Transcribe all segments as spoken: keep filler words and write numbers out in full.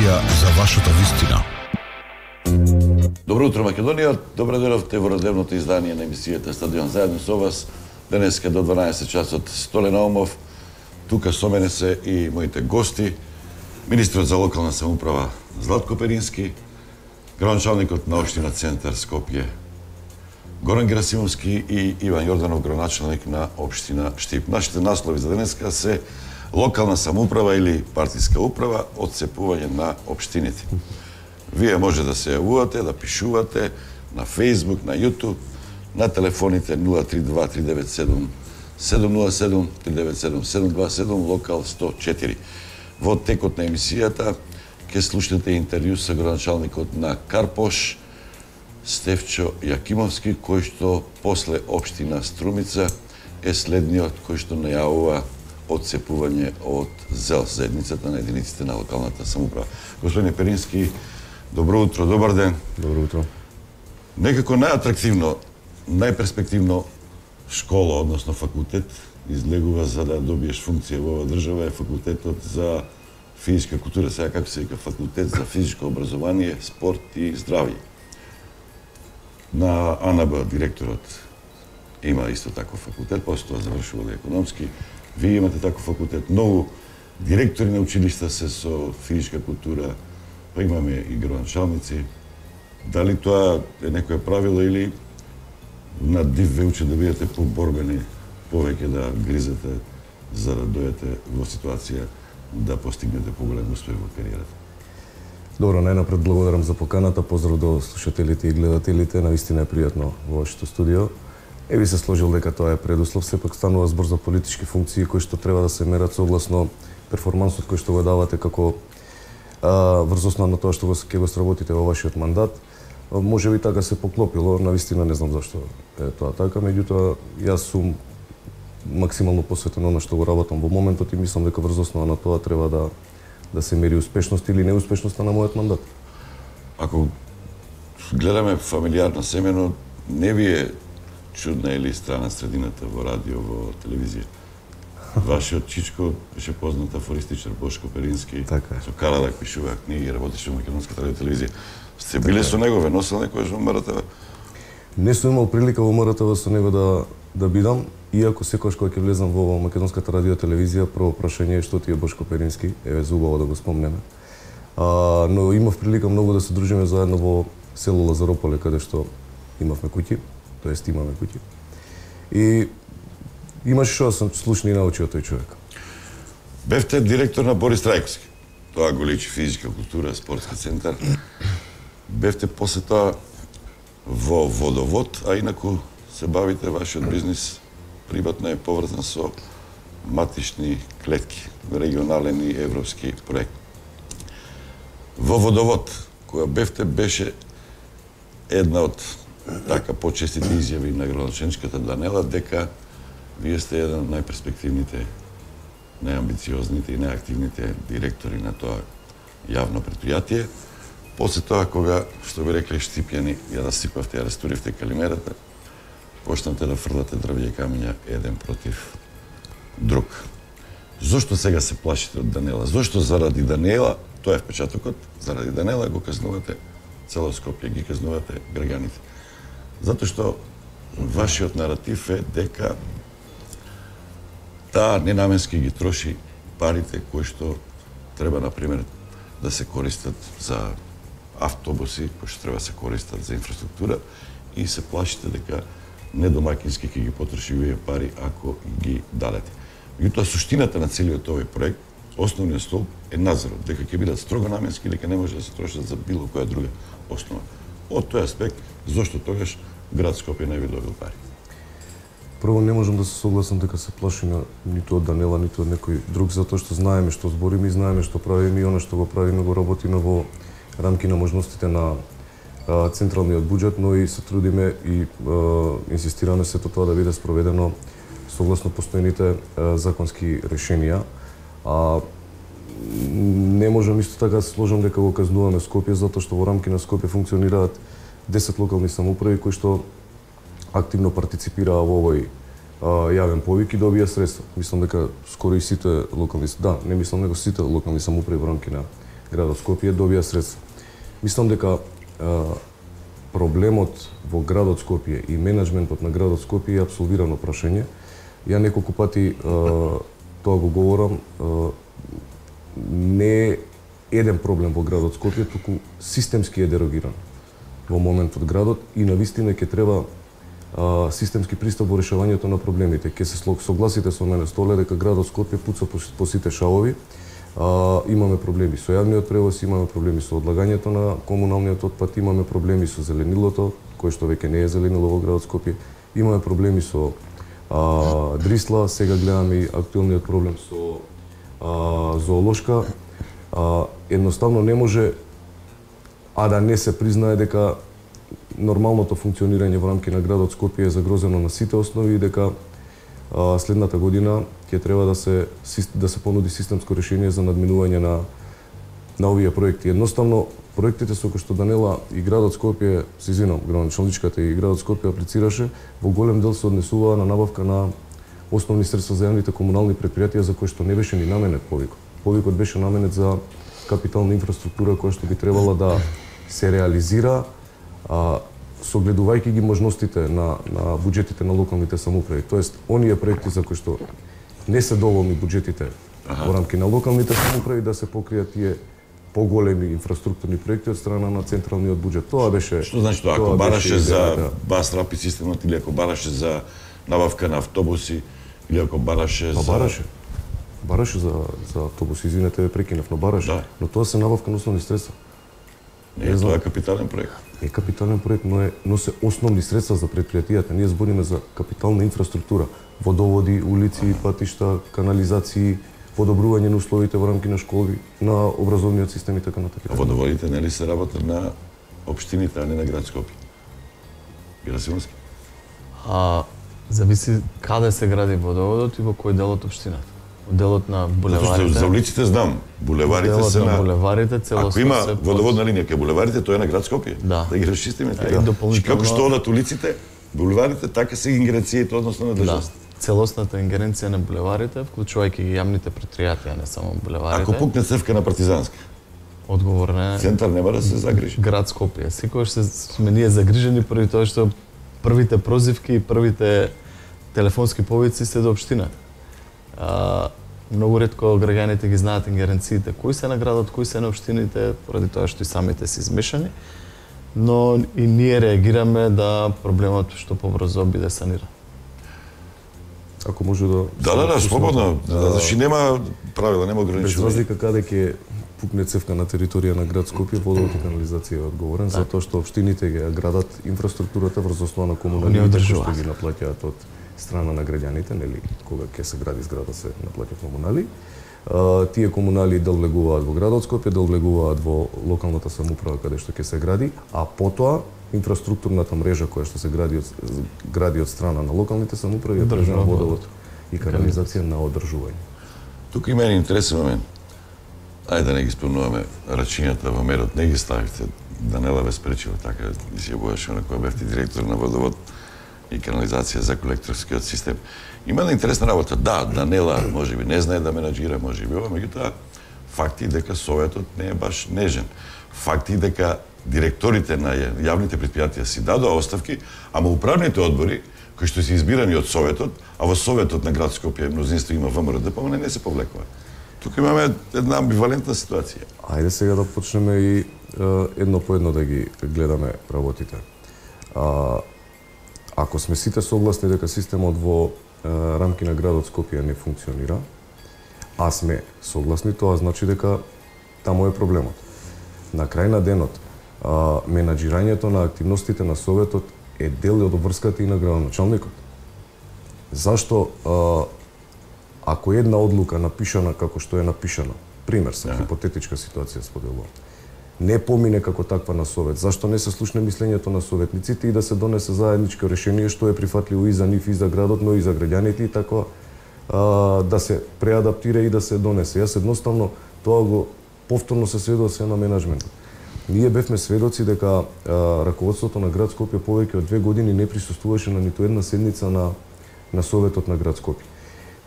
емисија за вашата вистина. Добро утро, Македонија. Добро дојдовте во родевното издание на емисијата Стадион заедно со вас. Денеска до дванаесет часот Столе Наумов. Тука со мене се и моите гости. Министрот за локална самоуправа Златко Перински, градоначалникот на општина Центар Скопје Горан Герасимовски и Иван Јорданов, градоначалник на општина Штип. Нашите наслови за денеска се локална самоуправа или партиска управа, отцепување на општините. Вие може да се јавувате, да пишувате на Facebook, на YouTube, на телефоните нула три два три девет седум седум нула седум три девет седум седум два седум, локал сто четири. Во текот на емисијата ќе слушнете интервју со градоначалникот на Карпош, Стефчо Јакимовски, кој што после општина Струмица е следниот кој што најавува отцепување од ЗЕЛ, заедницата на единиците на локалната самоуправа. Господине Перински, добро утро, добар ден. Добро утро. Некако најатрактивно, најперспективно школа, односно факултет, излегува за да добиеш функција во оваа држава е факултетот за физичка култура, сега како се вика факултет за физичко образование, спорт и здравје. На АНБ директорот има исто таков факултет, после тоа завршувал и економски. Вие имате таков факултет. Многу директори на училишта се со физичка култура, па имаме и градоначалници. Дали тоа е некое правило или на див ве учат да бидете поборбени, повеќе да гризете за да дојдете во ситуација да постигнете поголем успех во кариерата? Добро, најнапред благодарам за поканата, поздрав до слушателите и гледателите, навистина е пријатно во вашето студио. Е би се сложил дека тоа е предуслов, сепак станува збор за политички функции кои што треба да се мерат согласно перформансот кој што го давате како а, врз основа на тоа што го ќе го сработите во вашиот мандат. Може би така се поклопило, навистина не знам зашто е тоа така, меѓутоа јас сум максимално посветен на што го работам во моментот и мислам дека врз основа на тоа треба да да се мери успешност или неуспешноста на мојот мандат. Ако гледаме фамилиарно семено, не ви е чудна или страна средината во радио, во телевизија. Вашиот чичко беше познат афористичар Бошко Перински, така е. Со Карадак пишуваа книги, работеше во македонската радио телевизија. Сте биле со него, ве носел некојаш во М Р Т В? Не сум имал прилика во М Р Т В со него да да бидам, иако секогаш кога ќе влезам во македонската радио телевизија, прво прашање е што ти е Бошко Перински, еве зубаво да го спомнеме. А, но имав прилика многу да се дружиме заедно во село Лазарополе, каде што имавме куќи, тоест имаме куќи. И имаше што да сум слушни и научи од тој човек. Бевте директор на Борис Трајковски. Тоа го личи физичка култура, спортски центар. Бевте после тоа во водовод, а инаку се бавите вашиот бизнис приватно е поврзан со матични клетки, регионален и европски проект. Во водовод, која бевте, беше една од така почестите изјави на градоначалничката Данела дека вие сте еден од најперспективните, најамбициозните и најактивните директори на тоа јавно предпријатие. После тоа, кога, што би рекле штипјани, ја да сипавте, ја растуривте калимерата, почнате да фрлате дрвја и камења еден против друг. Зошто сега се плашите од Данела? Зошто заради Данела, тоа е впечатокот, заради Данела го казнувате цело Скопје, ги казнувате граѓаните? Затоа што вашиот наратив е дека таа ненаменски ги троши парите кои што треба, например, да се користат за автобуси, кои што треба да се користат за инфраструктура, и се плашите дека недомакински ќе ги потроши овие пари ако ги дадете. Меѓутоа, суштината на целиот овој проект, основниот столб е надзорот, дека ќе бидат строго наменски и дека не може да се трошат за било која друга основа. Од тој аспект, зошто тогаш град Скопје не би добил пари? Прво, не можам да се согласам дека се плашиме ниту од Данела, ниту од некој друг, затоа што знаеме што збориме и знаеме што правиме и оно што го правиме го работиме во рамки на можностите на а, централниот буџет, но и се трудиме и а, инсистираме сето тоа да биде спроведено согласно постојните а, законски решенија. А не можам исто така да се сложам дека го казнуваме Скопје, затоа што во рамки на Скопје функционираат десет локални самоуправи кои што активно партиципираа во овој а, јавен повик и добија средства. Мислам дека скоро и сите локални, да, не мислам него сите локални самоуправи во рамки на градот Скопје добија средства. Мислам дека а, проблемот во градот Скопје и менеджментот на градот Скопје е апсолвирано прашање. Ја неколку пати а, тоа го говорам, а, не е еден проблем во градот Скопје, туку системски е дерогиран во моментот градот и навистина ќе треба а, системски пристап во решавањето на проблемите. Ќе се согласите со мене, Столе, дека градот Скопје пуца по, по сите шавови. А, имаме проблеми со јавниот превоз, имаме проблеми со одлагањето на комуналниот отпад, имаме проблеми со зеленилото, кој што веќе не е зеленило во градот Скопје, имаме проблеми со а, Дрисла, сега гледаме и актуелниот проблем со а, зоолошка. А, едноставно не може а да не се признае дека нормалното функционирање во рамки на градот Скопје е загрозено на сите основи и дека а, следната година ќе треба да се да се понуди системско решение за надминување на на овие проекти. Едноставно проектите со кои што Данела и градот Скопје, се извинам, градоначалничката и градот Скопје аплицираше, во голем дел се однесуваа на набавка на основни средства за јавните комунални предпријатија за кои што не беше ни наменет повикот. Повикот беше наменет за капитална инфраструктура која што би требала да се реализира а, согледувајќи ги можностите на, на буџетите на локалните самоуправи. Тоест, оние проекти за кои што не се доволни буџетите ага. во рамки на локалните самоуправи да се покријат тие поголеми инфраструктурни проекти од страна на централниот буџет. Тоа беше... Што значи тоа? Ако бараше за да. бас рапид системот или ако бараше за набавка на автобуси или ако бараше па, за... бараше. Бараше за, за автобуси, извинете, прекинав, но бараше. Да. Но тоа се набавка на основни средства. Не, не тоа е капитален проект. Е капитален проект, но, е, но се основни средства за предпријатијата. Ние збориме за капитална инфраструктура. Водоводи, улици, патишта, канализации, подобрување на условите во рамки на школи, на образовниот систем и така натаму. А водоводите нели се работат на општините, а не на град Скопје? Бира Симонски? А зависи каде се гради водоводот и во кој дел од општината. Делот на булеварите. За улиците знам, булеварите делот се на, на булеварите целосно. Ако има се водоводна линија кај булеварите, тоа е на град Скопје. Да. Да ги расчистиме Да, така. дополнително... Како што одат улиците, булеварите, така се ингеренцијите односно на државата. Да. Целосната ингеренција на булеварите, вклучувајќи ги јавните предпријатија, не само булеварите. Ако пукне цевка на Партизанска, одговор не. Центар нема да се загрижи. Град Скопје. Секогаш се сме ние загрижени поради тоа што првите прозивки и првите телефонски повици се до општината. А, многу ретко граѓаните ги знаат ингеренциите кои се на градот, кои се на општините, поради тоа што и самите се измешани. Но и ние реагираме да проблемот што побрзо биде саниран. Ако може да... Да, да, да, слободно. Значи нема правила, нема ограничувања. Без разлика каде ќе пукне цевка на територија на град Скопје, водовод и канализација е одговорен, да. Затоа што општините ги градат инфраструктурата врз основа на комуналните што ги наплаќаат од страна на граѓаните, нели, кога ќе се гради зграда се наплаќаат комунали. А, тие комунали дел влегуваат во градот Скопје, дел влегуваат во локалната самоуправа каде што ќе се гради, а потоа инфраструктурната мрежа која што се гради од, гради од страна на локалните самоуправи е државна водовод и канализација на одржување. Тука има еден интересен момент. Ајде да не ги спомнуваме рачињата во мерот, не ги ставите. Данела ве спречила така, изјавуваше на која бевте директор на водовод и канализација за колекторскиот систем. Има една интересна работа. Да, Данела можеби не знае да менаџира, можеби ова, меѓутоа факти дека советот не е баш нежен. Факти дека директорите на јавните предпријатија си дадоа оставки, ама управните одбори кои што се избирани од советот, а во советот на град Скопје мнозинство има ВМРО-ДП, не се повлекува. Тука имаме една амбивалентна ситуација. Ајде сега да почнеме и е, едно по едно да ги гледаме работите. А, ако сме сите согласни дека системот во е, рамки на градот Скопје не функционира, а сме согласни, тоа значи дека таму е проблемот. На крај на денот, а, менаџирањето на активностите на советот е дел од обврската и на градоначалникот. Зашто а, ако една одлука напишана како што е напишана, пример се, хипотетичка ситуација споделувам, не помине како таква на совет, зашто не се слушне мислењето на советниците и да се донесе заедничко решение што е прифатливо и за нив и за градот, но и за граѓаните и така а, да се преадаптира и да се донесе. Јас едноставно тоа го повторно се сведоци се на менаџментот. Ние бевме сведоци дека а, раководството на град Скопје повеќе од две години не присуствуваше на ниту една седница на на советот на град Скопје.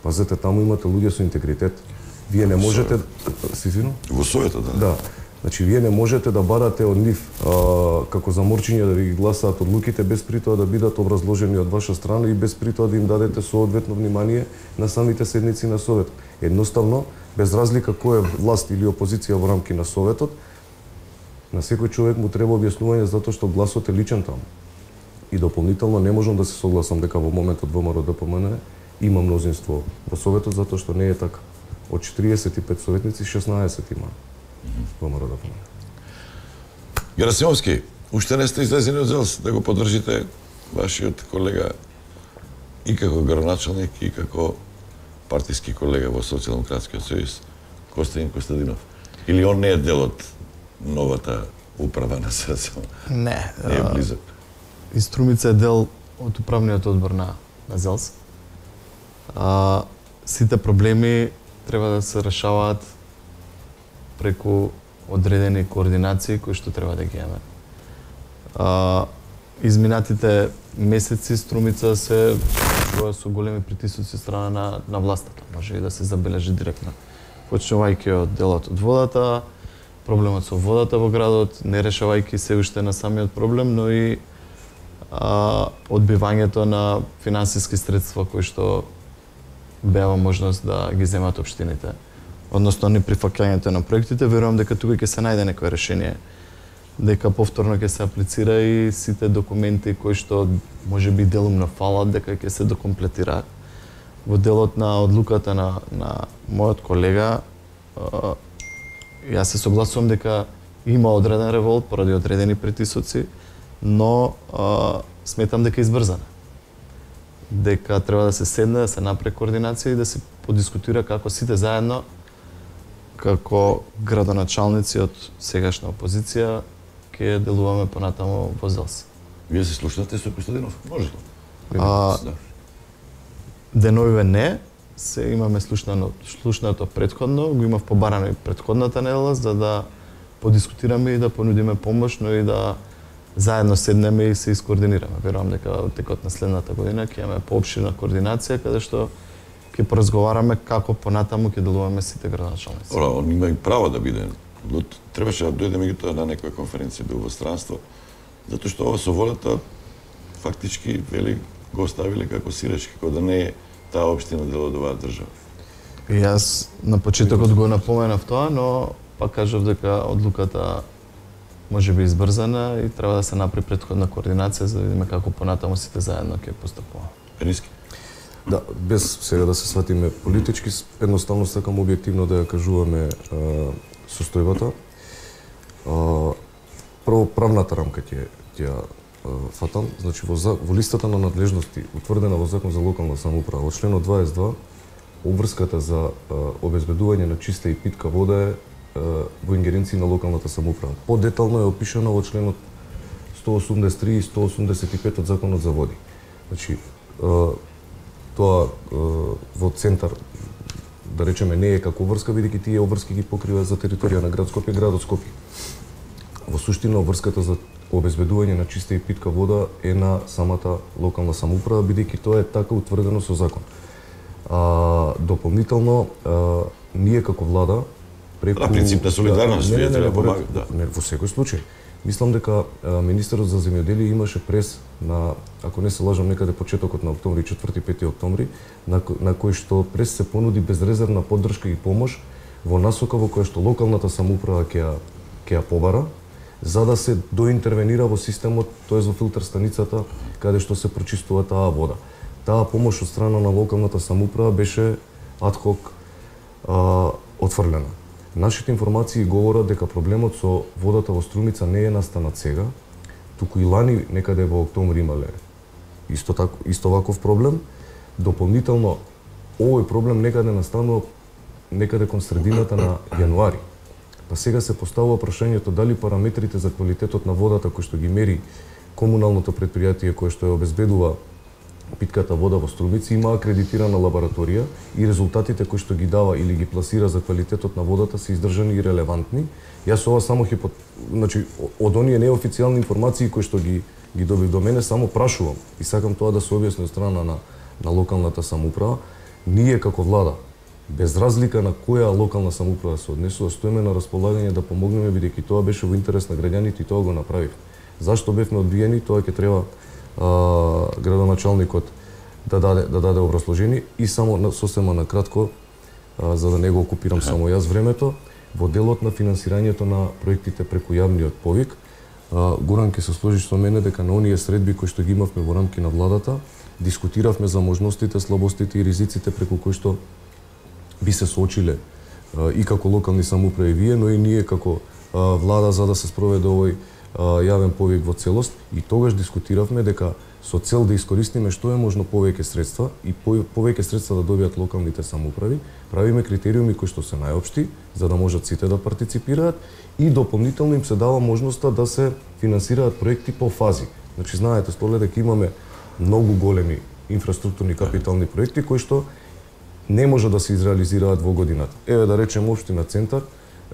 Пазете, таму имате луѓе со интегритет. Вие не можете... Си извинувам? Во советот, да. Да. Значи, вие не можете да барате од нив а, како заморчиња да ви ги гласаат одлуките без при тоа да бидат образложени од ваша страна и без при тоа да им дадете соодветно внимание на самите седници на Советот. Едноставно, без разлика кој е власт или опозиција во рамки на Советот, на секој човек му треба објаснување затоа што гласот е личен таму. И дополнително не можам да се согласам дека во моментот ВМРО-ДПМН има мнозинство во Советот затоа што не е така. Од четириесет и пет советници шеснаесет има ВМРО-ДПМН. Герасимовски, уште не сте излезени од ЗЕЛС да го поддржите вашиот колега и како градоначалник и како партиски колега во Социјалдемократскиот сојуз Костадин Костадинов. Или он не е дел од новата управа на СДСМ? Не. Не е близок. И Струмица е дел од управниот одбор на, на ЗЕЛС. А, сите проблеми треба да се решаваат преку одредени координации кои што треба да ги имаме. А, изминатите месеци Струмица се случува со големи притисоци страна на, на властата. Може и да се забележи директно. Почнувајќи од делот од водата, проблемот со водата во градот, не решавајќи се уште на самиот проблем, но и а, одбивањето на финансиски средства кои што беа можност да ги земат општините. Односно, неприфаќањето на проектите, верувам дека тука ќе се најде некое решение, дека повторно ќе се аплицира и сите документи кои што можеби делумно фалат, дека ќе се докомплетираат. Во делот на одлуката на, на мојот колега, а, јас се согласувам дека има одреден револт поради одредени притисоци, но а, сметам дека е избрзана. Дека треба да се седне, да се направи координација и да се подискутира како сите заедно, како градоначалници од сегашна опозиција, ќе делуваме понатаму во ЗЕЛС. Вие се слушнате со Костадинов? Може ли? А, деновиве не, се имаме слушнано, слушнато предходно, го имав побарано и предходната недела, за да подискутираме и да понудиме помош, но и да заедно седнеме и се искоординираме. Верувам дека во текот на следната година ќе имаме поопширна координација, каде што ќе поразговараме како понатаму ќе делуваме сите градоначалници. Ора, он има и право да биде. Требаше да дојде меѓутоа на некоја конференција, бил во странство, затоа што ова со волата фактички вели го оставиле како сиреч, како да не е таа општина дел од оваа држава. И јас на почетокот го напоменав тоа, но пак кажав дека одлуката може би избрзана и треба да се направи претходна координација за да видиме како понатаму сите заедно ќе постапуваме. Пениски. Да, без сега да се сватиме политички, едноставно сакам објективно да ја кажуваме а, состојбата. А, прво, правната рамка ќе ја фатам. Значи, во, во листата на надлежности, утврдена во Закон за локална самоуправа, во членот дваесет и два, обврската за а, обезбедување на чиста и питка вода е а, во ингеренција на локалната самоуправа. Подетално е опишано во членот сто осумдесет и три и сто осумдесет и пет од Законот за води. Значи, а, тоа во центар, да речеме, не е како обврска, бидејќи тие обврски ги покрива за територија на град Скопје, градот Скопје. Во суштина, обврската за обезбедување на чиста и питка вода е на самата локална самоуправа, бидејќи тоа е така утврдено со закон. А, дополнително, а, ние како влада, преку... На принцип на солидарност, вие треба да помагате. Да. Не, во секој случај. Мислам дека а, министерот за земјоделие имаше прес на, ако не се лажам, некаде почетокот на октомври, четврти-пети октомври, на, на кој што прес се понуди безрезервна поддршка и помош во насока во која што локалната самоуправа ќе ја ќе ја побара, за да се доинтервенира во системот, тоест во филтер станицата, каде што се прочистува таа вода. Таа помош од страна на локалната самоуправа беше адхок а, отфрлена. Нашите информации говорат дека проблемот со водата во Струмица не е настанат сега, туку и лани некаде во октомври имале исто тако исто ваков проблем. Дополнително овој проблем некаде настанува некаде кон средината на јануари. Па сега се поставува прашањето дали параметрите за квалитетот на водата кои што ги мери комуналното претпријатие кое што ја обезбедува питката вода во Струмица има акредитирана лабораторија и резултатите кои што ги дава или ги пласира за квалитетот на водата се издржани и релевантни. Јас ова само хипот... значи од оние неофицијални информации кои што ги ги добив до мене само прашувам и сакам тоа да се објасни од страна на на локалната самоуправа. Ние како влада Без разлика на која локална самоуправа се однесува, стоиме на располагање да помогнеме, бидејќи тоа беше во интерес на граѓаните и тоа го направивме. Зашто бевме одбиени, тоа ќе треба а, градоначалникот да даде да даде образложение и само на, сосема на кратко, а, за да не го окупирам само јас времето, во делот на финансирањето на проектите преку јавниот повик, а, Горан ќе се сложи со мене дека на оние средби кои што ги имавме во рамки на владата, дискутиравме за можностите, слабостите и ризиците преку кои што би се соочиле а, и како локални самоуправи вие, но и ние како а, влада за да се спроведе овој а, јавен повик во целост, и тогаш дискутиравме дека со цел да искористиме што е можно повеќе средства и повеќе средства да добијат локалните самоуправи, правиме критериуми кои што се најопшти, за да можат сите да партиципираат и дополнително им се дава можноста да се финансираат проекти по фази. Значи, знаете, Столе, дека имаме многу големи инфраструктурни капитални проекти кои што не може да се изреализираат во годината. Еве да речем општина Центар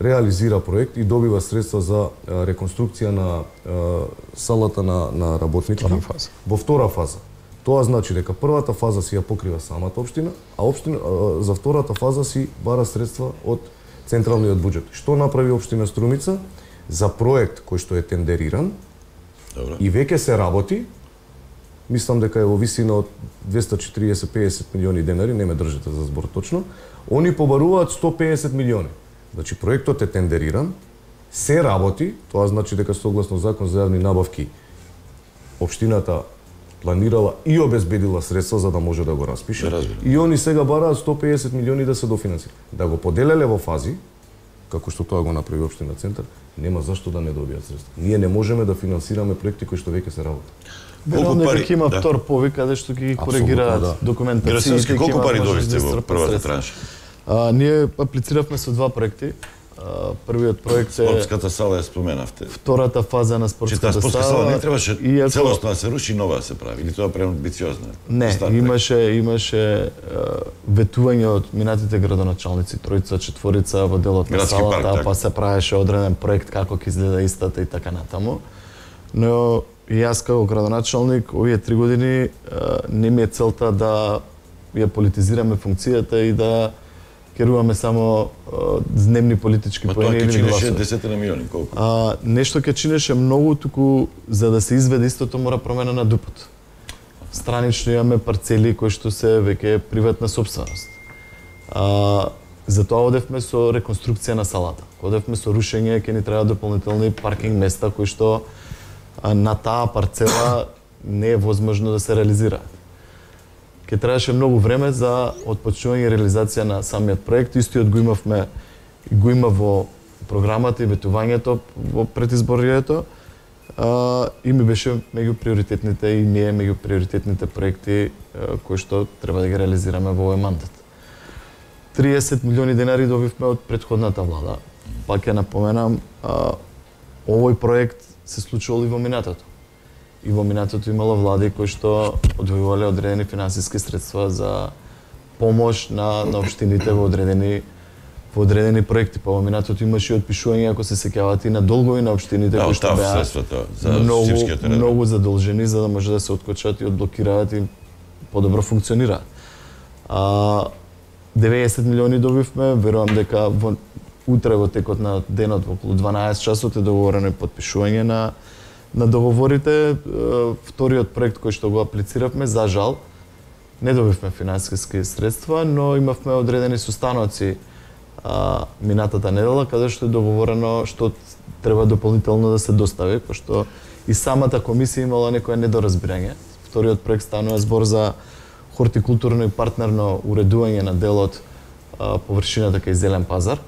реализира проект и добива средства за а, реконструкција на а, салата на на работници во втора фаза. Тоа значи дека првата фаза си ја покрива самата општина, а општина а, за втората фаза си бара средства од централниот буџет. Што направи општина Струмица за проект кој што е тендериран? Добре. И веќе се работи. Мислам дека е во висина од двесте и четириесет до песет милиони денари, не ме држите за збор точно. Они побаруваат сто и песет милиони. Значи, проектот е тендериран, се работи, тоа значи дека согласно закон за јавни набавки, општината планирала и обезбедила средства за да може да го распише. Да, и они сега бараат сто и песет милиони да се дофинансира. Да го поделеле во фази, како што тоа го направи општина Центар, нема зашто да не добијат средства. Ние не можеме да финансираме проекти кои што веќе се работат. Веројатно дека има да. втор повик каде што ги коригираат да. документациите. Колку пари добивте во првата транша? А, ние аплициравме со два проекти. А, првиот проект е спортската сала ја споменавте. Втората фаза на спортската сала. Спортската сала не требаше иако... целосно да се руши, нова да се прави. Или тоа преамбициозно? Не, имаше имаше ветување од минатите градоначалници, тројца, четворица во делот на салата, парк, па се правеше одреден проект како ќе изгледа истата и така натаму. Но и јас како градоначалник овие три години не ми е целта да ја политизираме функцијата и да керуваме само дневни политички поени или гласови. Тоа ќе чинеше десетина милиони, колку? А, нешто ќе чинеше многу, туку за да се изведе истото мора промена на ДУП-от. Странично имаме парцели кои што се веќе приватна сопственост. А, затоа одевме со реконструкција на салата. Одевме со рушење, ќе ни треба дополнителни паркинг места кои што а, на таа парцела не е возможно да се реализира. Ке требаше многу време за отпочнување и реализација на самиот проект. Истиот го имавме, го има во програмата и ветувањето во предизборието. А, и ми беше меѓу приоритетните и ми е меѓу приоритетните проекти а, кои што треба да ги реализираме во овој мандат. триесет милиони денари добивме од претходната влада. Пак ќе напоменам, а, овој проект се случувал и во минатото. И во минатото имало влади кои што одвојувале одредени финансиски средства за помош на, на општините во одредени во одредени проекти. Па во минатото имаше и отпишување, ако се сеќавате, и на долгови на општините да, кои што беа многу, многу задолжени за да може да се откочат и одблокираат и подобро функционираат. А, деветдесет милиони добивме, верувам дека во, утре во текот на денот во околу дванаесет часот е договорено и подпишување на на договорите. Вториот проект кој што го аплициравме, за жал, не добивме финансиски средства, но имавме одредени состаноци а, минатата недела, каде што е договорено што треба дополнително да се достави, пошто и самата комисија имала некое недоразбирање. Вториот проект станува збор за хортикултурно и партнерно уредување на делот а, површината кај Зелен пазар,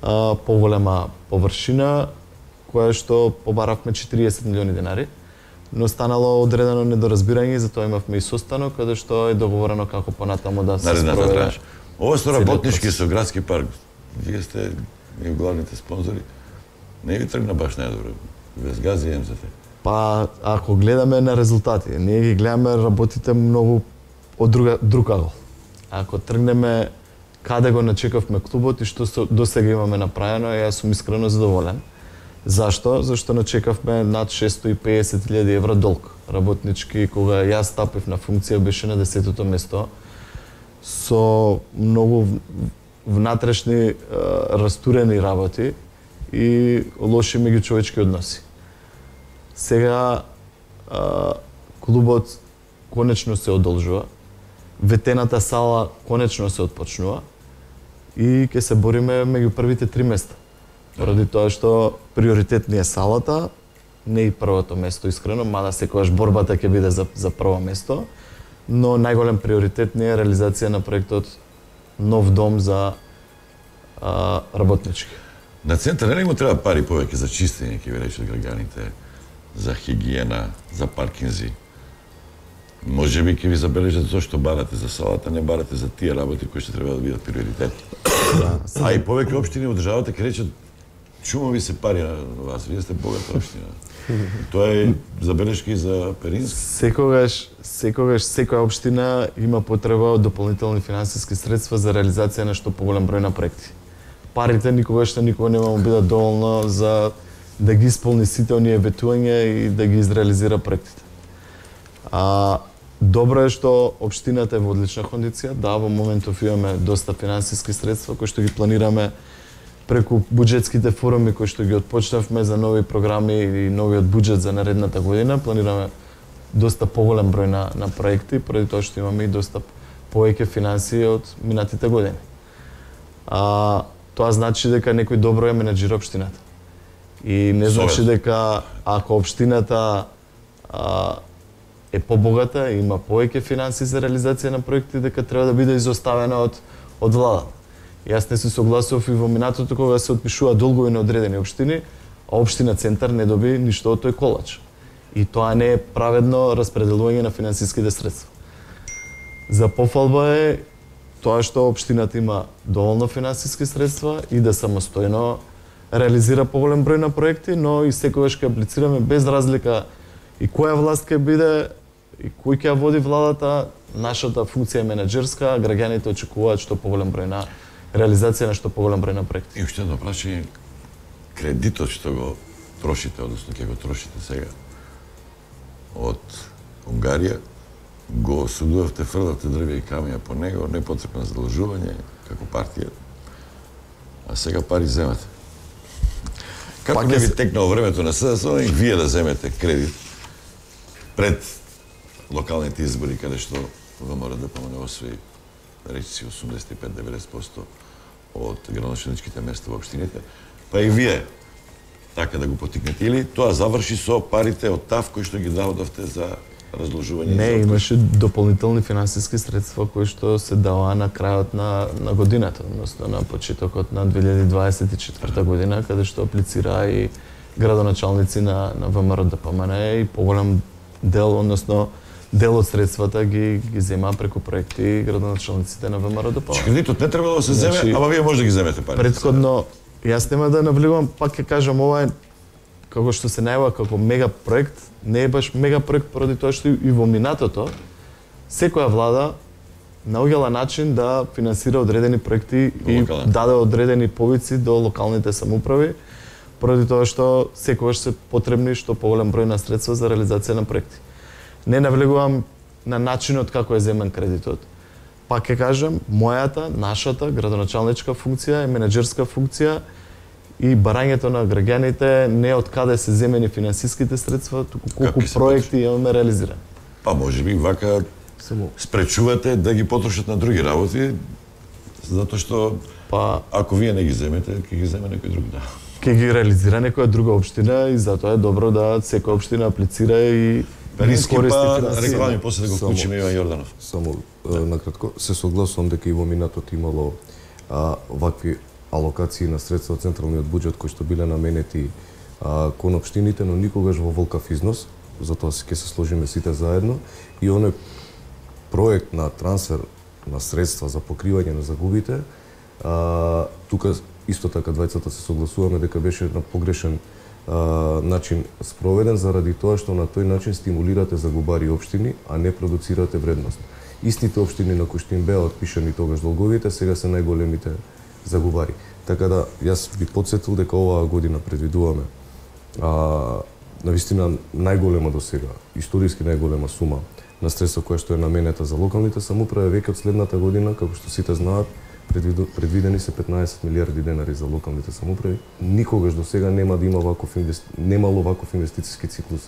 а, поголема површина, која што побаравме четириесет милиони денари, но станало одредено недоразбирање и затоа имавме и состанок каде што е договорено како понатамо да се спроведе. Ова со работнички со градски парк, вие сте и главните спонзори, не ви тргна баш најдобро, без газ и Ем Зет. Па, ако гледаме на резултати, ние ги гледаме работите многу од друга, друг ъгол. Ако тргнеме каде го начекавме клубот и што досега имаме направено, јас сум искрено задоволен. Зашто? Зашто начекавме над шестстотини и песет илјади евра долг. Работнички, кога јас стапив на функција, беше на десетото место со многу внатрешни растурени работи и лоши меѓучовечки односи. Сега а, клубот конечно се одолжува, ветената сала конечно се отпочнува и ќе се бориме меѓу првите три места. Поради тоа што приоритет ни е салата, не и првото место искрено, мада секогаш борбата ќе биде за, за прво место, но најголем приоритет ни е реализација на проектот нов дом за а, работнички. На центар нели му треба пари повеќе за чистење, ќе ви речат граѓаните, за хигиена, за паркинзи. Може би ќе ви забележат зошто барате за салата, не барате за тие работи кои што треба да бидат приоритет. А и повеќе општини од државата ќе речат чумови се пари на вас, вие сте богата општина. Тоа е забелешка и за Перински. Секогаш, секогаш секоја општина има потреба од дополнителни финансиски средства за реализација на што поголем број на проекти. Парите никогаш што никога нема да бидат доволно за да ги исполни сите оние ветувања и да ги изреализира проектите. А добро е што општината е во одлична кондиција. Да, во моментов имаме доста финансиски средства кои што ги планираме преку буџетските форуми кои што ги отпочнавме за нови програми и новиот буџет за наредната година. Планираме доста поголем број на, на проекти, поради тоа што имаме и доста повеќе финансии од минатите години. А, тоа значи дека некој добро е менеджира општината. И не значи дека ако општината а, е побогата, има повеќе финансии за реализација на проекти, дека треба да биде изоставена од, од владата. Јас не се согласував и во минатото кога се отпишува долгови на одредени општини, а општина Центар не доби ништо од тој колач. И тоа не е праведно распределување на финансиските средства. За пофалба е тоа што општината има доволно финансиски средства и да самостојно реализира поголем број на проекти, но и секогаш ќе аплицираме без разлика и која власт ќе биде и кој ќе ја води владата. Нашата функција е менеджерска, граѓаните очекуваат што поголем број на реализација на што поголем број на проекти. И уште едно прашање, кредитот што го трошите, односно ќе го трошите сега од Унгарија, го судувавте, фрлавте дрвја и камија по него, непотребно задолжување како партија, а сега пари земате. Како не ви текнало времето на СДСМ и вие да земете кредит пред локалните избори, каде што ВМРО-ДПМН освои речиси осумдесет и пет до деветдесет проценти од градоначалничките места во општините, па и вие така да го потикнете, или тоа заврши со парите од ТАФ кои што ги дадовте за разложување? Не, имаше дополнителни финансиски средства кои што се даваа на крајот на, на годината, односно на почетокот на две илјади дваесет и четврта година, каде што аплицира и градоначалници на, на ВМРО-ДПМН и поголем дел, односно дел од средствата ги ги зема преку проекти градоначалниците на ВМРО-ДПМН. Кредитот не треба да се земе, значи, ама вие може да ги земете парите. Претходно, јас нема да навлегувам, пак ќе кажам, ова е како што се најава како мега проект, не е баш мега проект поради тоа што и во минатото секоја влада наоѓала начин да финансира одредени проекти и даде одредени повици до локалните самоуправи, поради тоа што секогаш се потребни што поголем број на средства за реализација на проекти. Не навлегувам на начинот како е земен кредитот. Пак ќе кажам, мојата, нашата градоначалничка функција е менеджерска функција и барањето на граѓаните не од каде се земени финансиските средства, туку колку проекти имаме реализирани. Па може би вака спречувате да ги потрошат на други работи, затоа што па ако вие не ги земете, ќе ги земе некој друг, да. Ќе ги реализира некоја друга општина и затоа е добро да секоја општина аплицира и Перински па реклами после да го вклучиме Иван Јорданов. Само да. накратко се согласувам дека и во минатото имало а, вакви алокации на средства од централниот буџет кои што биле наменети а, кон општините, но никогаш во волкав износ, затоа ќе се сложиме сите заедно и оној проект на трансфер на средства за покривање на загубите, а, тука исто така двајцата се согласуваме дека беше на погрешен а, начин спроведен заради тоа што на тој начин стимулирате загубари општини, а не продуцирате вредност. Истите општини на кои што им беа отпишани тогаш долговите, сега се најголемите загубари. Така да, јас би потсетил дека оваа година предвидуваме а, навистина најголема до сега, историски најголема сума на средства која што е наменета за локалните самоуправи. Веќе од следната година, како што сите знаат, предвидени се петнаесет милиарди денари за локалните самоуправи. Никогаш до сега нема да има ваков инвести... немало ваков инвестициски циклус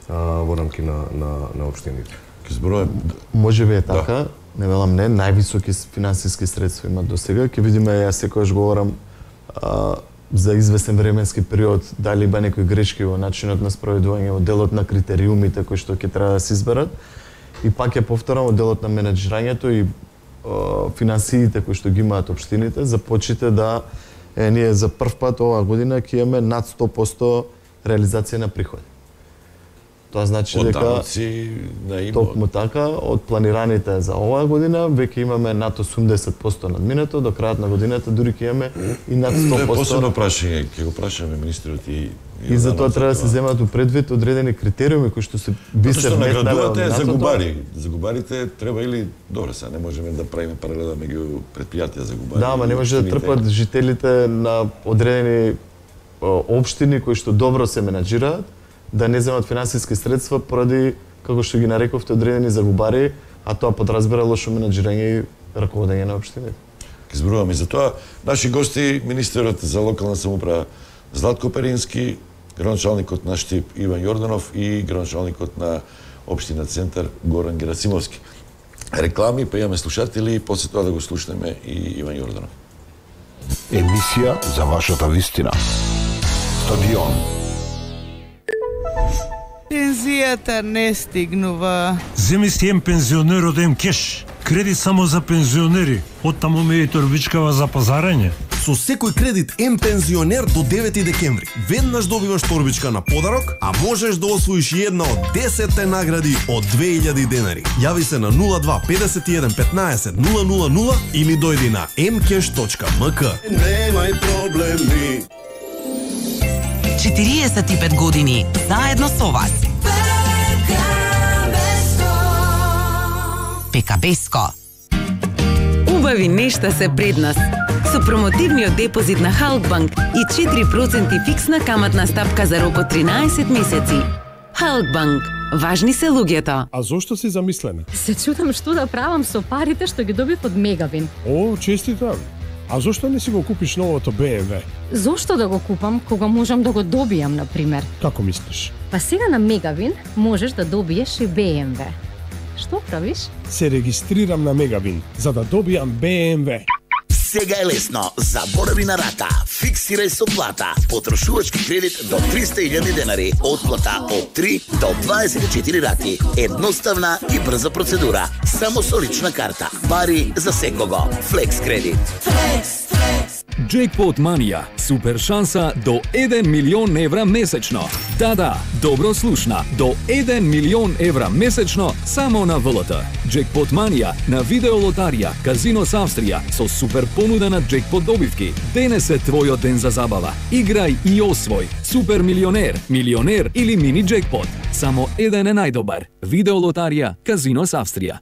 а, во рамки на на на општините. Ке зборувам, може би е така, да. Не велам не, највисоки финансиски средства имат до сега. Ќе видиме, јас секогаш говорам а, за известен временски период, дали има некои грешки во начинот на спроведување, во делот на критериумите кои што ќе треба да се изберат. И пак ја повторам, во делот на менеджирањето и о, финансиите кои што ги имаат општините, започите да е, ние за прв пат оваа година ќе имаме над сто проценти реализација на приходи. Тоа значи од дека даноци на имот. Токму така, од планираните за оваа година, веќе имаме над осумдесет проценти надминато, до крајот на годината дури ќе имаме и над сто проценти. Тоа е посебно прашање, ќе го прашаме министерот и И за тоа треба да се земат у предвид одредени критериуми кои што се би се вметнале. Што наградувате загубари. Загубарите треба или добро се, не можеме да правиме паралела меѓу претпријатија загубари. Да, ама не може да трпат жителите на одредени општини кои што добро се менаџираат, да не земат финансиски средства поради, како што ги нарековте, одредени загубари, а тоа подразбира лошо менаџирање и раководење на општините. Ке зборуваме за тоа. Наши гости, министерот за локална самоуправа Златко Перински, градоначалникот на Штип Иван Јорданов и градоначалникот на општина Центар Горан Герасимовски. Реклами, па имаме слушатели и после тоа да го слушнеме и Иван Јорданов. Емисија за вашата вистина. Стадион. Пензијата не стигнува. Земи си ем пензионерот ем кеш. Кредит само за пензионери. Оттаму ме и торбичкава за пазарање. Со секој кредит ем пензионер до девети декември. Веднаш добиваш торбичка на подарок, а можеш да освоиш една од десетте награди од две илјади денари. Јави се на нула два петдесет и еден петнаесет нула нула нула или дојди на ем кеш точка ем ка. Немај проблеми. четириесет и пет години заедно со вас. Пекабеско. Убави нешта се пред нас. Со промотивниот депозит на Халкбанк и четири проценти фиксна каматна стапка за рок од тринаесет месеци. Халкбанк. Важни се луѓето. А зошто си замислена? Се чудам што да правам со парите што ги добив од Мегавин. О, честитам. А зошто не си го купиш новото Б М В? Зошто да го купам кога можам да го добијам, на пример? Како мислиш? Па сега на Мегавин можеш да добиеш и Б М В. Што правиш? Се регистрирам на Мегавин за да добијам Б М В. Сега е лесно. Заборави на рата. Фиксирај со плата. Потрошувачки кредит до триста илјади денари. Отплата од три до дваесет и четири рати. Едноставна и брза процедура. Само со лична карта. Пари за секого. Флекс кредит. Флекс, флекс. Джекпот Манија. Супер шанса до еден милион евра месечно. Да, да, добро слушна. До еден милион евра месечно само на В Л Т. Джекпот Манија на видеолотарија Казино с Австрија со супер понуда на джекпот добивки. Денес е твојот ден за забава. Играј и освој. Супер милионер, милионер или мини джекпот. Само еден е најдобар. Видеолотарија Казино с Австрија.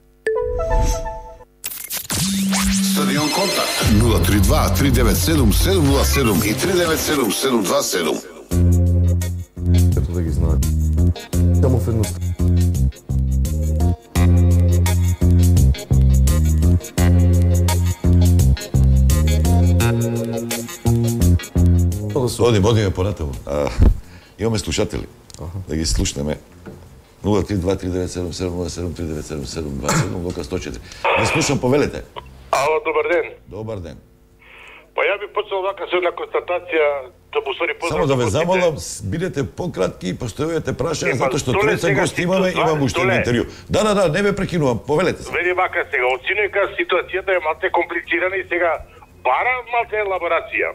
Стадион контакт нула три два три девет седум седум нула седум и три девет седум седум два седум. Ето да ги знаат. Само в едно. Одим, одиме понатаму. Имаме слушатели. Да ги слушнеме. нула три два три девет седум седум нула седум три девет седум седум два седум Лука сто четири. Не слушам, повелете. Ало, добар ден. Добар ден. Па ја би почнал вака со една констатација, да му сори поздрав. Само да ве замолам, бидете пократки и постојувате прашања, затоа што тројца гости имаме, имам уште едно интервју. Да, да, да, не ме прекинувам, повелете се. Веди вака сега, од синојка ситуацијата е малце комплицирана и сега бара малце елаборација.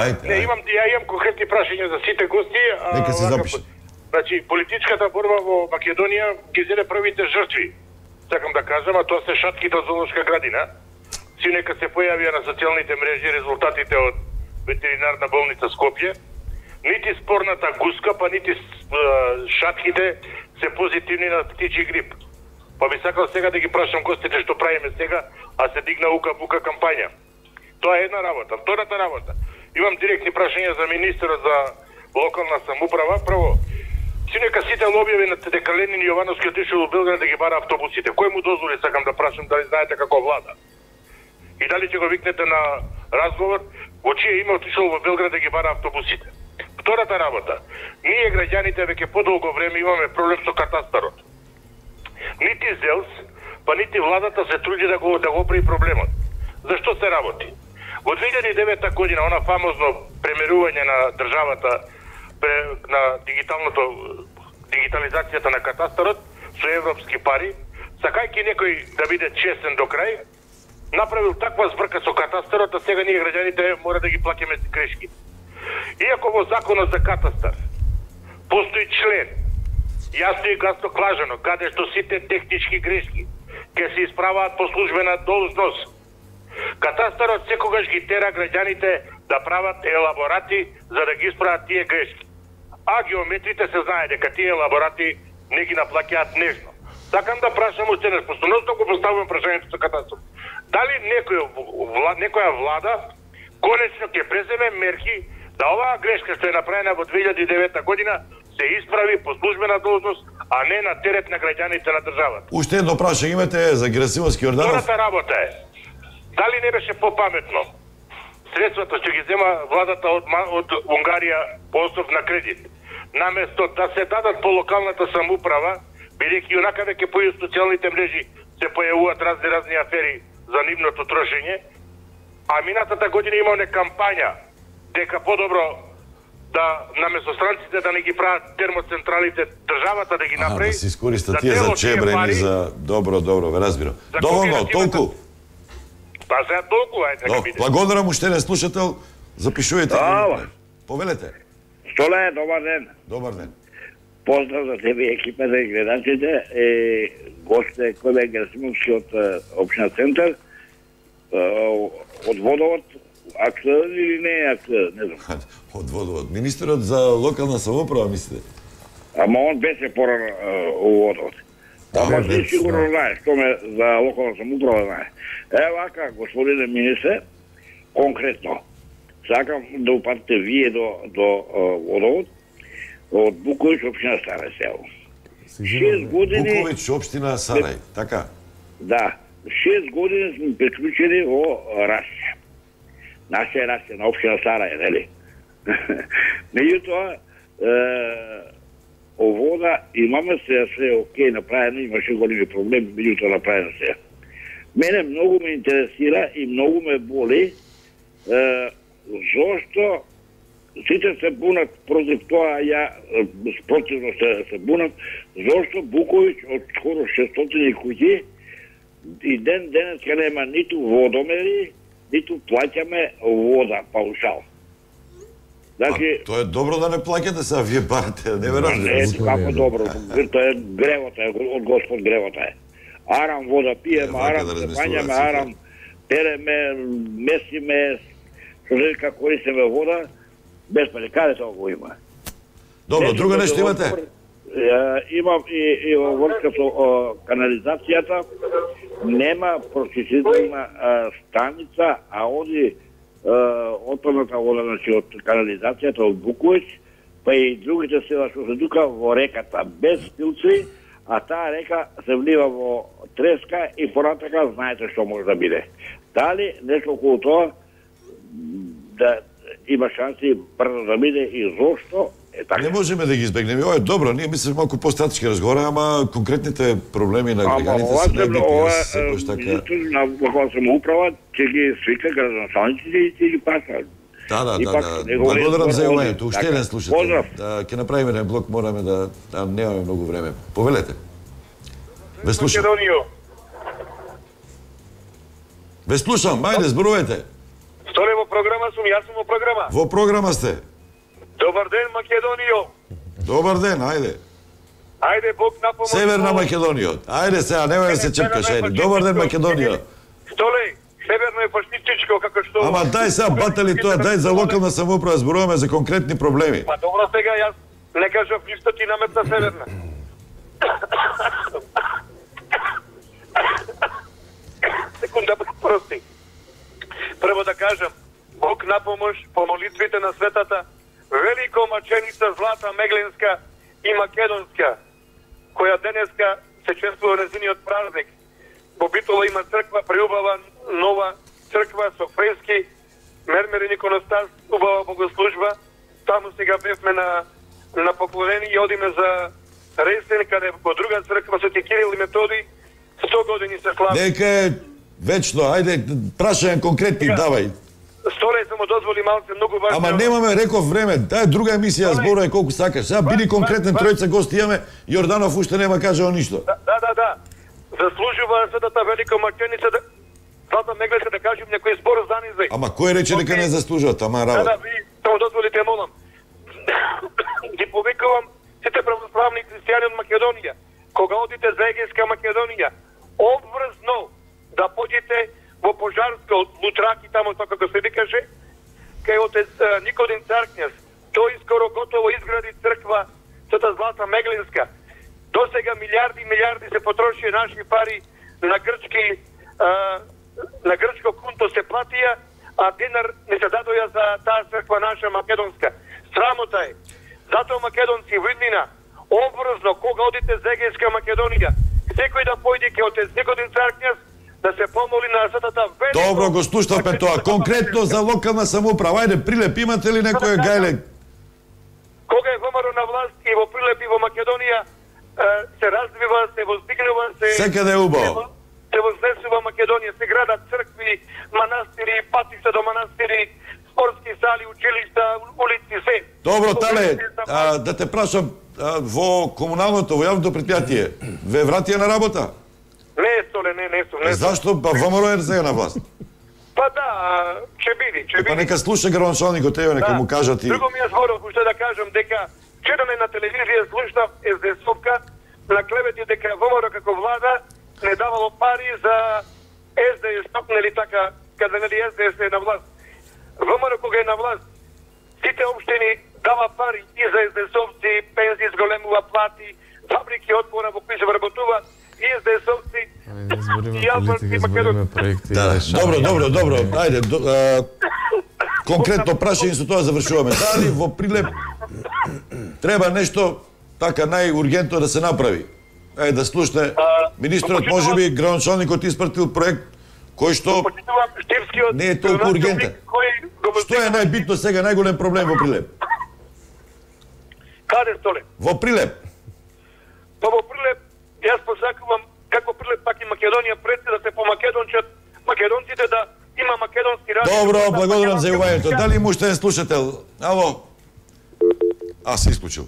Ајде, не, имам, ја имам конкретни прашања за сите гости. Нека се запише. Значи, политичката борба во Македонија ги зеде првите жртви. Сакам да кажам, а тоа се шатките од зоолошка градина. Синека се појавија на социјалните мрежи резултатите од ветеринарна болница Скопје. Нити спорната гуска, па нити шатките се позитивни на птичи грип. Па би сакал сега да ги прашам гостите што правиме сега, а се дигна ука-бука кампања. Тоа е една работа. Втората работа. Имам директни прашања за министерот за локална самоуправа. Прво, Си нека сите објави на дека Ленин и Јовановски отишол во Белград да ги бара автобусите. Кој му дозволи, сакам да прашам, дали знаете како влада? И дали ќе го викнете на разговор, во чие име отишол во Белград да ги бара автобусите? Втората работа, ние граѓаните веќе подолго време имаме проблем со катастарот. Нити ЗЕЛС, па нити владата се труди да го да го оправи проблемот. Зашто се работи? Во две илјади и девета година, она фамозно премерување на државата на дигиталното дигитализацијата на катастарот со европски пари, сакајќи некој да биде честен до крај, направил таква збрка со катастарот, а сега ние граѓаните мора да ги плаќаме грешки. Иако во законот за катастар постои член, јасно и гасно клажено, каде што сите технички грешки ќе се исправаат по службена должност. Катастарот секогаш ги тера граѓаните да прават елаборати за да ги исправат тие грешки. А геометрите се знае дека тие елаборати не ги наплаќаат нежно. Сакам да прашам уште нешто, постојано го поставувам прашањето со катастар. Дали некој некоја влада конечно ќе преземе мерки да оваа грешка што е направена во две илјади и девета година се исправи по службена должност, а не на терет на граѓаните на државата. Уште едно прашање имате за Герасимовски Јорданов? Втората работа е, дали не беше попаметно средствата што ги зема владата од, од Унгарија по основ на кредит, наместо да се дадат по локалната самоуправа, бидејќи онака веќе по социјалните мрежи се појавуваат разни разни афери за нивното трошење, а минатата година имаме кампања дека подобро да наместо странците да не ги прават термоцентралите, државата да ги направи. Да се искористат тие за чебрени, за добро, добро, ве разбирам. Доволно, толку. Па сега толку, ајде да биде. Благодарам уште еден слушател, запишувате. Ало. Повелете. Столе, добар ден. Добар ден. Поздрав за тебе и екипата и гледачите. Е, гост е Којбе Герасимовски од општина Центар. Од водовод, актуелен или не е актуелен, не знам. Од водовод. Министерот за локална самоуправа, мислите? Ама он беше порано у водовод. Ама ти сигурно знаеш, што ме за локална самоуправа знае. Е, вака, господине министре, конкретно, сакам да упатите вие до, до водовод, од Буковиќ, општина Сарај село. Шест години... Буковиќ, општина Сарај, така? Да. Шест години сме приклучени во Расе. Наша е Расе, на општина Сарај, нели? Меѓутоа, о вода имаме се, се окей направено, имаше големи проблеми, меѓутоа направено се. Мене многу ме интересира и многу ме боли е, зошто сите се бунат против тоа, ја спротивно се, се бунат, зошто Буковиќ од скоро шестстотини куќи и ден денеска нема ниту водомери, ниту плаќаме вода паушал. Значи, тоа е добро да не плаќате сега, вие барате, не ве разбирам. Не, како добро, тоа е гревота, е од Господ гревота е. Арам вода пиеме, арам се пањаме, арам переме, месиме, што користиме вода, без пари, каде тоа го има? Добро, друго нешто имате? Имам и во врска со канализацијата, нема прочистителна станица, а оди отпадната вода, значи од канализацијата од Буковиќ, па и другите села што се тука во реката без филтри, а таа река се влива во треска и понатака знаете што може да биде. Дали нешто околу тоа да има шанси брзо да биде и зошто е така? Не можеме да ги избегнеме. Ова е добро, ние мислиме малку по-стратешки разговора, ама конкретните проблеми на граѓаните се најбитни. Секојаш така. На локална самоуправа ќе ги свика градоначалниците и ќе ги пасат. Да, да, да, да. Благодарам за јавањето. Уште еден слушател. Ќе направиме еден блок, мораме да немаме многу време. Повелете. Ве слушам. Ве слушам, ајде, зборувајте. Столе во програма сум, јас сум во програма. Во програма сте. Добар ден, Македонијо. Добар ден, ајде. Ајде, Бог напомогне. Северна Македонија. Ајде сега, немој да се чепкаш, ајде. Добар ден, Македонија. Столе, северно е фашистичко, како што... Ама дај сега батали тоа, дај за локална самоуправа, зборуваме за конкретни проблеми. Па добро сега, јас не кажав ништо, ти наметна северна. Секунда, прости. Прво да кажам, Бог напомош по молитвите на светата, велико маченица Злата Мегленска и македонска, која денеска се чествува незиниот празник. Во Битола има црква, преубава нова црква со фрески, мермерен иконостас, убава богослужба. Таму сега бевме на на поклонение и одиме за Ресен, каде во друга црква со Кирил и Методи сто години се слави. Нека е вечно, ајде, прашање конкретни, давај. Столе само дозволи малце многу важно. Ама немаме, реков, време, таа е друга емисија, зборувај колку сакаш. Сега биди конкретен, тројца гости имаме, Јорданов уште нема кажал ништо. Да, да, да, да. Заслужува светата велика македоница да Злата Меглеска да кажем некој збор за низај. Ама кој рече дека не заслужува, тама работа? Да, да, ви само дозволите, молам. Ги повикувам сите православни христијани од Македонија. Кога одите за Егејска Македонија, обврзно да поđете во Пожарска од Лутраки, тамо тоа како се викаше, кај отец Никодим Царкњас. Тој скоро готово изгради црква Света Злата Меглинска. Досега милиарди и милиарди се потрошија наши пари на грчки а, на грчко кунто се платија, а денар не се дадоја за таа црква наша македонска. Срамота е. Затоа македонци во иднина обврзно кога одите за Егејска Македонија, секој да појде ке отец Никодим Царкњас да се помоли на светата велика. Добро, го слушнавме тоа. Конкретно за локална самоуправа. Ајде, Прилеп, имате ли некој гајле? Кога е ВМРО на власт и во Прилеп и во Македонија се развива, се воздигнува, се секаде е убаво. Се вознесува Македонија, се градат цркви, манастири, патишта до манастири, спортски сали, училишта, улици, се. Добро, Тале, а, да те прашам, а, во комуналното, во јавното предпријатие, ве вратија на работа? Не, Столе, не, не сум. Не сум. Зашто? Па ВМРО е сега на власт. Па да, ќе биди, ќе биди. Па нека слуша градоначалникот, ево, нека да. му кажат и... Друго ми е зборов, уште да кажам, дека вчера на телевизија слушнав ес-де-есовка на клевети дека ВМРО како влада не давало пари за ес-де-ес, нели така, каде нели ес-де-ес е на власт. ВМРО кога е на власт, сите општини дава пари и за ес-де-есовци, пензии зголемува плати, фабрики отвора во кои се вработуваат, и ес-де-есовци, и албански македонци. Да, добро, добро, добро. Ајде, до, а, конкретно прашање со тоа завршуваме. Дали во Прилеп треба нешто така најургентно да се направи? Ајде да слушне министрот, можеби градоначалникот испратил проект кој што не е толку ургентен. Што е најбитно сега, најголем проблем во Прилеп? Каде, Столе? Во Прилеп. Па во Прилеп, јас посакувам како Прилеп, пак и Македонија пред да се помакедончат македонците, да има македонски радио. Добро, благодарам за јавувањето. Дали има уште слушател? Ало? А, се исклучил.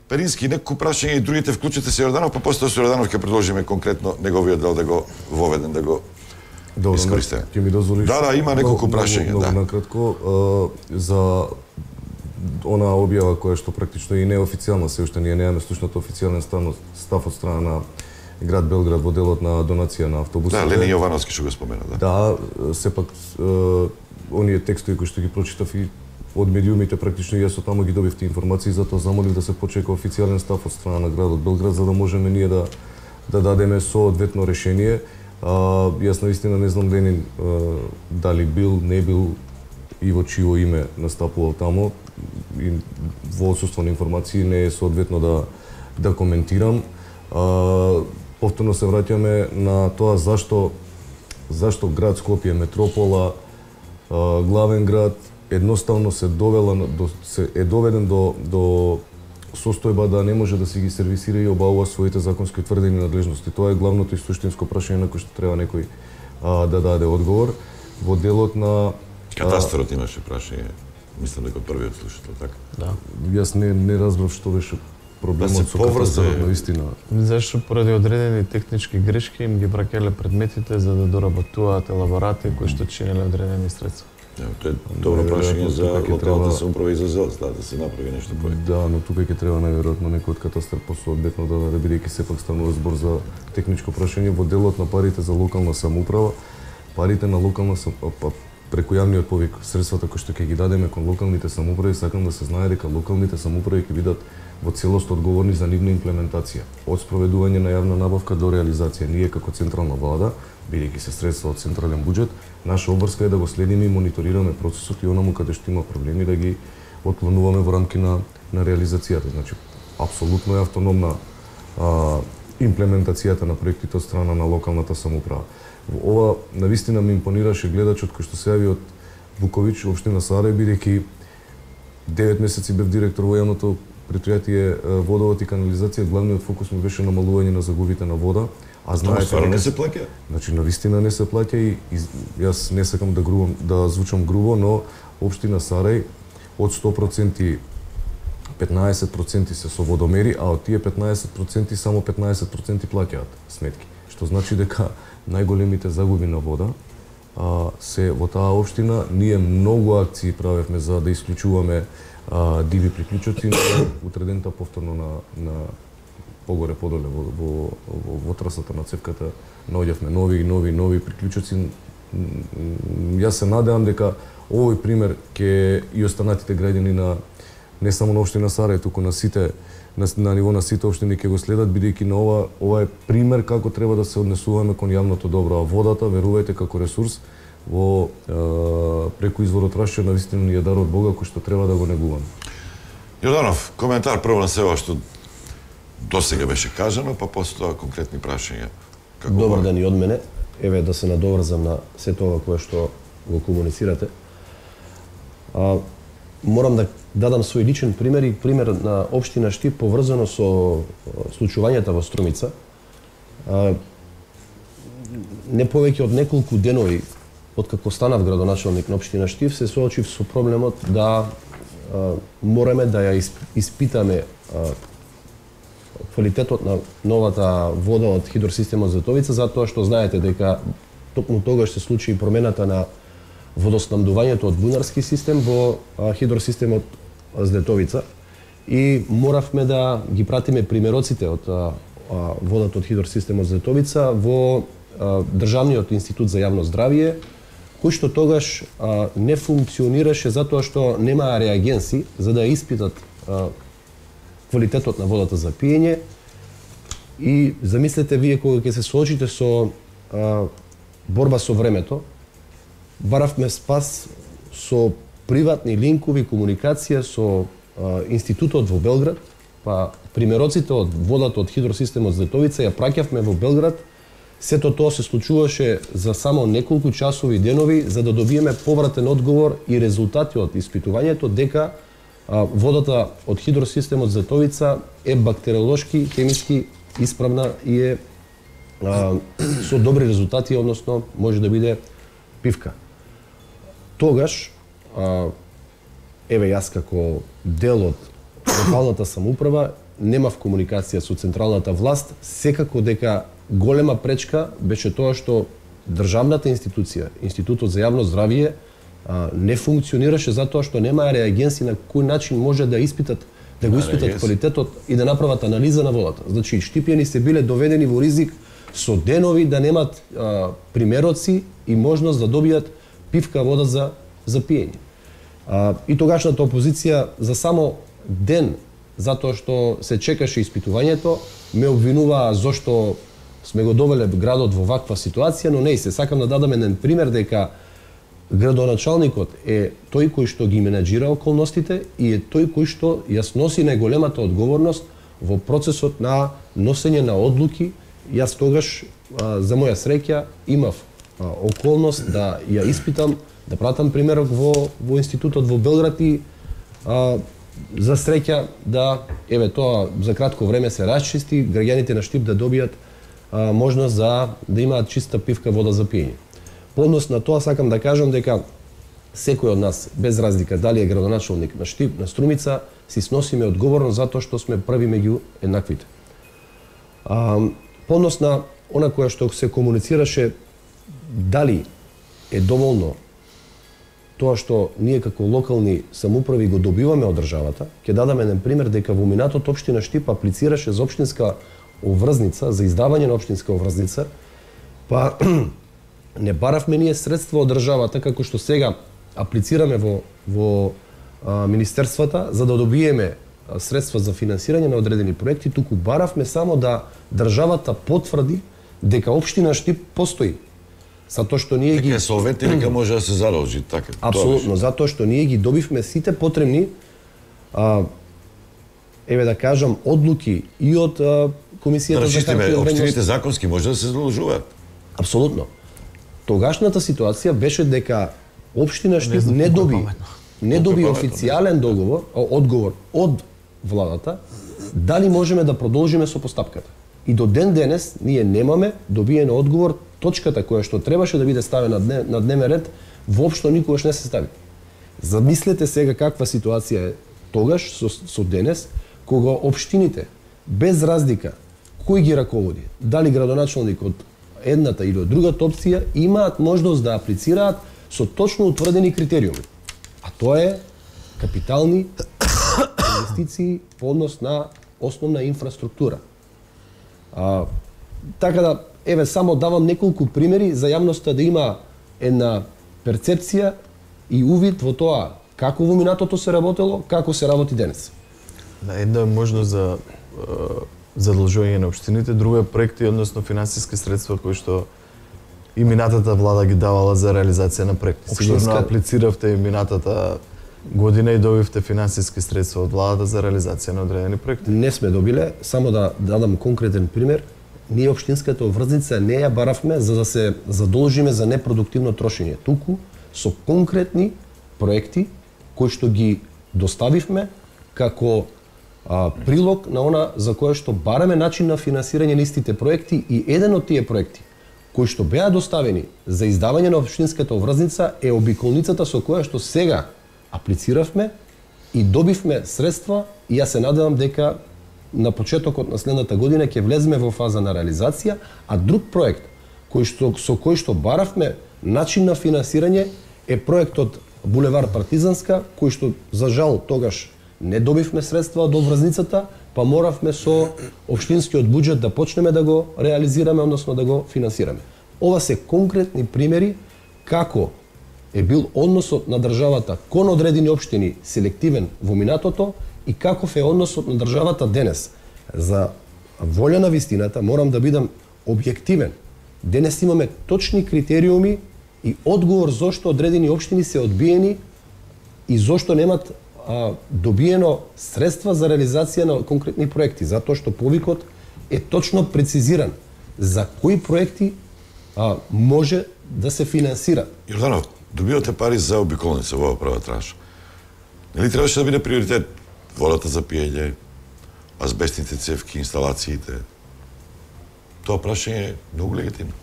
Перински, некој прашање и другите вклучите се Јорданов, па после со Јорданов ќе продолжиме конкретно неговиот дел да го воведен, да го искористиме. Ќе ми дозволиш? Да, да, има неколку прашања, да. Да. Накратко, за она објава која што практично и неофицијална, се уште ние немаме слушнат официјален став од страна на град Белград во делот на донација на автобусите. Да, Лени Јовановски што го спомена, да. Да, сепак оние текстови кои што ги прочитав и од медиумите практично јас од таму ги добив тие информации, затоа замолив да се почека официјален став од страна на градот Белград за да можеме ние да да дадеме соодветно решение. А, јас наистина не знам Ленин а, дали бил, не бил и во чио име настапувал таму и во отсуство на информации не е соодветно да да коментирам. А, повторно се враќаме на тоа зашто зашто град Скопје, метропола, а, главен град едноставно се довела до се е доведен до до состојба да не може да си ги сервисира и обавува своите законски утврдени надлежности. Тоа е главното и суштинско прашање на кое што треба некој а, да даде одговор. Во делот на Катастарот имаше прашање. Мислам дека првиот слушател, така? Да. Јас не не разбрав што беше проблемот да со катастарот наистина. Зашто поради одредени технички грешки им ги браќале предметите за да доработуваат елаборати кои што чинеле одредени средства. Ja, тоа е добро прашање за локалната самоуправа и за ЗЕЛС, да, да се направи нешто проект. Да, но тука ќе треба најверојатно некој од катастар посоодветно да даде, бидејќи сепак станува збор за техничко прашање во делот на парите за локална самоуправа. Парите на локална самоуправа, преку јавниот повик, средствата кои што ќе ги дадеме кон локалните самоуправи, сакам да се знае дека локалните самоуправи ќе бидат во целост одговорни за нивна имплементација, од спроведување на јавна набавка до реализација. Ние како централна влада, бидејќи се средства од централен буџет, наша обврска е да го следиме и мониторираме процесот и онаму каде што има проблеми да ги отклонуваме во рамки на на реализацијата. Значи, апсолутно е автономна а, имплементацијата на проектите од страна на локалната самоуправа. Ова навистина ми импонираше гледачот кој што се јави од Букович, општина Сарај, бидејќи девет месеци бев директор во јавното предпријатие Водовод и канализација, главниот фокус ми беше намалување на загубите на вода, а знаете стварно не се плаќа. Значи навистина не се плаќа и, и јас не сакам да грубам, да звучам грубо, но општина Сарај од сто проценти петнаесет проценти се со водомери, а од тие петнаесет проценти само петнаесет проценти плаќаат сметки, што значи дека најголемите загуби на вода а, се во таа општина. Ние многу акции правевме за да исклучуваме а, диви приклучоци, но утредента повторно на, на погоре подоле во, во, во, во трасата на цевката наоѓавме нови и нови нови приклучоци. Јас се надевам дека овој пример ќе и останатите граѓани на не само на општина Сарај, туку на сите на, на ниво на сите општини ќе го следат, бидејќи на ова ова е пример како треба да се однесуваме кон јавното добро. А водата, верувајте, како ресурс во е, преку изворот Рашче навистина ни е дар од Бога кој што треба да го негуваме. Јорданов, коментар прво на се ова што досега беше кажано, па после тоа конкретни прашања. Како Добар ден и од мене. Еве да се надоврзам на сето ова кое што го комуницирате. А, морам да дадам свој личен пример и пример на општина Штип поврзано со случувањата во Струмица. А, не повеќе од неколку денови откако станав градоначалник на општина Штип, се соочив со проблемот да а, мораме да ја испитаме а, квалитетот на новата вода од хидросистемот Зетовица, затоа што знаете дека токму тогаш се случи и промената на водоснабдувањето од бунарски систем во а, хидросистемот Зетовица и моравме да ги пратиме примероците од а, а, водата од хидросистемот Зетовица во а, Државниот институт за јавно здравје, кој што тогаш а, не функционираше затоа што немаа реагенси за да испитат а, квалитетот на водата за пиење. И замислете вие кога ќе се соочите со а, борба со времето, баравме спас со приватни линкови, комуникација со а, институтот во Белград, па примероците од водата од хидросистемот Зетовица ја праќавме во Белград. Сето тоа се случуваше за само неколку часови и денови за да добиеме повратен одговор и резултати од испитувањето дека а, водата од хидросистемот Зетовица е бактериолошки, хемиски исправна и е а, со добри резултати, односно може да биде пивка. Тогаш, а, еве јас како дел од локалната самоуправа немав комуникација со централната власт, секако дека голема пречка беше тоа што државната институција, Институтот за јавно здравје, а, не функционираше затоа што немаа реагенси на кој начин може да испитат да го испитат квалитетот и да направат анализа на водата. Значи, Штипјани се биле доведени во ризик со денови да немат а, примероци и можност да добијат пивка вода за за пиење. А, и тогашната опозиција за само ден, затоа што се чекаше испитувањето, ме обвинуваа зошто сме го довеле градот во ваква ситуација, но не и се сакам да дадам еден пример дека градоначалникот е тој кој што ги менаџира околностите и е тој кој што јас носи најголемата одговорност во процесот на носење на одлуки. Јас тогаш, а, за моја среќа, имав а, околност да ја испитам, да пратам примерок во, во институтот во Белград и а, за среќа да, еве тоа за кратко време се расчисти, граѓаните на Штип да добијат а, можност за да имаат чиста пивка вода за пиење. По однос на тоа сакам да кажам дека секој од нас, без разлика дали е градоначалник на Штип, на Струмица, си сносиме одговорност затоа што сме први меѓу еднаквите. А, по однос на она која што се комуницираше, дали е доволно тоа што ние како локални самоуправи го добиваме од државата, ќе дадам еден пример дека во минатот општина Штип аплицираше за општинска оврзница, за издавање на општинска оврзница, па не баравме ние средства од државата како што сега аплицираме во во а, министерствата за да добиеме а, средства за финансирање на одредени проекти, туку баравме само да државата потврди дека општина Штип постои. Затоа што ние ги дека солвентни, дека може да се заложи така. Апсолутно, затоа што ние ги добивме сите потребни а, еве да кажам, одлуки и од а, комисијата да за харта од општините вредност. законски може да се задолжуваат. Апсолутно. Тогашната ситуација беше дека општина Штип не, не доби не доби официјален договор, одговор од владата дали можеме да продолжиме со постапката. И до ден денес ние немаме добиен одговор, точката која што требаше да биде ставена на дневен ред воопшто никогаш не се стави. Замислете сега каква ситуација е тогаш со, со денес, кога општините без разлика кој ги раководи, дали градоначалник од едната или од другата опција, имаат можност да аплицираат со точно утврдени критериуми. А тоа е капитални инвестиции по однос на основна инфраструктура. А, така да, еве, само давам неколку примери за јавноста да има една перцепција и увид во тоа како во минатото се работело, како се работи денес. Да, една е можност за задолжување на општините, друга е проекти, односно финансиски средства кои што и минатата влада ги давала за реализација на проекти. Општинска... Сигурно аплициравте и минатата година и добивте финансиски средства од владата за реализација на одредени проекти. Не сме добиле, само да дадам конкретен пример. Ние општинската обврзница не ја баравме за да се задолжиме за непродуктивно трошење, туку со конкретни проекти кои што ги доставивме како а, прилог на она за кое што бараме начин на финансирање на истите проекти, и еден од тие проекти кои што беа доставени за издавање на општинската обврзница е обиколницата со која што сега аплициравме и добивме средства, и јас се надевам дека на почетокот на следната година ќе влеземе во фаза на реализација, а друг проект кој што со кој што баравме начин на финансирање е проектот Булевар Партизанска, кој што за жал тогаш не добивме средства од обврзницата, па моравме со општинскиот буџет да почнеме да го реализираме, односно да го финансираме. Ова се конкретни примери како е бил односот на државата кон одредени општини селективен во минатото и каков е односот на државата денес. За волја на вистината морам да бидам објективен. Денес имаме точни критериуми и одговор зошто одредени општини се одбиени и зошто немат а, добиено средства за реализација на конкретни проекти, затоа што повикот е точно прецизиран за кои проекти а, може да се финансира. Јорданов, добивате пари за обиколница во оваа прва транша. Нели требаше да биде приоритет водата за пиење, азбестните цевки, инсталациите? Тоа прашање е многу легитимно.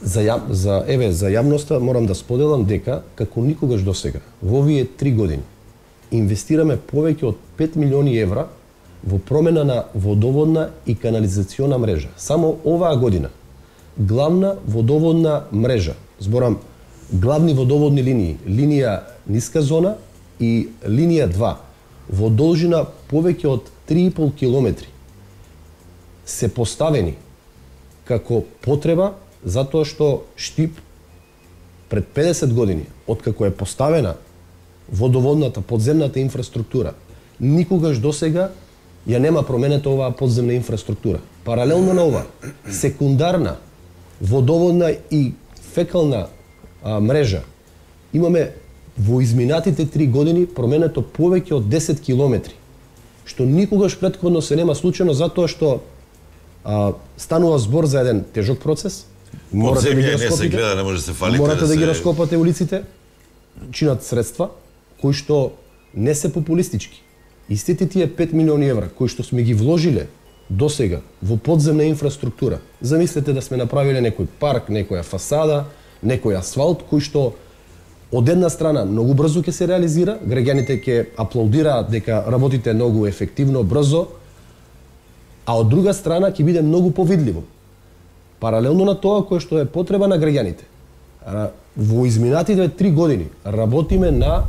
За, ја, за, еве, за јавноста морам да споделам дека, како никогаш досега, во овие три години, инвестираме повеќе од пет милиони евра во промена на водоводна и канализациона мрежа. Само оваа година, главна водоводна мрежа, зборам, главни водоводни линии, линија ниска зона и линија два, во должина повеќе од три и пол километри, се поставени како потреба, затоа што Штип пред педесет години, откако е поставена водоводната, подземната инфраструктура, никогаш досега ја нема променета оваа подземна инфраструктура. Паралелно на ова, секундарна водоводна и фекална а, мрежа, имаме во изминатите три години променето повеќе од десет километри, што никогаш претходно се нема случајно, затоа што а, станува збор за еден тежок процес. Морате да ги раскопите, гледа, не може да се фалите, морате да, да ги се... раскопате улиците, чинат средства кои што не се популистички. Истите тие пет милиони евра кои што сме ги вложиле досега во подземна инфраструктура. Замислете да сме направиле некој парк, некоја фасада, некој асфалт кој што од една страна многу брзо ќе се реализира, граѓаните ќе аплаудираат дека работите многу ефективно, брзо, а од друга страна ќе биде многу повидливо. Паралелно на тоа кое што е потреба на граѓаните. Во изминатите три години работиме на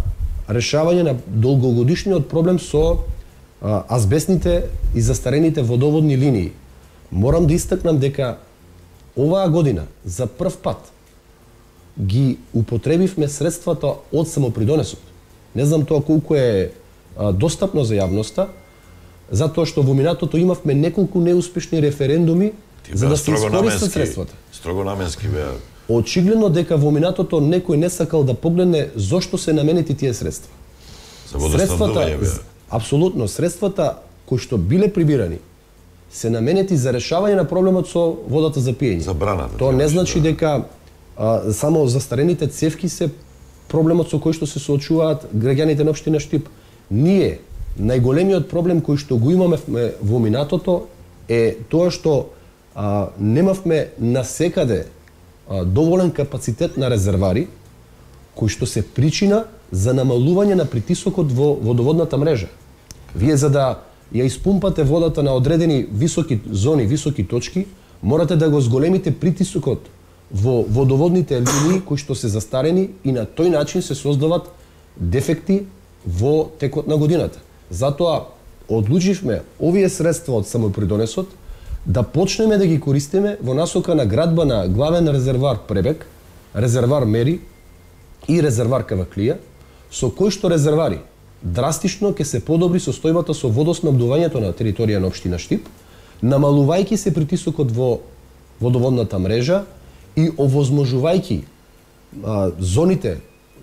решавање на долгогодишниот проблем со а, азбестните и застарените водоводни линии. Морам да истакнам дека оваа година за прв пат ги употребивме средствата од самопридонесот. Не знам тоа колку е а, достапно за јавноста, затоа што во минатото имавме неколку неуспешни референдуми за да се искористат средствата. Строго наменски беа. Очигледно дека во минатото некој не сакал да погледне зошто се наменети тие средства. За водоснабдување беа. Апсолутно, средствата кои што биле прибирани се наменети за решавање на проблемот со водата за пиење. Забраната. Тоа не значи дека а, само застарените цевки се проблемот со кој што се соочуваат граѓаните на општина Штип. Ние најголемиот проблем кој што го имаме во минатото е тоа што а, немавме насекаде а, доволен капацитет на резервари кои што се причина за намалување на притисокот во водоводната мрежа. Вие за да ја испумпате водата на одредени високи зони, високи точки, морате да го зголемите притисокот во водоводните линии кои што се застарени и на тој начин се создават дефекти во текот на годината. Затоа одлучивме овие средства од самопридонесот да почнеме да ги користиме во насока на градба на главен резервар Пребек, резервар Мери и резервар Каваклија, со кои што резервари драстично ќе се подобри состојбата со водоснабдувањето на територија на општина Штип, намалувајќи се притисокот во водоводната мрежа и овозможувајќи а, зоните,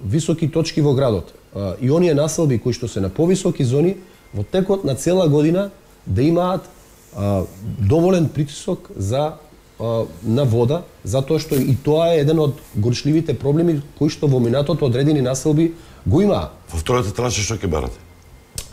високи точки во градот а, и оние населби кои што се на повисоки зони во текот на цела година да имаат а, доволен притисок за а, на вода, затоа што и тоа е еден од горчливите проблеми кои што во минатото одредени населби го имаа. Во втората транша што ќе барате?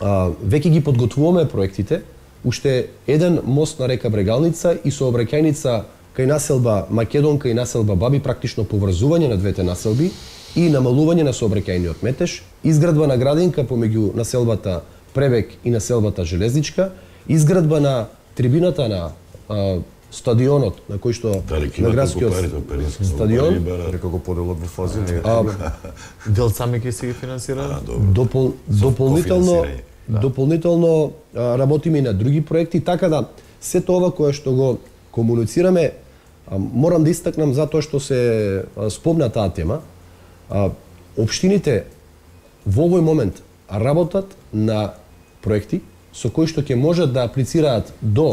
А, веќе ги подготвуваме проектите, уште еден мост на река Брегалница и сообраќајница кај населба Македонка и населба Баби, практично поврзување на двете населби и намалување на сообраќајниот метеж, изградба на градинка помеѓу населбата Пребек и населбата Железничка, изградба на трибината на а, стадионот на кој што на градскиот стадион, дека го поделат во фази, не е дел сами ќе се ги финансираат. Допол, дополнително дополнително а, работиме и на други проекти, така да сето ова кое што го комуницираме, а, морам да истакнам затоа што се а, спомна таа тема. А, општините во овој момент работат на проекти со кои што ќе можат да аплицираат до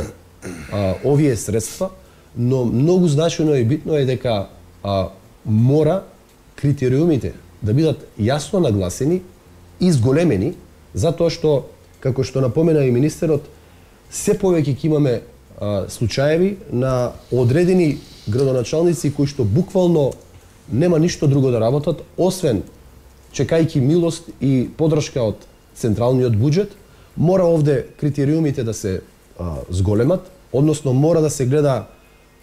а, овие средства, но многу значено и битно е дека а, мора критериумите да бидат јасно нагласени и зголемени, затоа што, како што напомена и министерот, се повеќе ќе имаме а, случаеви на одредени градоначалници кои што буквално нема ништо друго да работат, освен чекајќи милост и подршка од централниот буџет. Мора овде критериумите да се а, зголемат, односно мора да се гледа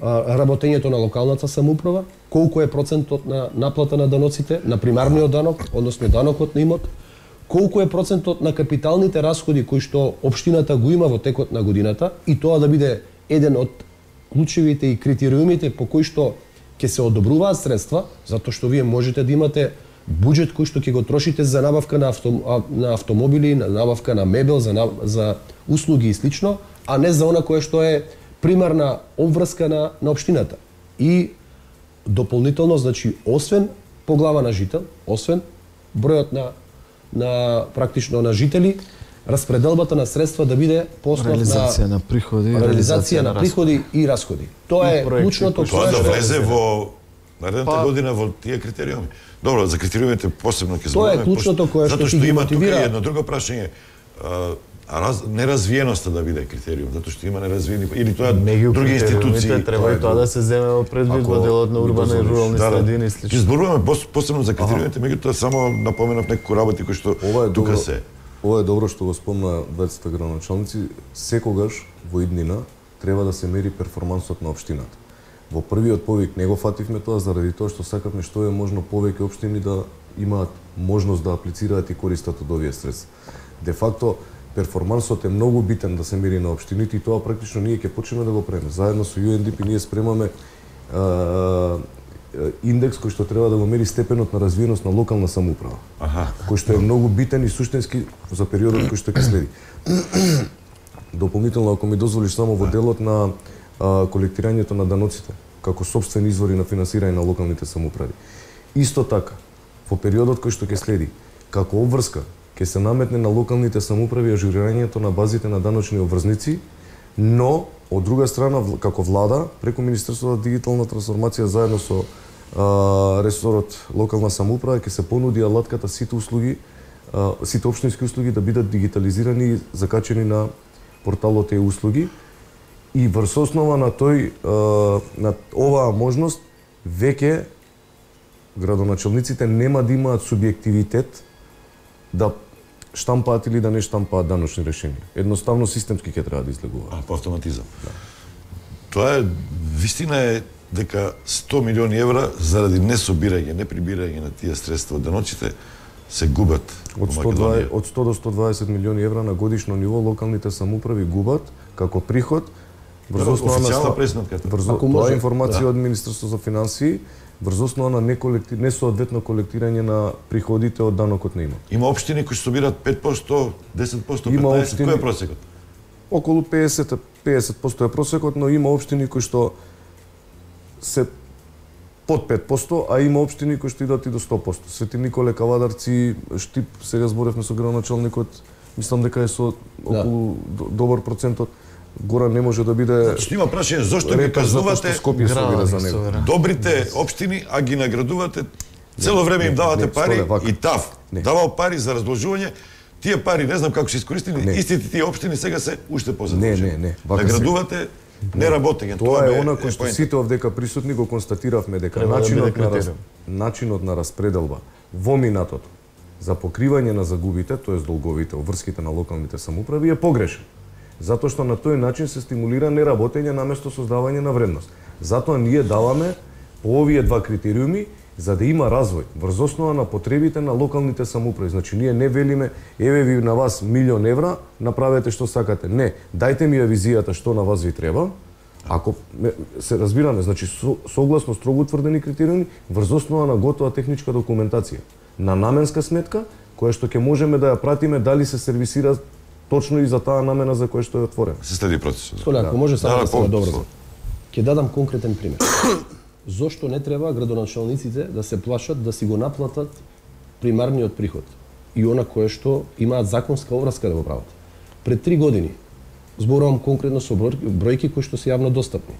а, работењето на локалната самоуправа, колку е процентот на наплата на даноците, на примарниот данок, односно данокот на имот, колку е процентот на капиталните расходи кои што општината го има во текот на годината, и тоа да биде еден од клучевите и критериумите по кои што ќе се одобруваат средства, затоа што вие можете да имате буџет кој што ќе го трошите за набавка на, авто, на автомобили, на набавка на мебел, за, за услуги и слично, а не за она кое што е примарна обврска на, на општината. И дополнително, значи, освен по глава на жител, освен бројот на, на практично на жители, распределбата на средства да биде по основ реализација на, на приходи, реализација на приходи и расходи. Тоа е клучното. Тоа да влезе во наредната па, година во тие критериуми. Добро, за критериумите посебно ќе зборуваме. Тоа е клучното кое што ќе ги мотивира. Затоа што има тука едно друго прашање, а раз, неразвиеноста да биде критериум, затоа што има неразвиени или тоа други институции. Треба и тоа да се земе во предвид во делот на урбани и рурални средини и слично. Ќе зборуваме посебно за критериумите, меѓутоа само напоменав некои работи кои што тука се. Ова е добро што го спомна дваесет градоначалници. Секогаш во иднина треба да се мери перформансот на општината. Во првиот повик не го фативме тоа заради тоа што сакавме што е можно повеќе општини да имаат можност да аплицираат и користат од овие средства. Де факто перформансот е многу битен да се мери на општините и тоа практично ние ќе почнеме да го правиме. Заедно со Ю Ен Ди Пи ние спремаме а, индекс кој што треба да го мери степенот на развиеност на локална самоуправа. Аха. Кој што е многу битен и суштински за периодот кој што ќе следи. Дополнително, ако ми дозволиш, само во делот на а, колектирањето на даноците како сопствени извори на финансирање на локалните самоуправи. Исто така, во периодот кој што ќе следи, како обврска ќе се наметне на локалните самоуправи ажурирањето на базите на даночни обврзници, но од друга страна како влада преку Министерството за дигитална трансформација заедно со а, ресорот локална самоуправа ќе се понуди алатката сите услуги, а, сите општински услуги да бидат дигитализирани и закачени на порталот е услуги и врз основа на тој на оваа можност веќе градоначалниците нема да имаат субјективитет да штампаат или да не штампаат даночни решенија. Едноставно системски ќе треба да излегуваат. А, по автоматизам. Да. Тоа е, вистина е дека сто милиони евра заради несобирање, неприбирање на тие средства од даноците се губат од сто дваесет, од сто до сто дваесет милиони евра на годишно ниво локалните самоуправи губат како приход врз основа на официјална пресметката. Врз тоа е информација од Министерството за финансии врз основа на неколектив, несоодветно колектирање на приходите од данокот на имот. Има општини кои собираат пет општо, десет општо, Има петнаесет општини- кој е просекот? Околу педесет педесет општо е просекот, но има општини кои што се под пет општо, а има општини кои што идат и до сто општо. Свети Николе, Кавадарци, Штип, сега зборевме со градоначалникот, мислам дека е со околу да. добар процентот. Гора не може да биде. Значи има прашање зошто ги репер затоа казнувате што Скопје собира за него. добрите општини, а ги наградувате цело време им давате не, пари Сторе, вака. и ТАФ давал пари за разложување. Тие пари не знам како се искористени, Не. истите тие општини сега се уште Не, позадолжени. не, не. Вака се- Наградувате неработење. Тоа ме е она кој е што поента. сите овдека присутни го констатиравме дека Треба да начинот биде на раз, критериум. начинот на распределба во минатото за покривање на загубите, тоест долговите, врските на локалните самоуправи е погрешен. Затоа што на тој начин се стимулира неработење наместо создавање на вредност. Затоа ние даваме по овие два критериуми за да има развој врз основа на потребите на локалните самоуправи. Значи ние не велиме еве ви на вас милион евра, направете што сакате. Не, дајте ми ја визијата што на вас ви треба. Ако ме- се разбираме, значи со, согласно строго утврдени критериуми врз основа на готова техничка документација на наменска сметка која што ќе можеме да ја пратиме дали се сервисира точно и за таа намена за која што е отворена. Се следи процесот. Столе, ако може само Да, да се по- надобрзам. Ќе дадам конкретен пример. Зошто не треба градоначалниците да се плашат да си го наплатат примарниот приход и она кое што имаат законска обврска да го прават? Пред три години, зборувам конкретно со број- бројки кои што се јавно достапни,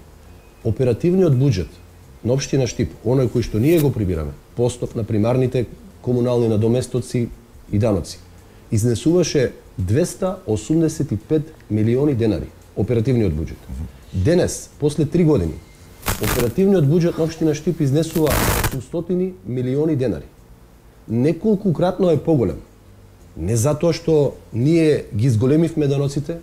оперативниот буџет на општина Штип, оној кој што ние го прибираме, по основ на примарните комунални надоместоци и даноци, изнесуваше двеста осумдесет и пет милиони денари, оперативниот буџет. Денес, после три години, оперативниот буџет на општина Штип изнесува осумстотини милиони денари. Неколкукратно е поголем. Не затоа што ние ги изголемивме даноците,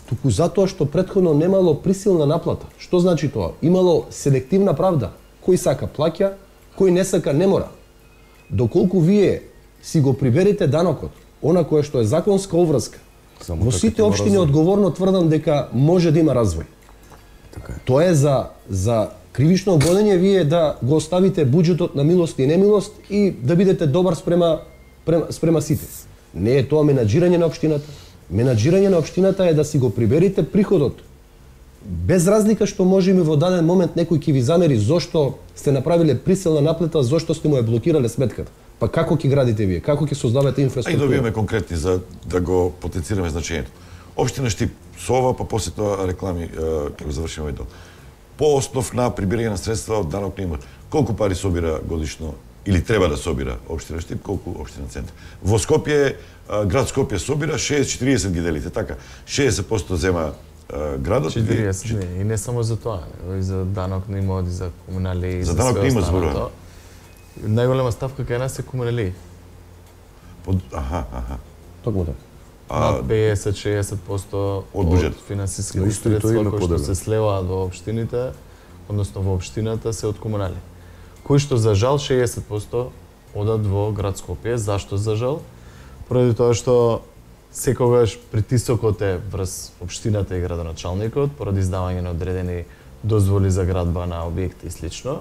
туку затоа што претходно немало присилна наплата. Што значи тоа? Имало селективна правда. Кој сака плаќа, кој не сака не мора. Доколку вие си го приберете данокот, она кое што е законска обврска, Само во така сите ќе има општини развој. одговорно тврдам дека може да има развој. Така е. Тоа е за за кривично гонење вие да го оставите буџетот на милост и немилост и да бидете добар спрема спрема, спрема сите. Не е тоа менаџирање на општината. Менаџирање на општината е да си го приберите приходот. Без разлика што може и во даден момент некој ќе ви замери зошто сте направиле присилна наплата, зошто сте му ја блокирале сметката. Па како ќе градите вие? Како ќе создавате А и инфраструктура? добиваме конкретни за да го потенцираме значењето. Општина Штип, со ова, па после тоа реклами, е, како завршиме овој дел. По основ на прибирање на средства од данок на имот, колку пари собира годишно или треба да собира општина Штип, колку општина Центар? Во Скопје, е, град Скопје собира шеесет четириесет ги делите, така. шеесет општо зема е, градот. четириесет, не, и не само за тоа, него и за данок на имот, и за комунали, и За за, данок све на имот останато. зборуваме. Најголема ставка кај нас е комунали. Под, аха, аха. Токму така. Над педесет до шеесет општо од буџет. Но финансиските исто и тоа средства има кои што поделено. се слеваат во општините, односно во општината, се од комунали. Кои што за жал шеесет општо одат во град Скопје. Зашто за жал? Поради тоа што секогаш притисокот е врз општината и градоначалникот, поради издавање на одредени дозволи за градба на објекти и слично.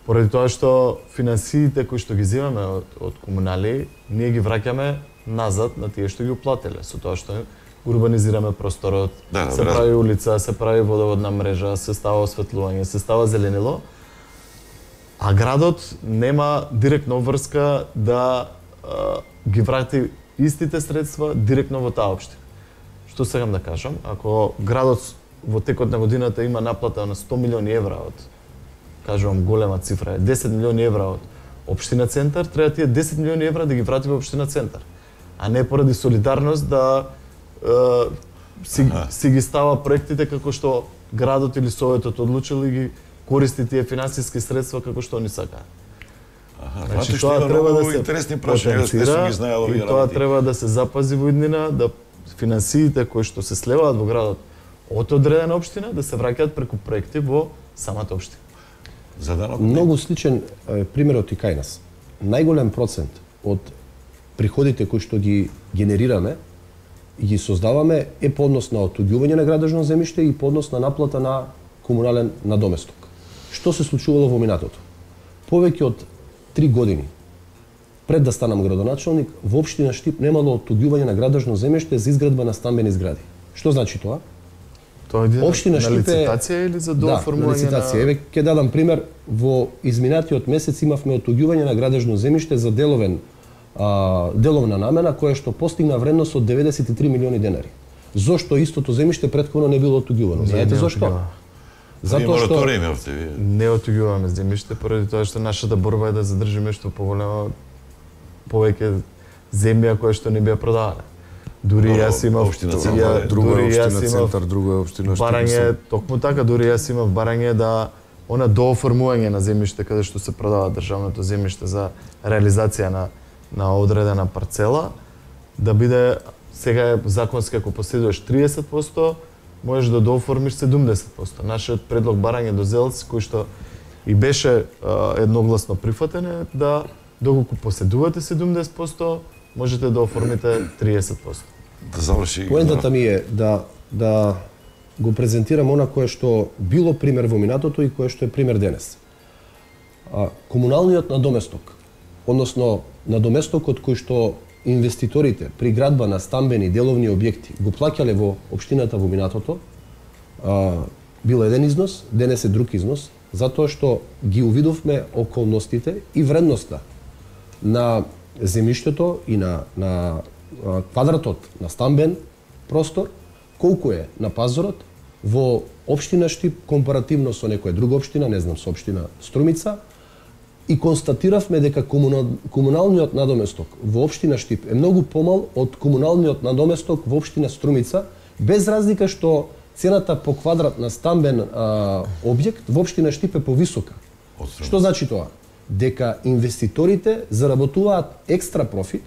Поради тоа што финансиите кои што ги земаме од, од комунали, ние ги враќаме назад на тие што ги уплателе, со тоа што урбанизираме просторот, Да, да, се да. прави улица, се прави водоводна мрежа, се става осветлување, се става зеленило, а градот нема директна обврска да а, ги врати истите средства директно во таа општина. Што сакам да кажам, ако градот во текот на годината има наплата на сто милиони евра од, кажувам голема цифра, е десет милиони евра од општина Центар, треба тие десет милиони евра да ги врати во општина Центар, а не поради солидарност да е, си, си ги става проектите како што градот или советот одлучил и ги користи тие финансиски средства како што они сакаат. Аха, значи, тоа треба да се интересни прашања, не сум ги знаел овие работи. И тоа треба да се запази во иднина, да финансиите кои што се слеваат во градот од одредена општина да се враќаат преку проекти во самата општина. За данок многу сличен е, примерот и кај нас. Најголем процент од приходите кои што ги генерираме и ги создаваме е по однос на отуѓување на градежно земјиште и по однос на наплата на комунален надоместок. Што се случувало во минатото? Повеќе од три години пред да станам градоначалник, во општина Штип немало отуѓување на градежно земјиште за изградба на стамбени згради. Што значи тоа? Тоа е општина на Штип лицитација или за дооформување? Да, на лицитација. Еве ќе дадам пример, во изминатиот месец имавме отуѓување на градежно земјиште за деловен а, деловна намена која што постигна вредност од деветдесет и три милиони денари. Зошто истото земјиште претходно не било отуѓувано? Знаете зошто? Затоа што не отуѓуваме земјиште поради тоа што нашата борба е да задржиме што поголема повеќе земја која што не бија продавана. Дури јас имав општина Центар, друга општина Центар, друга општина Штип. Барање, токму така, дури јас имав барање да она дооформување на земјиште каде што се продава државното земјиште за реализација на на одредена парцела, да биде сега е законски ако поседуваш триесет проценти, можеш да дооформиш седумдесет проценти. Нашиот предлог барање до ЗЕЛС, кој што и беше а, едногласно прифатен е да доколку поседувате седумдесет проценти, можете да оформите триесет проценти. Да заврши. Поентата ми е да да го презентирам она кое што било пример во минатото и кое што е пример денес. А, комуналниот надоместок, односно надоместокот кој што инвеститорите при градба на стамбени деловни објекти го плаќале во општината во минатото, а, бил еден износ, денес е друг износ, затоа што ги увидовме околностите и вредноста на земјиштето и на, на а, квадратот на стамбен простор, колку е на пазарот во општина Штип компаративно со некоја друга општина, не знам, со општина Струмица, и констатиравме дека комунал, комуналниот надоместок во општина Штип е многу помал од комуналниот надоместок во општина Струмица, без разлика што цената по квадрат на стамбен а, објект во општина Штип е повисока. Што значи тоа? Дека инвеститорите заработуваат екстра профит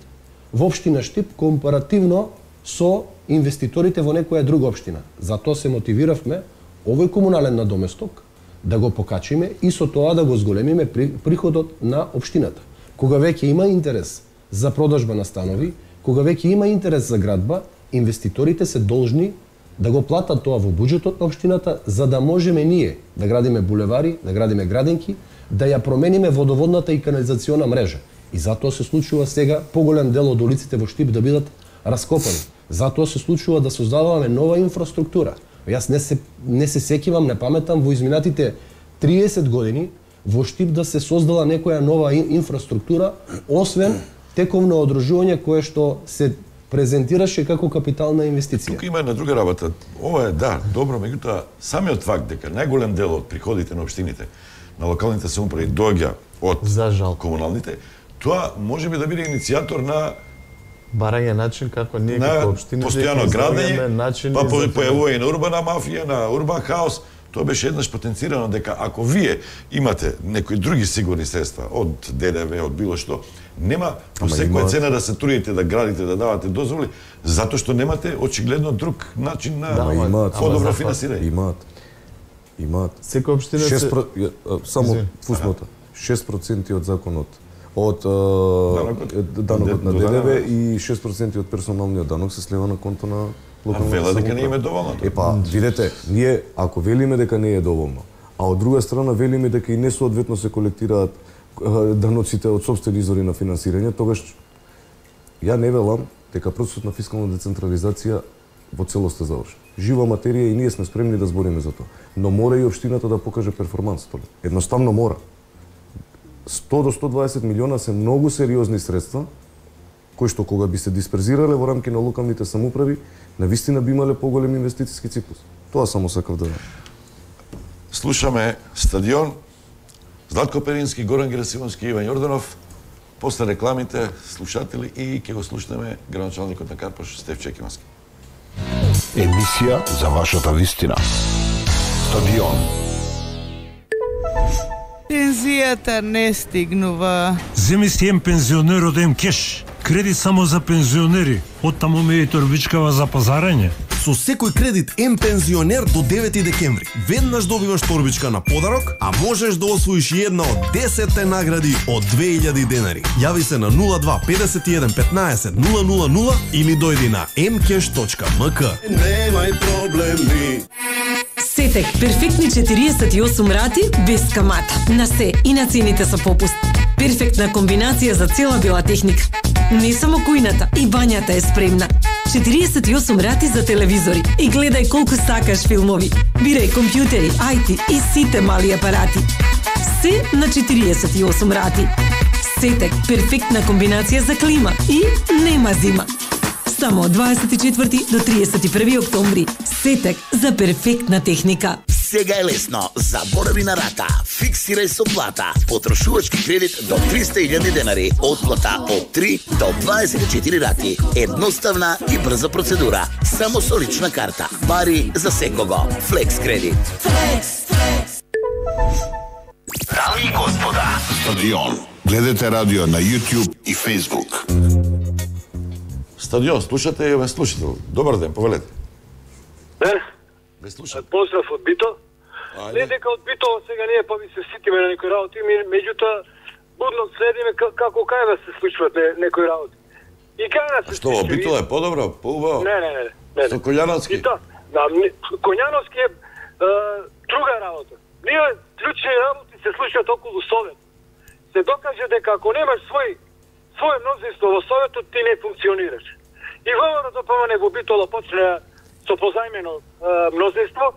во општина Штип компаративно со инвеститорите во некоја друга општина. Затоа се мотивиравме овој комунален надоместок да го покачиме и со тоа да го зголемиме приходот на општината. Кога веќе има интерес за продажба на станови, кога веќе има интерес за градба, инвеститорите се должни да го платат тоа во буџетот на општината, за да можеме ние да градиме булевари, да градиме градинки, да ја промениме водоводната и канализациона мрежа. И затоа се случува сега поголем дел од улиците во Штип да бидат раскопани. Затоа се случува да создаваме нова инфраструктура. Јас не се не се сеќавам, не паметам во изминатите триесет години во Штип да се создала некоја нова инфраструктура, освен тековно одржување кое што се презентираше како капитална инвестиција. Тука има една друга работа. Ова е да, добро, меѓутоа самиот факт дека најголем дел од приходите на општините, на локалните самоуправи доаѓа од за жал комуналните, тоа може би да биде иницијатор на барање начин како ние како општина постојано градење, па појавува и на урбана мафија, на урбан хаос. Тоа беше еднаш потенцирано дека ако вие имате некои други сигурни средства од ДДВ, од било што, нема по секоја цена да се трудите да градите, да давате дозволи, затоа што немате очигледно друг начин на да, подобро финансирање. Имаат. Имаат. Секоја општина се само фуснота. шест проценти од законот од данокот на ДДВ и шест проценти од персоналниот данок се слева на конто на локалната самоуправа. Вела дека не им е доволно. Епа, видете, ние ако велиме дека не е доволно, а од друга страна велиме дека и несоодветно се колектираат даноците од сопствени извори на финансирање, тогаш ја не велам дека процесот на фискална децентрализација во целост е завршен. Жива материја и ние сме спремни да збориме за тоа, но мора и општината да покаже перформанс. Едноставно мора. сто до сто дваесет милиона се многу сериозни средства, кои што кога би се дисперзирале во рамки на локалните самоуправи, навистина би имале поголем инвестициски циклус. Тоа само сакав да... Слушаме Стадион, Златко Перински, Горан Герасимовски, Иван Јорданов. После рекламите, слушатели, и ќе го слушнеме градоначалникот на Карпош, Стеф Чекимански. Емисија за вашата вистина. Стадион. Пензијата не стигнува. Земи си ем пензионер од ем кеш. Кредит само за пензионери. Оттаму ме и торбичкава за пазарење. Со секој кредит ем пензионер до девети декември. Веднаш добиваш торбичка на подарок, а можеш да освоиш една од десетте награди од две илјади денари. Јави се на нула два петдесет и еден петнаесет нула нула нула или дојди на ем кеш точка ем ка. Немај проблеми. Сетек перфектни четириесет и осум рати без камата. На се и на цените со попуст. Перфектна комбинација за цела бела техника. Не само кујната, и бањата е спремна. четириесет и осум рати за телевизори. И гледај колку сакаш филмови. Бирај компјутери, ај ти и сите мали апарати. Се на четириесет и осум рати. Сетек, перфектна комбинација за клима и нема зима. Само од дваесет и четврти до триесет и први октомври. Сетек за перфектна техника. Сега е лесно. Заборави на рата. Фиксирај со плата. Потрошувачки кредит до триста илјади денари. Отплата од три до дваесет и четири рати. Едноставна и брза процедура. Само со лична карта. Пари за секого. Флекс кредит. Флекс, флекс. Дами и господа. Стадион. Гледате радио на YouTube и Facebook. Стадион, слушате и ме слушател. Добар ден, повелете. Ден. Ме слушате. Поздрав од Бито. Не дека од Бито сега ние па ми се ситиме на некои работи, меѓутоа будно следиме како кај да се случват некои работи. И кај да се Што, Бито е подобро, поубаво? Не, не, не. не. Со Коњановски? Бито, да, Коњановски е друга работа. Ние клучни работи се случват околу Совет. Се докаже дека ако немаш свој своје мнозинство во Советот, ти не функционираш. И ВМРО ДПМН во Битола почне со позајмено мнозинство,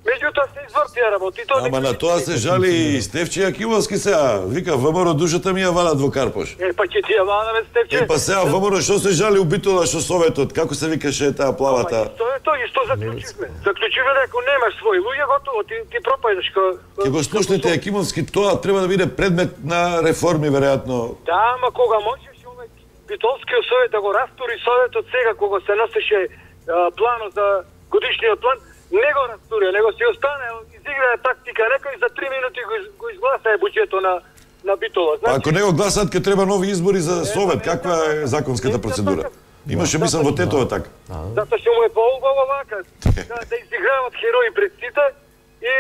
меѓутоа се извртија работите. Ама на тоа се жали и Стефче Јакимовски сега. Вика, ВМРО душата ми ја валат во Карпош. Е, па ќе ти ја валаме, Стефче. Е, па сега ВМРО што се жали у Битола, што Советот, како се викаше таа плавата? Ама, тоа е тоа и што заклучивме. Заклучивме дека ако немаш свој луѓе, готово, ти, ти пропајдеш ко... Ке го слушнете Јакимовски, тоа треба да биде предмет на реформи, веројатно. Да, ама кога можеш овој Битолскиот совет да го растури Советот сега, кога се носеше планот за годишниот план, не го растурија, него си остане, изиграе тактика, некој за три минути го, го изгласае буџетот на на Битола. Значи, ако не го гласат, ке треба нови избори за Совет, каква е законската процедура? Имаше мислам во Тетова така. Затоа што му е поубаво вака, да, да изиграват херои пред сите и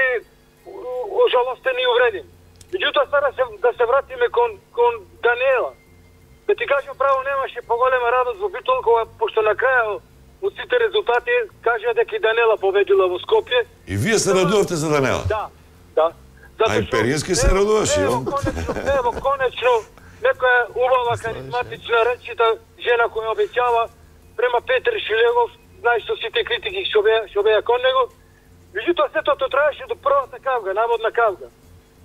ожалостен и увреден. Меѓутоа сега да се, да се вратиме кон, кон Даниела. Да ти кажам право, немаше поголема радост во Битол, кога, пошто на краја од сите резултати кажа дека и Данела победила во Скопје. И вие се радувавте за Данела? Да, да. А и Перински се радуваше, ево, конечно, ево, конечно, некоја убава, каризматична, речита жена која обеќава према Петр Шилегов, знаеш со сите критики што беа, што беа кон него. Меѓутоа сето тоа траеше до првата кавга, наводна кавга.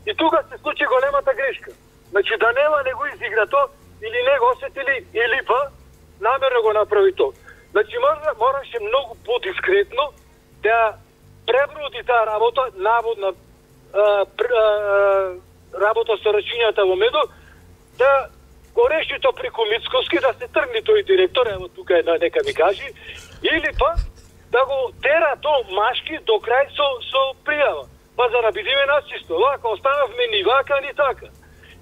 И тука се случи големата грешка. Значи Данела не го изигра то, или не го осетили, или па намерно го направи то. Значи мора, мораше многу подискретно да преброди таа работа, наводна а, пр, а, работа со рачињата во Медо, да го реши то преку Мицковски, да се тргне тој директор, ево тука е нека ми кажи, или па да го тера то машки до крај со, со пријава. Па за да бидеме начисто, вака останавме ни вака, ни така.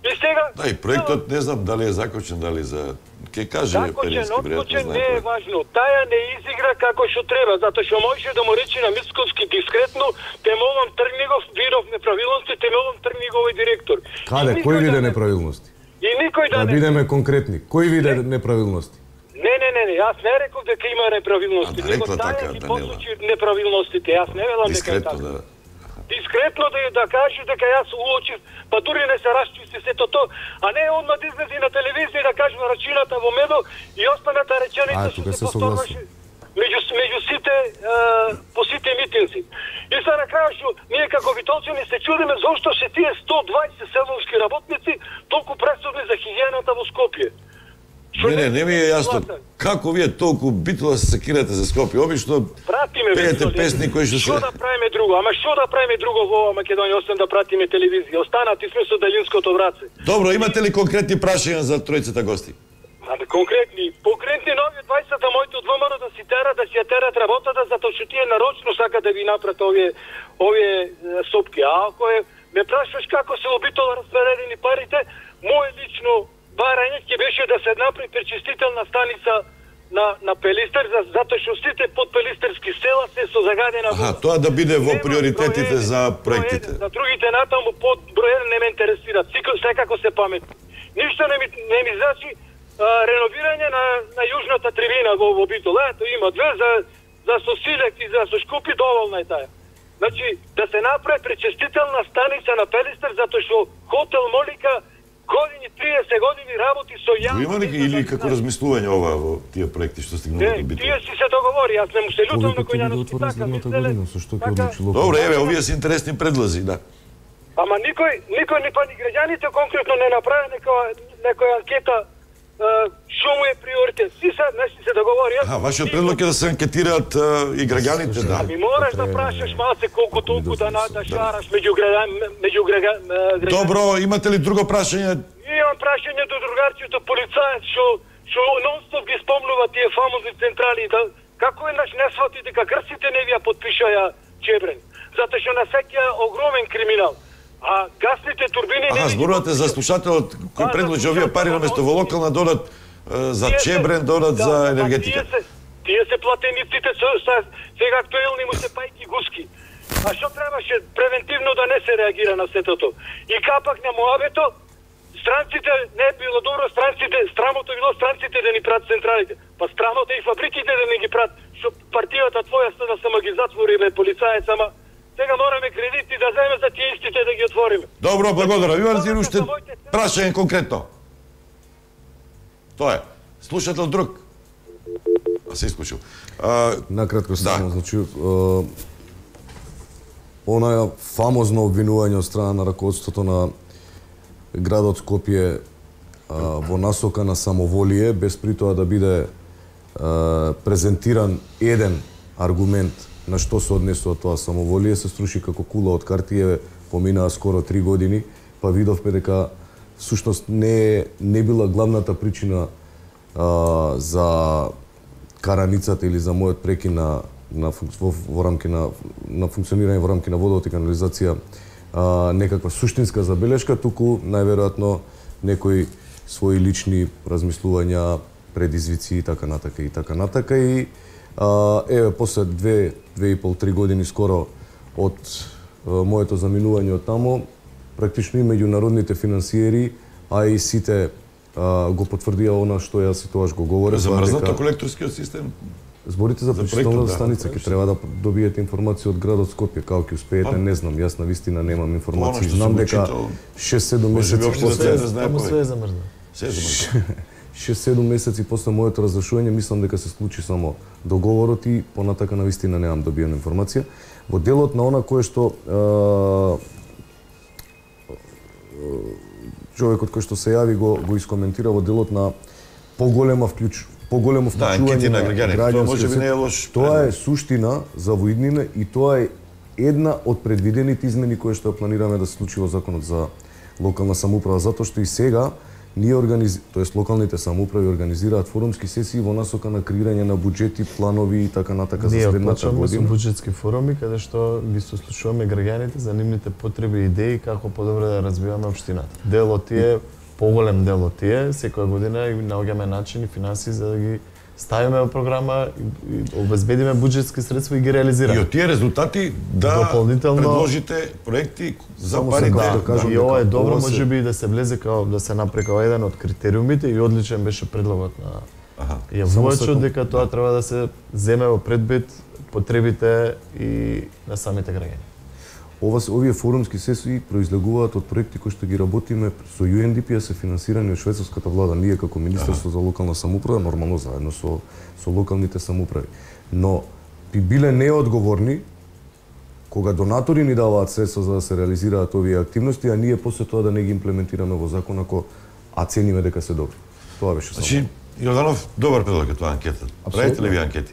И сега... Да, и проектот не знам дали е закочен, дали за... Ке каже Перински, веројатно знае. Не е важно. Таја не изигра како што треба, затоа што можеше да му рече на Мицковски дискретно, те молам тргни го, видов неправилности, те молам тргни го овој директор. Каде, кој виде неправилности? И никој да не... Да бидеме конкретни. Кој виде неправилности? Не, не, не, не, јас не реков дека има неправилности. А, рекла така, Данела. Посочи неправилностите, јас не велам дека е така. Да. Дискретно да, да каже дека јас уочив, па дури не се расчисти сето то, а не одма да излези на телевизија да каже рачината во Медо и останата реченица што се повторваше меѓу, меѓу сите, е, по сите митинзи. И са на крај што ние како битолчани се чудиме зошто се тие сто дваесет селовски работници толку пресудни за хигиената во Скопје. Не, не, не ми е јасно. Како вие толку Битола се секирате за Скопје? Обично пеете песни кои што се... Што да правиме друго? Ама што да правиме друго во ова Македонија, освен да пратиме телевизија? Останати сме со далинското враце. Добро, имате ли конкретни прашања за тројцата гости? А, конкретни, конкретни нови од дваесета моите од ВМРО да си терат, да си ја терат работата, затоа што направат овие овие сопки. А ако е ме прашуваш како се обитола распределени парите, мое лично барање ќе беше да се направи пречистителна станица на на Пелистер, за, затоа што сите подпелистерски села се со загадена вода. Аха, тоа да биде во приоритетите за проектите. За другите натаму под број еден не ме интересираат. Секако се паметни. Ништо не ми не ми значи а, реновирање на на јужната трибина во во Битола. Ето има две за за со Силек и за со Шкупи, доволна е таа. Значи да се направи пречистителна станица на Пелистер затоа што хотел Молика години, триесет години работи со јавно. Има ли или како размислување ова во тие проекти што стигнува до Битола? Тие си се договори, јас не му се лутам на кој јано така година, со што ќе одлучи локално. Добре, еве, овие се интересни предлози, да. Ама никој, никој ни па ни граѓаните конкретно не направи некоја некоја анкета што му е приоритет. Си се, не си се договори. А, вашиот предлог е да се анкетираат и граѓаните, да. Ами мораш да прашаш малце колку толку да да шараш меѓу меѓу граѓаните. Добро, имате ли друго прашање? Имам прашање до другарчето полицаец што што нонстоп ги спомнува тие фамозни централи, да како еднаш не свати дека грците не вија подпишаја Чебрен, затоа што на сеќа огромен криминал. А гасните турбини не... Аха, зборувате за слушателот кој предложи овие пари наместо во локална додат за Чебрен, додат за енергетика. Тие се, тие се платениците со сега актуелни му се пајки гуски. А што требаше превентивно да не се реагира на сетото? И капак на муабето, странците не било добро, странците, страмото било странците да ни прат централите. Па страмото и фабриките да не ги прат, што партијата твоја ста да само ги затвори бе полицаец, ама сега мораме кредити да земе за тие истите да ги отвориме. Добро, благодарам. Имам си уште прашање конкретно. Тоа е. Слушател друг. А се исклучил. Накратко само, значи, онаја фамозно обвинување од страна на раководството на градот Скопје во насока на самоволие, без при тоа да биде презентиран еден аргумент на што се однесува тоа самоволие, се струши како кула од картија, поминаа скоро три години, па видовме дека всушност не не била главната причина а, за караницата или за мојот прекин на на во, во рамки на на функционирање во рамки на водовод и канализација а, некаква суштинска забелешка, туку најверојатно некои своји лични размислувања, предизвици и така натака и така натака и а, еве после две две и пол три години скоро од а, моето заминување од тамо, практично и меѓународните финансиери, а и сите а, го потврдија она што јас и тоаш го говорев. Замрзнато колекторскиот систем? Зборите за пречистителната станица ќе треба да добиете информација од градот Скопје, како ќе успеете, не знам, јас навистина немам информација. Знам дека шест-седум месеци после се замрзна. Се замрзна. шест-седум месеци после моето разрешување мислам дека се случи само договорот и понатака навистина немам добиена информација. Во делот на она кое што човекот кој што се јави го го искоментира во делот на поголема вклjuč поголемо вклучување на граѓаните. Тоа можеби не е лош. Тоа е суштина за воиднина и тоа е една од предвидените измени кои што планираме да се случи во законот за локална самоуправа, затоа што и сега ние организ... тоест локалните самоуправи организираат форумски сесии во насока на креирање на буџети, планови и така натака за следната година. Ние почнуваме со буџетски форуми каде што ги сослушуваме граѓаните за нивните потреби и идеи како подобро да развиваме општината. Дел од тие, поголем дел од тие, секоја година и наоѓаме начини, финанси за да ги ставиме во програма и обезбедиме буџетски средства и ги реализираме. И од тие резултати да дополнително предложите проекти за парите. Да, да, и ова е добро, можеби да се влезе као да се направи као еден од критериумите и одличен беше предлогот на јавувачот дека тоа треба да се земе во предбит потребите и на самите граѓани. Ова се овие форумски сесии произлегуваат од проекти кои што ги работиме со Ю Ен Ди Пи, се финансирани од швајцарската влада, ние како Министерство за локална самоуправа, нормално заедно со со локалните самоуправи. Но би биле неодговорни кога донатори ни даваат средства за да се реализираат овие активности, а ние после тоа да не ги имплементираме во закон ако а цениме дека се добри. Тоа беше само. Значи, Јорданов, добар предлог е тоа анкета. Правите ли ви анкети?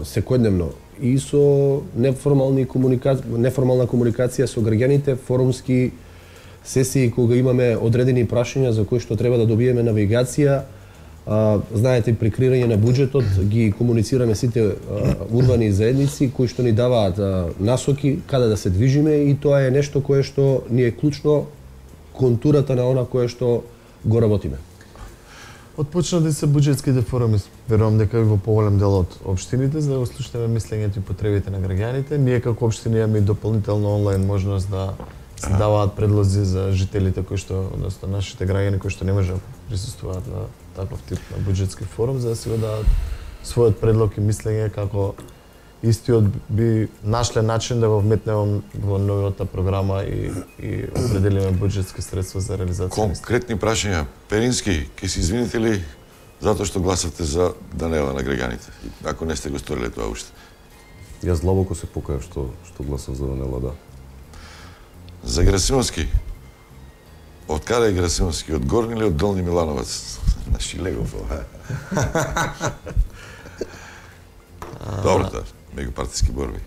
Секојдневно и со неформални комуникација, неформална комуникација со граѓаните, форумски сесии кога имаме одредени прашања за кои што треба да добиеме навигација, А, знаете, при креирање на буџетот ги комуницираме сите а, урбани заедници кои што ни даваат а, насоки каде да се движиме и тоа е нешто кое што ни е клучно контурата на она кое што го работиме. Отпочнати се буџетските форуми, верувам дека и во поголем дел од општините, за да го слушнеме мислењето и потребите на граѓаните. Ние како општина имаме и дополнително онлайн можност да се даваат предлози за жителите кои што, односно нашите граѓани кои што не можат да присуствуваат на таков тип на буџетски форум, за да си го дадат својот предлог и мислење како истиот би нашле начин да го вметнеме во новата програма и, и определиме буџетски средства за реализација. Конкретни прашања. Перински, ќе се извините ли затоа што гласавте за Данела на граѓаните? Ако не сте го сториле тоа уште. Јас длабоко се покајав што што гласав за Данела, да. За Герасимовски. Од каде е Герасимовски? Од Горни или од Долни Милановац? На Шилегов, ова. Добро, да. Меѓупартиски борби.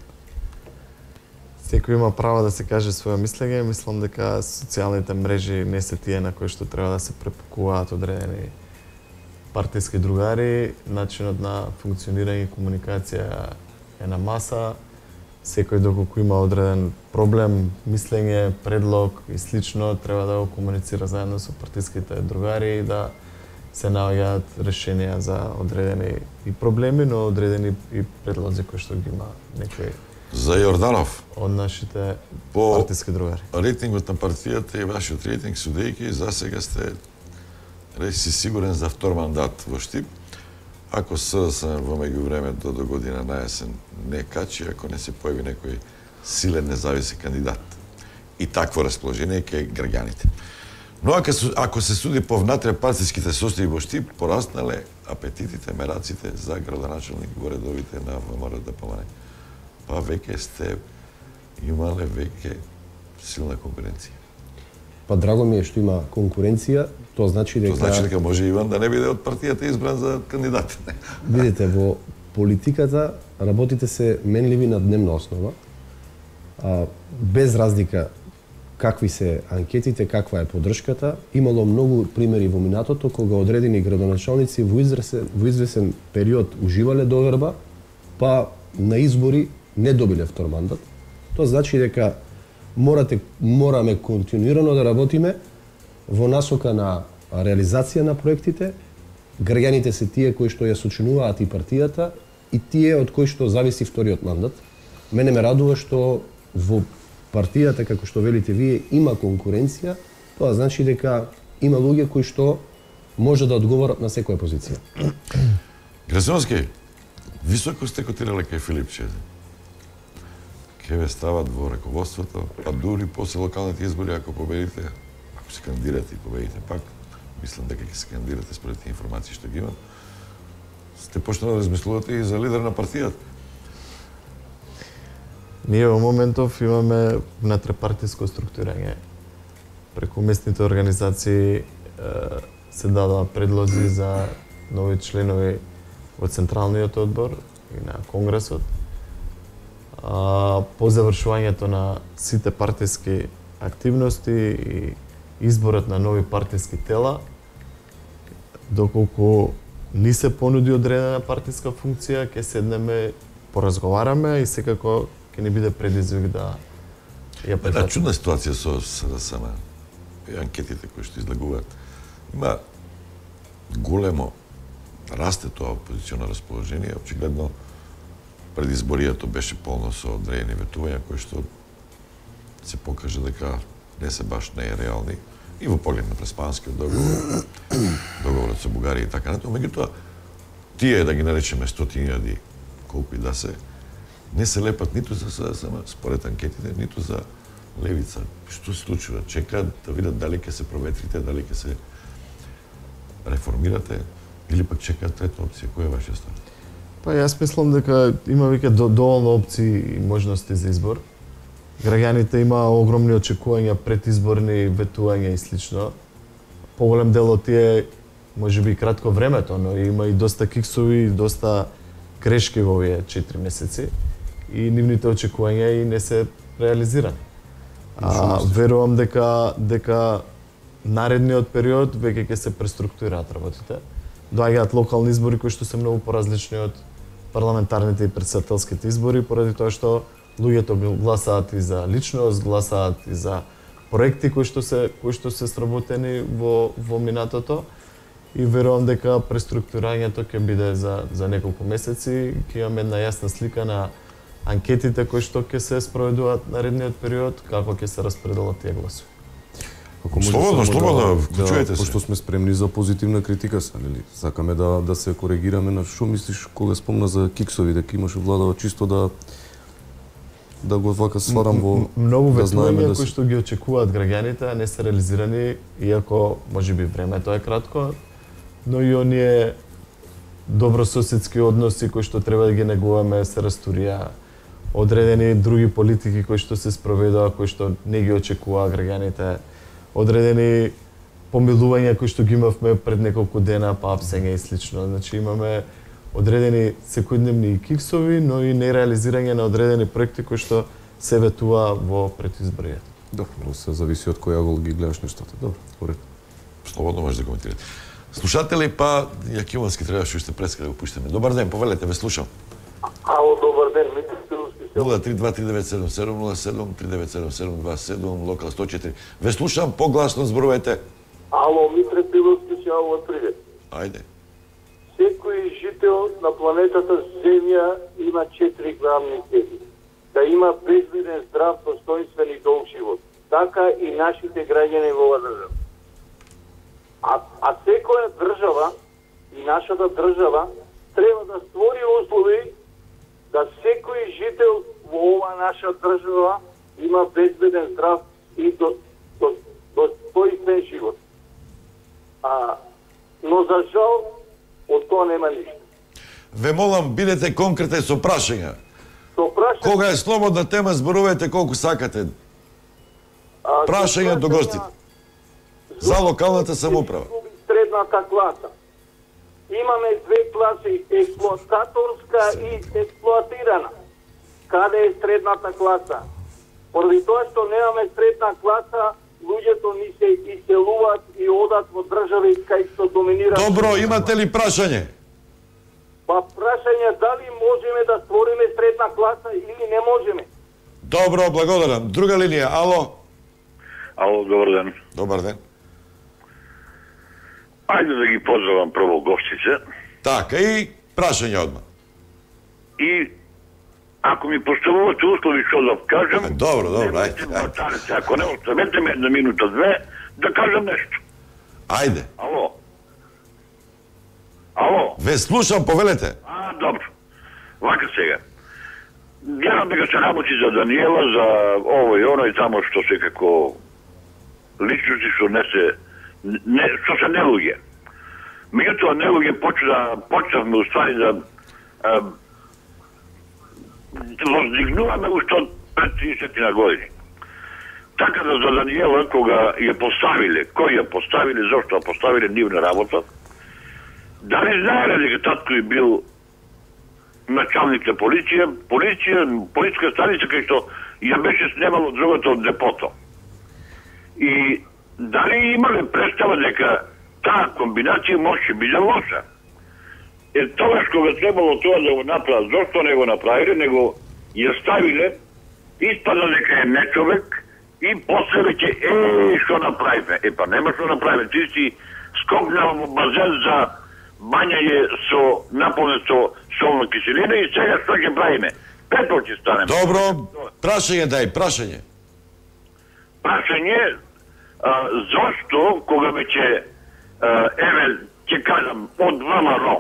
Секој има право да се каже своје мислење. Мислам дека социјалните мрежи не се тие на кои што треба да се препукуваат одредени партиски другари. Начинот на функционирање и комуникација е на маса. Секој доколку има одреден проблем, мислење, предлог и слично, треба да го комуницира заедно со партиските другари и да се наоѓаат решенија за одредени и проблеми, но одредени и предлози кои што ги има некој за Јорданов од нашите по партиски другари. Рейтингот на партијата и вашиот рейтинг судејќи за сега сте речи сигурен за втор мандат во Штип. Ако СДСМ во меѓувремето до година на есен не качи, ако не се појави некој силен независен кандидат. И такво расположение ке граѓаните. Но ако, ако се суди по внатре партиските состојби во Штип, пораснале апетитите, мераците за градоначалник во редовите на ВМРО Д П М Н. Па веќе сте имале веќе силна конкуренција. Па драго ми е што има конкуренција, тоа значи дека Тоа значи дека може Иван да не биде од партијата избран за кандидат. Видите, во политиката работите се менливи на дневна основа. А, без разлика какви се анкетите, каква е поддршката, имало многу примери во минатото кога одредени градоначалници во извесен, во извесен период уживале доверба, па на избори не добиле втор мандат. Тоа значи дека морате мораме континуирано да работиме во насока на реализација на проектите. Граѓаните се тие кои што ја сочинуваат и партијата и тие од кои што зависи вториот мандат. Мене ме радува што во партијата, како што велите вие, има конкуренција. Тоа значи дека има луѓе кои што може да одговорат на секоја позиција. Грасимовски, високо сте котирале кај Филипче. Ке ве стават во раководството, па дури после локалните избори, ако победите, ако се кандидирате и победите пак, мислам дека ќе се кандидирате според тие информации што ги имам, сте почнали да размислувате и за лидер на партијата. Ние во моментов имаме внатрепартиско структурање. Преку местните организации се дадоа предлози за нови членови во Централниот одбор и на Конгресот. По завршувањето на сите партиски активности и изборот на нови партиски тела, доколку ни се понуди одредена партиска функција, ќе седнеме, поразговараме и секако ќе ни биде предизвик да ја прифатиме. Една чудна ситуација со СДСМ и анкетите кои што излагуваат. Има големо расте тоа опозиционо расположение, очигледно предизборијето беше полно со одредени ветувања кои што се покажа дека не се баш нереални и во поглед на Преспанскиот договор, договорот со Бугарија и така натаму. Меѓутоа, тие да ги наречеме стотини илјади, колку и да се, не се лепат ниту за СДСМ, според анкетите, ниту за левица. Што се случува? Чекаат да видат дали ќе се проветрите, дали ќе се реформирате, или пак чекаат трета опција. Која е вашиот став? Па јас мислам дека има веќе доволно опции и можности за избор. Граѓаните има огромни очекувања, предизборни ветувања и слично. Поголем дел од тие можеби кратко времето, но има и доста киксови и доста грешки во овие четири месеци и нивните очекувања и не се реализирани. А, верувам дека дека наредниот период веќе ќе се преструктурираат работите. доаѓаат локални избори кои што се многу поразлични од парламентарните и претседателските избори, поради тоа што луѓето гласаат и за личност, гласаат и за проекти кои што се кои што се сработени во во минатото и верувам дека преструктурирањето ќе биде за за неколку месеци, ќе имаме една јасна слика на анкетите кои што ќе се спроведуваат наредниот период, како ќе се распределат тие гласови. Ако може Слободно, само слободно, да- вклучувајте да, се. Пошто сме спремни за позитивна критика, са, нели? Сакаме да да се коригираме на што мислиш кога спомна за киксови, дека имаше владава чисто да да го вака сварам во М- Многу да знаеме ветувања да кои се- што ги очекуваат граѓаните, а не се реализирани, иако можеби времето е кратко, но и оние добрососедски односи кои што треба да ги негуваме се растурија, одредени други политики кои што се спроведува, кои што не ги очекуваа граѓаните, одредени помилувања кои што ги имавме пред неколку дена, па апсење и слично. Значи имаме одредени секојдневни киксови, но и нереализирање на одредени проекти кои што се ветува во предизборијата. Добро, се зависи од кој агол ги гледаш нештата. Добро, поред. Слободно може да коментирате. Слушатели, па Јакимовски требаше уште преска да го пуштиме. Добар ден, повелете, ве слушам. Ало, добар ден, Митри Пиловски се. нула три два три девет седум седум нула седум три девет седум седум два седум, локал сто четири. Ве слушам, погласно зборувате. Ало, Митри Пиловски се, ало, привет. Ајде. Секој жител на планетата Земја има четири главни цели. Да има безбеден, здрав, достоинствен и долг живот. Така и нашите граѓани во оваа држава. А, а секоја држава и нашата држава треба да створи услови да секој жител во оваа наша држава има безбеден, здрав и до, до, достоинствен живот. А, но за жал од тоа нема ништо. Ве молам, бидете конкретни со прашања. Со прашање... Кога е слободна тема, зборувајте колку сакате. А, Прашања до гостите. За локалната самоуправа. Средната класа. Имаме две класи, експлоататорска и експлоатирана. Каде е средната класа? Поради тоа што немаме средна класа, луѓето ни се иселуваат и одат во држави кај што доминира. Добро, имате ли прашање? Па прашање дали можеме да створиме средна класа или не можеме. Добро, благодарам. Друга линија, ало? Ало, добар ден. Добар ден. Ајде да ги поздравам прво гостите. Така, и прашање одма. И ако ми поставувате услови што да кажам... Добро, добро, ајде. ајде. Ако не оставете ме една минута, две, да кажам нешто. Ајде. Ало? Ало? Ве слушам, повелете. А, добро. Вака сега. Гледам дека се работи за Даниела, за ово и оно и тамо што се како личности што не се не, што се нелуѓе. Меѓутоа нелуѓе почна почнавме уствари да а, воздигнуваме уште од пред тридесет на години. Така да за Даниела, кога ја поставиле, кој ја поставиле, зошто ја поставиле нивна работа, дали знаеле дека татко е бил началник на полиција, полиција, полицска станица кај што ја беше снемало другото од депото. И дали имале представа дека таа комбинација може биде лоша? Е тогаш кога требало тоа да го направат, зошто не го направиле, него ја ставиле, испада дека е нечовек и после веќе е што направиме. Е па нема што направиме, ти си скокнал во базен за бањање со наполнен со солна киселина и сега што ќе правиме? Пепел ќе станеме. Добро, прашање дај, прашање. Прашање, а, зошто кога веќе еве ќе кажам од ВМРО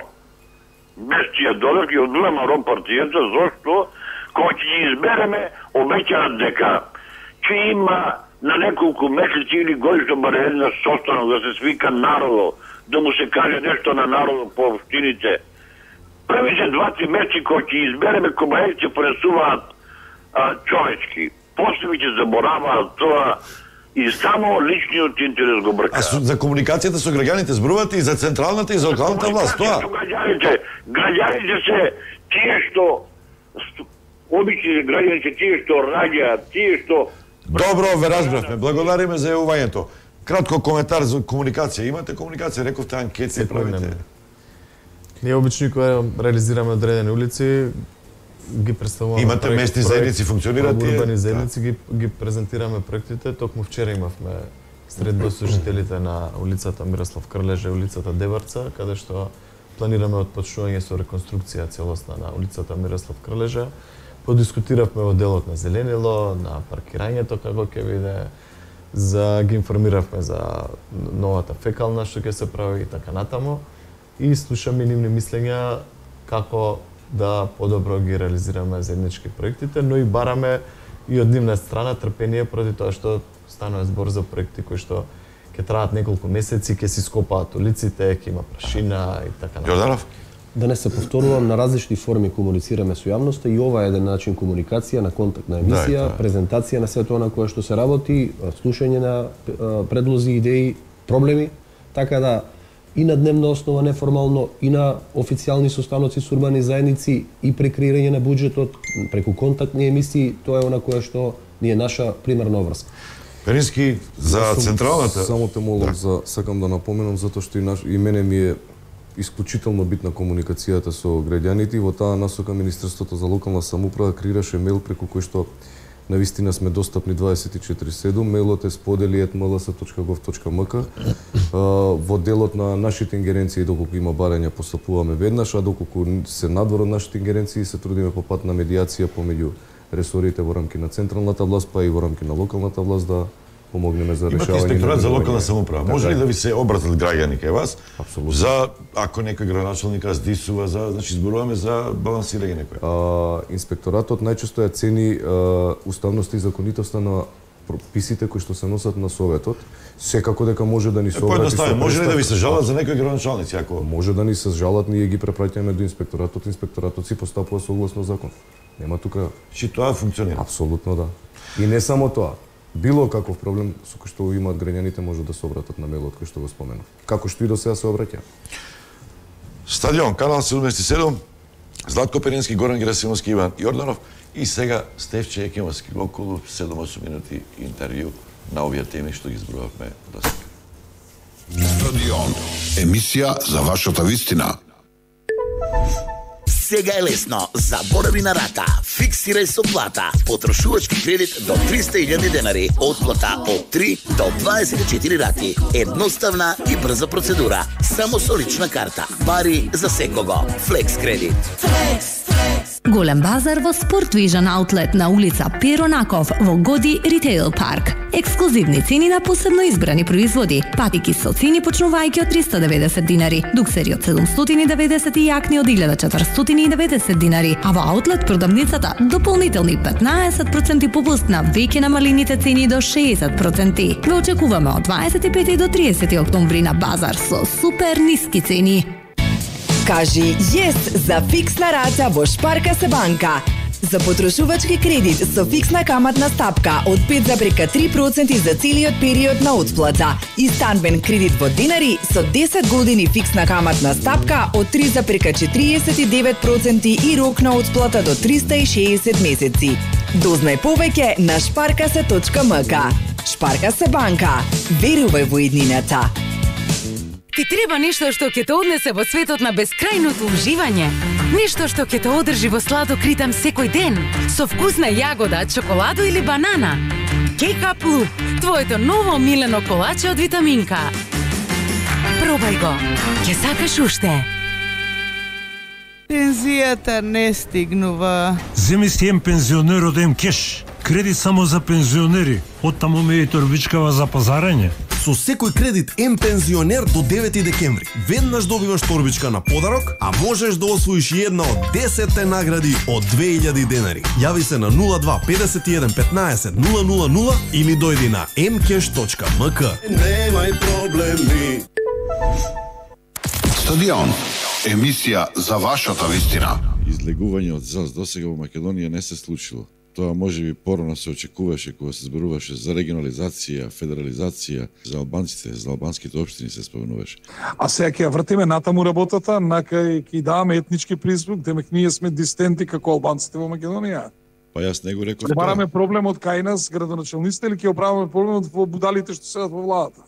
без тие додек и од ВМРО партијата, зошто кога ќе ги избереме обеќаат дека ќе има на неколку месеци или годишно баре една состанок да се свика народо, да му се каже нешто на народо по општините. Првите два-три месеци кога ќе избереме кобајци ќе пресуваат а, човечки. После ќе забораваат тоа и само личниот интерес го брка. А со, за комуникацијата со граѓаните зборувате и за централната и за локалната власт, тоа? Граѓаните, граѓаните се тие што обични граѓани се тие што раѓаат, тие што... Добро, ве разбравме. Благодариме за јавувањето. Кратко коментар за комуникација. Имате комуникација, рековте анкети правите. Ние обично кога реализираме одредени улици, ги представуваме. Имате проект, местни проект, заедници, функционираат тие? Урбани заедници, ги, ги презентираме проектите. Токму вчера имавме средба со жителите на улицата Мирослав Крлежа и улицата Дебарца, каде што планираме отпочнување со реконструкција целосна на улицата Мирослав Крлежа. Подискутиравме во делот на зеленило, на паркирањето како ќе биде, за ги информиравме за новата фекална што ќе се прави и така натаму. И слушаме нивни мислења како да подобро ги реализираме заеднички проектите, но и бараме и од нивна страна трпение поради тоа што станува збор за проекти кои што ќе траат неколку месеци, ќе се скопаат улиците, ќе има прашина и така натаму. Јорданов? Да не се повторувам, на различни форми комуницираме со јавноста и ова е еден начин комуникација, на контактна емисија, да, презентација на сето она кое што се работи, слушање на предлози, идеи, проблеми, така да и на дневна основа неформално, и на официјални состаноци со урбани заедници, и прекреирање на буџетот, преку контактни емисии, тоа е она кое што ни е наша примерна обврска. Перински, за централната... Само те молам, да. за, сакам да напоменам, затоа што и, наш, и мене ми е исклучително битна комуникацијата со граѓаните и во таа насока Министерството за локална самоуправа креираше мејл преку кој што навистина сме достапни дваесет и четири седум. Мејлот е сподели ет ем ел ес точка гов точка ем ка. Во делот на нашите ингеренции, доколку има барања, постапуваме веднаш, а доколку се надвор од нашите ингеренции, се трудиме по пат на медиација помеѓу ресорите во рамки на централната власт, па и во рамки на локалната власт да помогнеме за решавање. Имате инспекторат за локална самоуправа. Може ли да ви се обратат граѓани кај вас? Апсолутно. За ако некој граначалник здисува, за, значи зборуваме за балансирање некој. А, инспекторатот најчесто ја цени а, уставноста и законитоста на прописите кои што се носат на Советот. Секако дека може да ни се обрати. Е, може ли да ви се жалат за некој граначалници ако може да ни се жалат, ние ги препраќаме до инспекторатот, инспекторатот си постапува согласно закон. Нема тука. Чи тоа функционира? Апсолутно да. И не само тоа. Било каков проблем со кој што имаат граѓаните може да се обратат на мејлот кој што го споменав. Како што и до сега се обраќа. Стадион, канал седумдесет и седум, Златко Перински, Горан Герасимовски, Иван Јорданов и сега Стефче Екимовски, околу седум-осум минути интервју на овие теми што ги зборувавме до сега. Стадион, емисија за вашата вистина. Сега е лесно. Заборави на рата. Фиксирај со плата. Потрошувачки кредит до триста илјади денари. Отплата од три до дваесет и четири рати. Едноставна и брза процедура. Само со лична карта. Пари за секого. Флекс кредит. Флекс, флекс. Голем базар во Спортвижен аутлет на улица Перонаков во Годи Ритейл парк. Ексклузивни цени на посебно избрани производи. Патики со цени почнувајќи од триста и деветдесет динари, дуксери од седумстотини и деветдесет и јакни од илјада четиристотини и деветдесет динари, а во аутлет продавницата дополнителни петнаесет проценти попуст на веќе намалените цени до шеесет проценти. Ве очекуваме од дваесет и пети до тридесети октомври на базар со супер ниски цени. Кажи јес за фиксна рата во Шпарка се банка. За потрошувачки кредит со фиксна каматна стапка од пет зарез и три проценти за целиот период на отплата и станбен кредит во динари со десет години фиксна каматна стапка од три зарез четириесет и девет проценти и рок на отплата до триста и шеесет месеци. Дознај повеќе на шпаркасе точка ем ка. Шпарка се банка. Верувај во иднината. Ти треба нешто што ќе те однесе во светот на бескрајното уживање. Нешто што ќе те одржи во сладок ритам секој ден, со вкусна јагода, чоколадо или банана. Кейкап Луп, твоето ново милено колаче од витаминка. Пробај го, ќе сакаш уште. Пензијата не стигнува. Земи си ем пензионерот ем кеш. Кредит само за пензионери. Оттаму ме и торбичкава за пазарање. Со секој кредит ем пензионер до девети декември. Веднаш добиваш торбичка на подарок, а можеш да освоиш една од десетте награди од две илјади денари. Јави се на нула два петдесет и еден петнаесет нула нула нула или дојди на ем кеш точка ем ка. Немај проблеми. Стадион, емисија за вашата вистина. Излегување од ЗАЗ досега во Македонија не се случило. Тоа можеби порано се очекуваше кога се зборуваше за регионализација, федерализација, за албанците, за албанските општини се спомнуваше. А сега ќе вртиме натаму работата, накај ќе даваме етнички призвук, демек ние сме дистенти како албанците во Македонија. Па јас не го реков тоа. Бараме проблемот кај нас, градоначалниците, или ќе оправаме проблемот во будалите што седат во владата?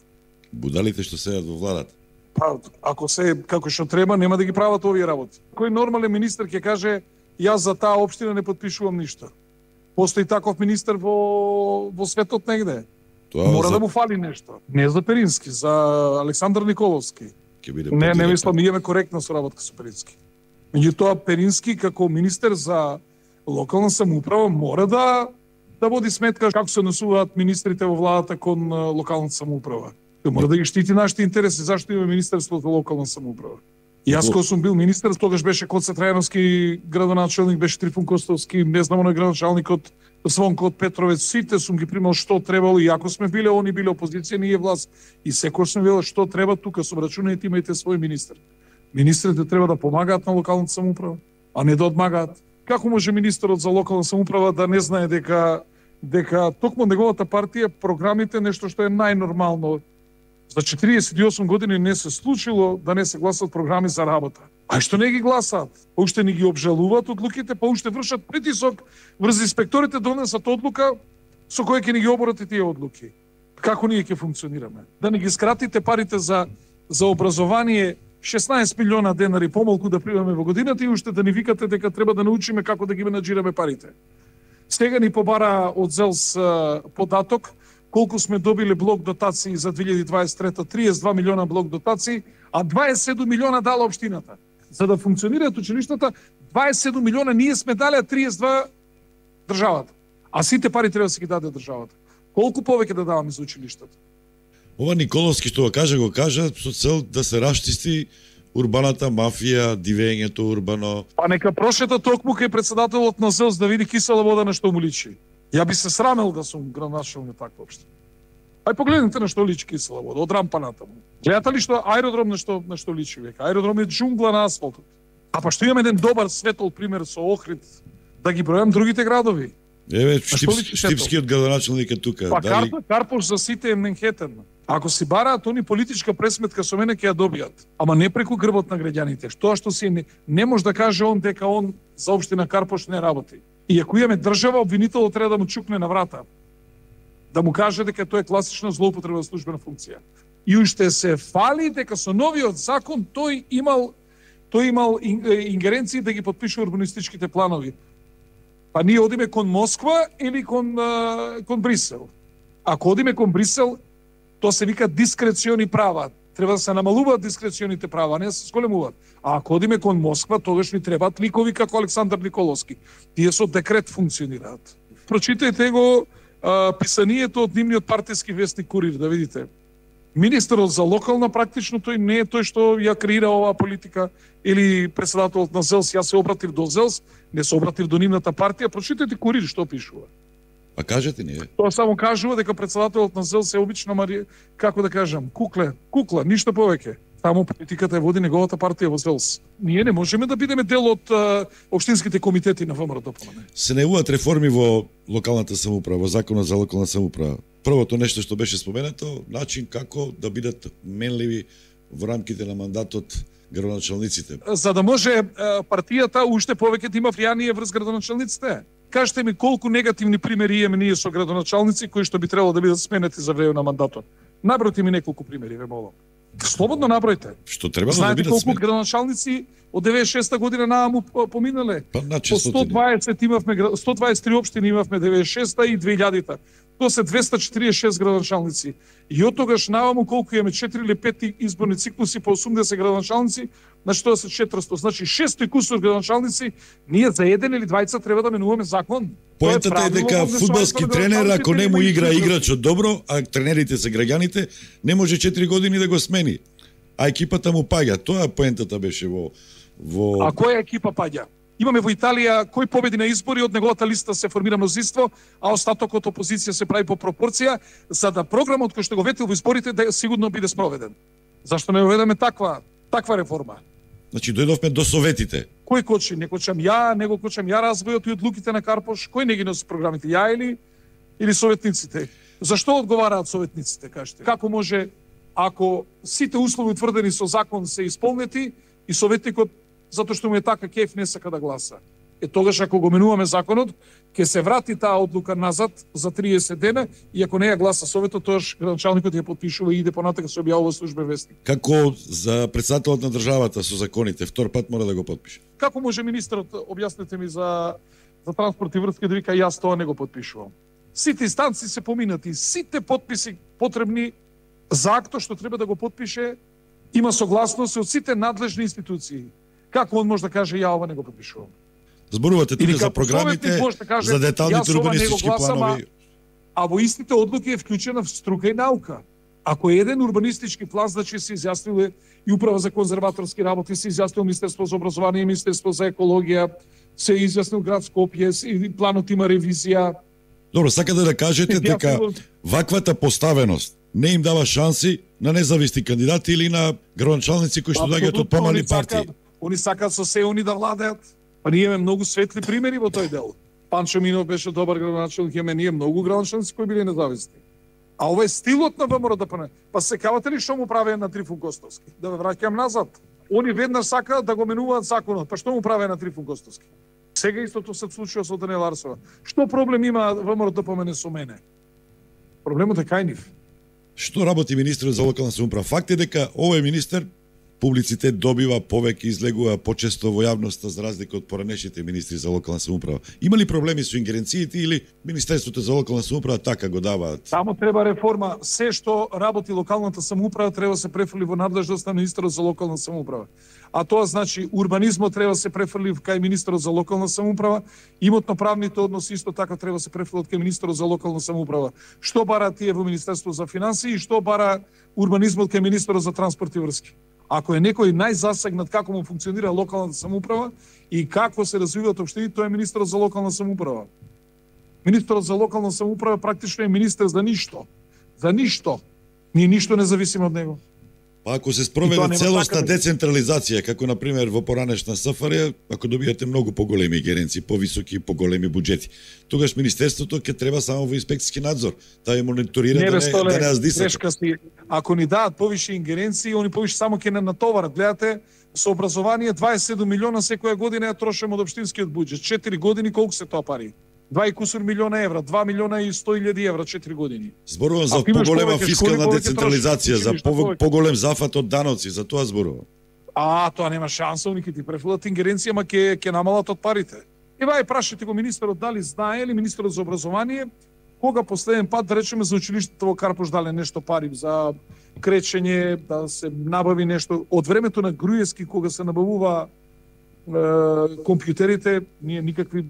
Будалите што седат во владата? Па, ако се како што треба, нема да ги прават овие работи. Кој нормален министер ќе каже јас за таа општина не потпишувам ништо? Постои таков министер во во светот негде. Тоа Мора за... да му фали нешто. Не за Перински, за Александар Николовски. Ќе биде Не, не мислам, ние имаме коректна соработка со Перински. Меѓутоа Перински како министер за локална самоуправа мора да да води сметка како се однесуваат министрите во владата кон локалната самоуправа. Тој мора да ги штити нашите интереси, зашто има Министерство за локална самоуправа. И јас кога сум бил министер, тогаш беше Коце Трајановски градоначелник, беше Трифун Костовски, не знам оној градоначалникот Звонко од Петровец, сите сум ги примал што требало, и ако сме биле, они биле опозиција, ние власт. И секој сме биле што треба, тука со рачунајте имајте свој министер. Министрите треба да помагаат на локалната самоуправа, а не да одмагаат. Како може министерот за локална самоуправа да не знае дека дека токму неговата партија програмите нешто што е најнормално за четириесет и осум години не се случило да не се гласат програми за работа. А што не ги гласаат? Па уште не ги обжалуваат одлуките, па уште вршат притисок врз инспекторите да донесат одлука со која ќе ни ги оборат тие одлуки. Како ние ќе функционираме? Да не ги скратите парите за за образование шеснаесет милиона денари помалку да примаме во годината и уште да ни викате дека треба да научиме како да ги менаџираме парите. Сега ни побара од ЗЕЛС податок колку сме добиле блок дотации за две илјади дваесет и трета, триесет и два милиона блок дотации, а дваесет и седум милиона дала општината. За да функционираат училиштата, дваесет и седум милиона ние сме дали, а триесет и два државата. А сите пари треба да се ги даде државата. Колку повеќе да даваме за училиштата? Ова Николовски што го кажа, го кажа со цел да се расчисти урбаната мафија, дивењето урбано. Па нека прошета токму кај председателот на ЗЕЛС да види кисела вода на што му личи. Ја би се срамел да сум градоначелник на таква општина. Ај погледнете на што личи кисела вода, од рампа натаму. Гледате ли што аеродром на што на што личи века? Аеродром е џунгла на асфалтот. А па што имаме еден добар светол пример со Охрид, да ги бројам другите градови. Еве, Штипски, Штипскиот градоначелник е тука. Па Дали... Карпош за сите е Менхетен. Ако си бараат они политичка пресметка со мене ќе ја добијат, ама не преку грбот на граѓаните. Тоа што си не, не може да каже он дека он за општина Карпош не работи. И ако имаме држава, обвинителот треба да му чукне на врата. Да му каже дека тоа е класична злоупотреба на службена функција. И уште се фали дека со новиот закон тој имал тој имал ингеренции да ги подпишува урбанистичките планови. Па ние одиме кон Москва или кон кон Брисел. Ако одиме кон Брисел, тоа се вика дискрециони права. Треба да се намалуваат дискреционите права, не да се зголемуваат. А ако одиме кон Москва, тогаш ни требаат ликови како Александар Николовски. Тие со декрет функционираат. Прочитајте го а, писанието од нивниот партиски вестник Курир, да видите. Министерот за локална практично тој не е тој што ја креира оваа политика или председателот на ЗЕЛС. Јас се обратив до ЗЕЛС, не се обратив до нивната партија. Прочитајте Курир што пишува. А кажете ни, е? Тоа само кажува дека председателот на ЗЕЛС е обично Мари, како да кажам, кукле, кукла, ништо повеќе. Таму политиката ја води неговата партија во ЗЕЛС. Ние не можеме да бидеме дел од а, општинските комитети на ВМРО. Се најавуваат реформи во локалната самоуправа, во законот за локална самоуправа. Првото нешто што беше споменато, начин како да бидат менливи во рамките на мандатот градоначалниците. За да може а, партијата уште повеќе да има влијание врз градоначалниците. Кажете ми колку негативни примери имаме ние со градоначалници кои што би требало да бидат сменети за време на мандатот. Набројте ми неколку примери, ве молам. Слободно набројте. Што треба да Знаете бидат колку сменети? градоначалници од деветдесет и шеста година нааму поминале? Па на По сто дваесет имавме, сто дваесет и три општини имавме деветдесет и шеста и две илјадите. Тоа се двесте четиридесет и шест градоначалници. И од тогаш нааму колку имаме четири или пет изборни циклуси по осумдесет градоначалници, значи тоа се четиристо, значи шест и кусур градоначалници, ние за еден или двајца треба да менуваме закон. Поентата е дека фудбалски тренер, ако не му игра играчот добро, а тренерите се граѓаните, не може четири години да го смени. А екипата му паѓа. Тоа поентата беше во во А која екипа паѓа? Имаме во Италија кој победи на избори, од неговата листа се формира мнозинство, а остатокот опозиција се прави по пропорција, за да програмот кој што го ветил во изборите да сигурно биде спроведен. Зашто не уведеме таква таква реформа? Значи дојдовме до советите. Кој кочи? Не кочам ја, не го кочам ја развојот и одлуките на Карпош. Кој не ги носи програмите? Ја или или советниците? Зашто одговараат советниците, кажете? Како може ако сите услови утврдени со закон се исполнети и советникот затоа што му е така кеф не сака да гласа? Е тогаш ако го менуваме законот, ќе се врати таа одлука назад за триесет дена и ако не ја гласа советот, тогаш градоначалникот ја потпишува и иде понатака се објавува службен вестник. Како за претседателот на државата со законите, втор пат мора да го потпише. Како може министерот, објаснете ми за за транспорт и врски, да вика јас тоа не го потпишувам. Сите инстанции се поминати, сите потписи потребни за актот што треба да го потпише, има согласност од сите надлежни институции. Како он може да каже ја ова не го потпишувам? Зборувате тука за програмите, да каже, за деталните урбанистички планови. А во истите одлуки е вклучена струка и наука. Ако е еден урбанистички план, значи се изјасниле и Управа за конзерваторски работи, се изјаснило Министерство за образование, Министерство за екологија, се изјаснил град Скопје, и планот има ревизија. Добро, сакате да кажете дека ваквата поставеност не им дава шанси на независни кандидати или на градоначалници кои што доаѓаат од помални партии? Они сакаат со се они да владеат. Па ние имаме многу светли примери во тој дел. Панчо Минов беше добар градоначалник, имаме ние многу градоначалници кои биле независни. А ова е стилот на ВМРО да пане. Па се кавате ли што му правеа на Трифун Костовски? Да ве враќам назад. Они веднаш сакаат да го менуваат законот. Па што му правеа на Трифун Костовски? Сега истото се случува со Даниела Арсова. Што проблем има ВМРО да помене со мене? Проблемот е кај нив. Што работи министерот за локална самоуправа? Факт е дека овој министер публицитет добива, повеќе излегува почесто во јавноста за разлика од поранешните министри за локална самоуправа. Има ли проблеми со ингеренциите или Министерството за локална самоуправа така го даваат? Само треба реформа. Се што работи локалната самоуправа треба да се префрли во надлежност на министерот за локална самоуправа. А тоа значи урбанизмот треба да се префрли кај министерот за локална самоуправа, имотно-правните односи исто така треба да се префрлат кај министерот за локална самоуправа. Што бара тие во Министерство за финансии и што бара урбанизмот кај министерот за транспорт и врски? Ако е некој најзасегнат како му функционира локалната самоуправа и како се развиваат општините, тоа е министерот за локална самоуправа. Министерот за локална самоуправа практично е министер за ништо. За ништо. Ние ништо не зависиме од него. Па ако се спроведе целосна децентрализација, како на пример во поранешна СФР, ако добиете многу поголеми геренци, повисоки и поголеми буџети, тогаш министерството ќе треба само во инспекциски надзор, да ја мониторира не, да не столе, да не аздисат. Си, ако ни дадат повише ингеренции, они повише само ќе не натоварат. Гледате, со образование дваесет и седум милиона секоја година ја трошиме од општинскиот буџет. четири години колку се тоа пари? два и кусур милиона евра, два милиона и сто илјади евра, четири години. Зборувам за поголема фискална децентрализација, за поголем зафат од даноци, за тоа зборувам. А, тоа нема шанса, они ќе ти префрлат ингеренција, ама ќе ќе намалат од парите. Ева и прашате го министерот дали знае или министерот за образование кога последен пат, да речеме, за училиштето во Карпош дале нешто пари за кречење, да се набави нешто. Од времето на Груевски, кога се набавува е, компјутерите, ние никакви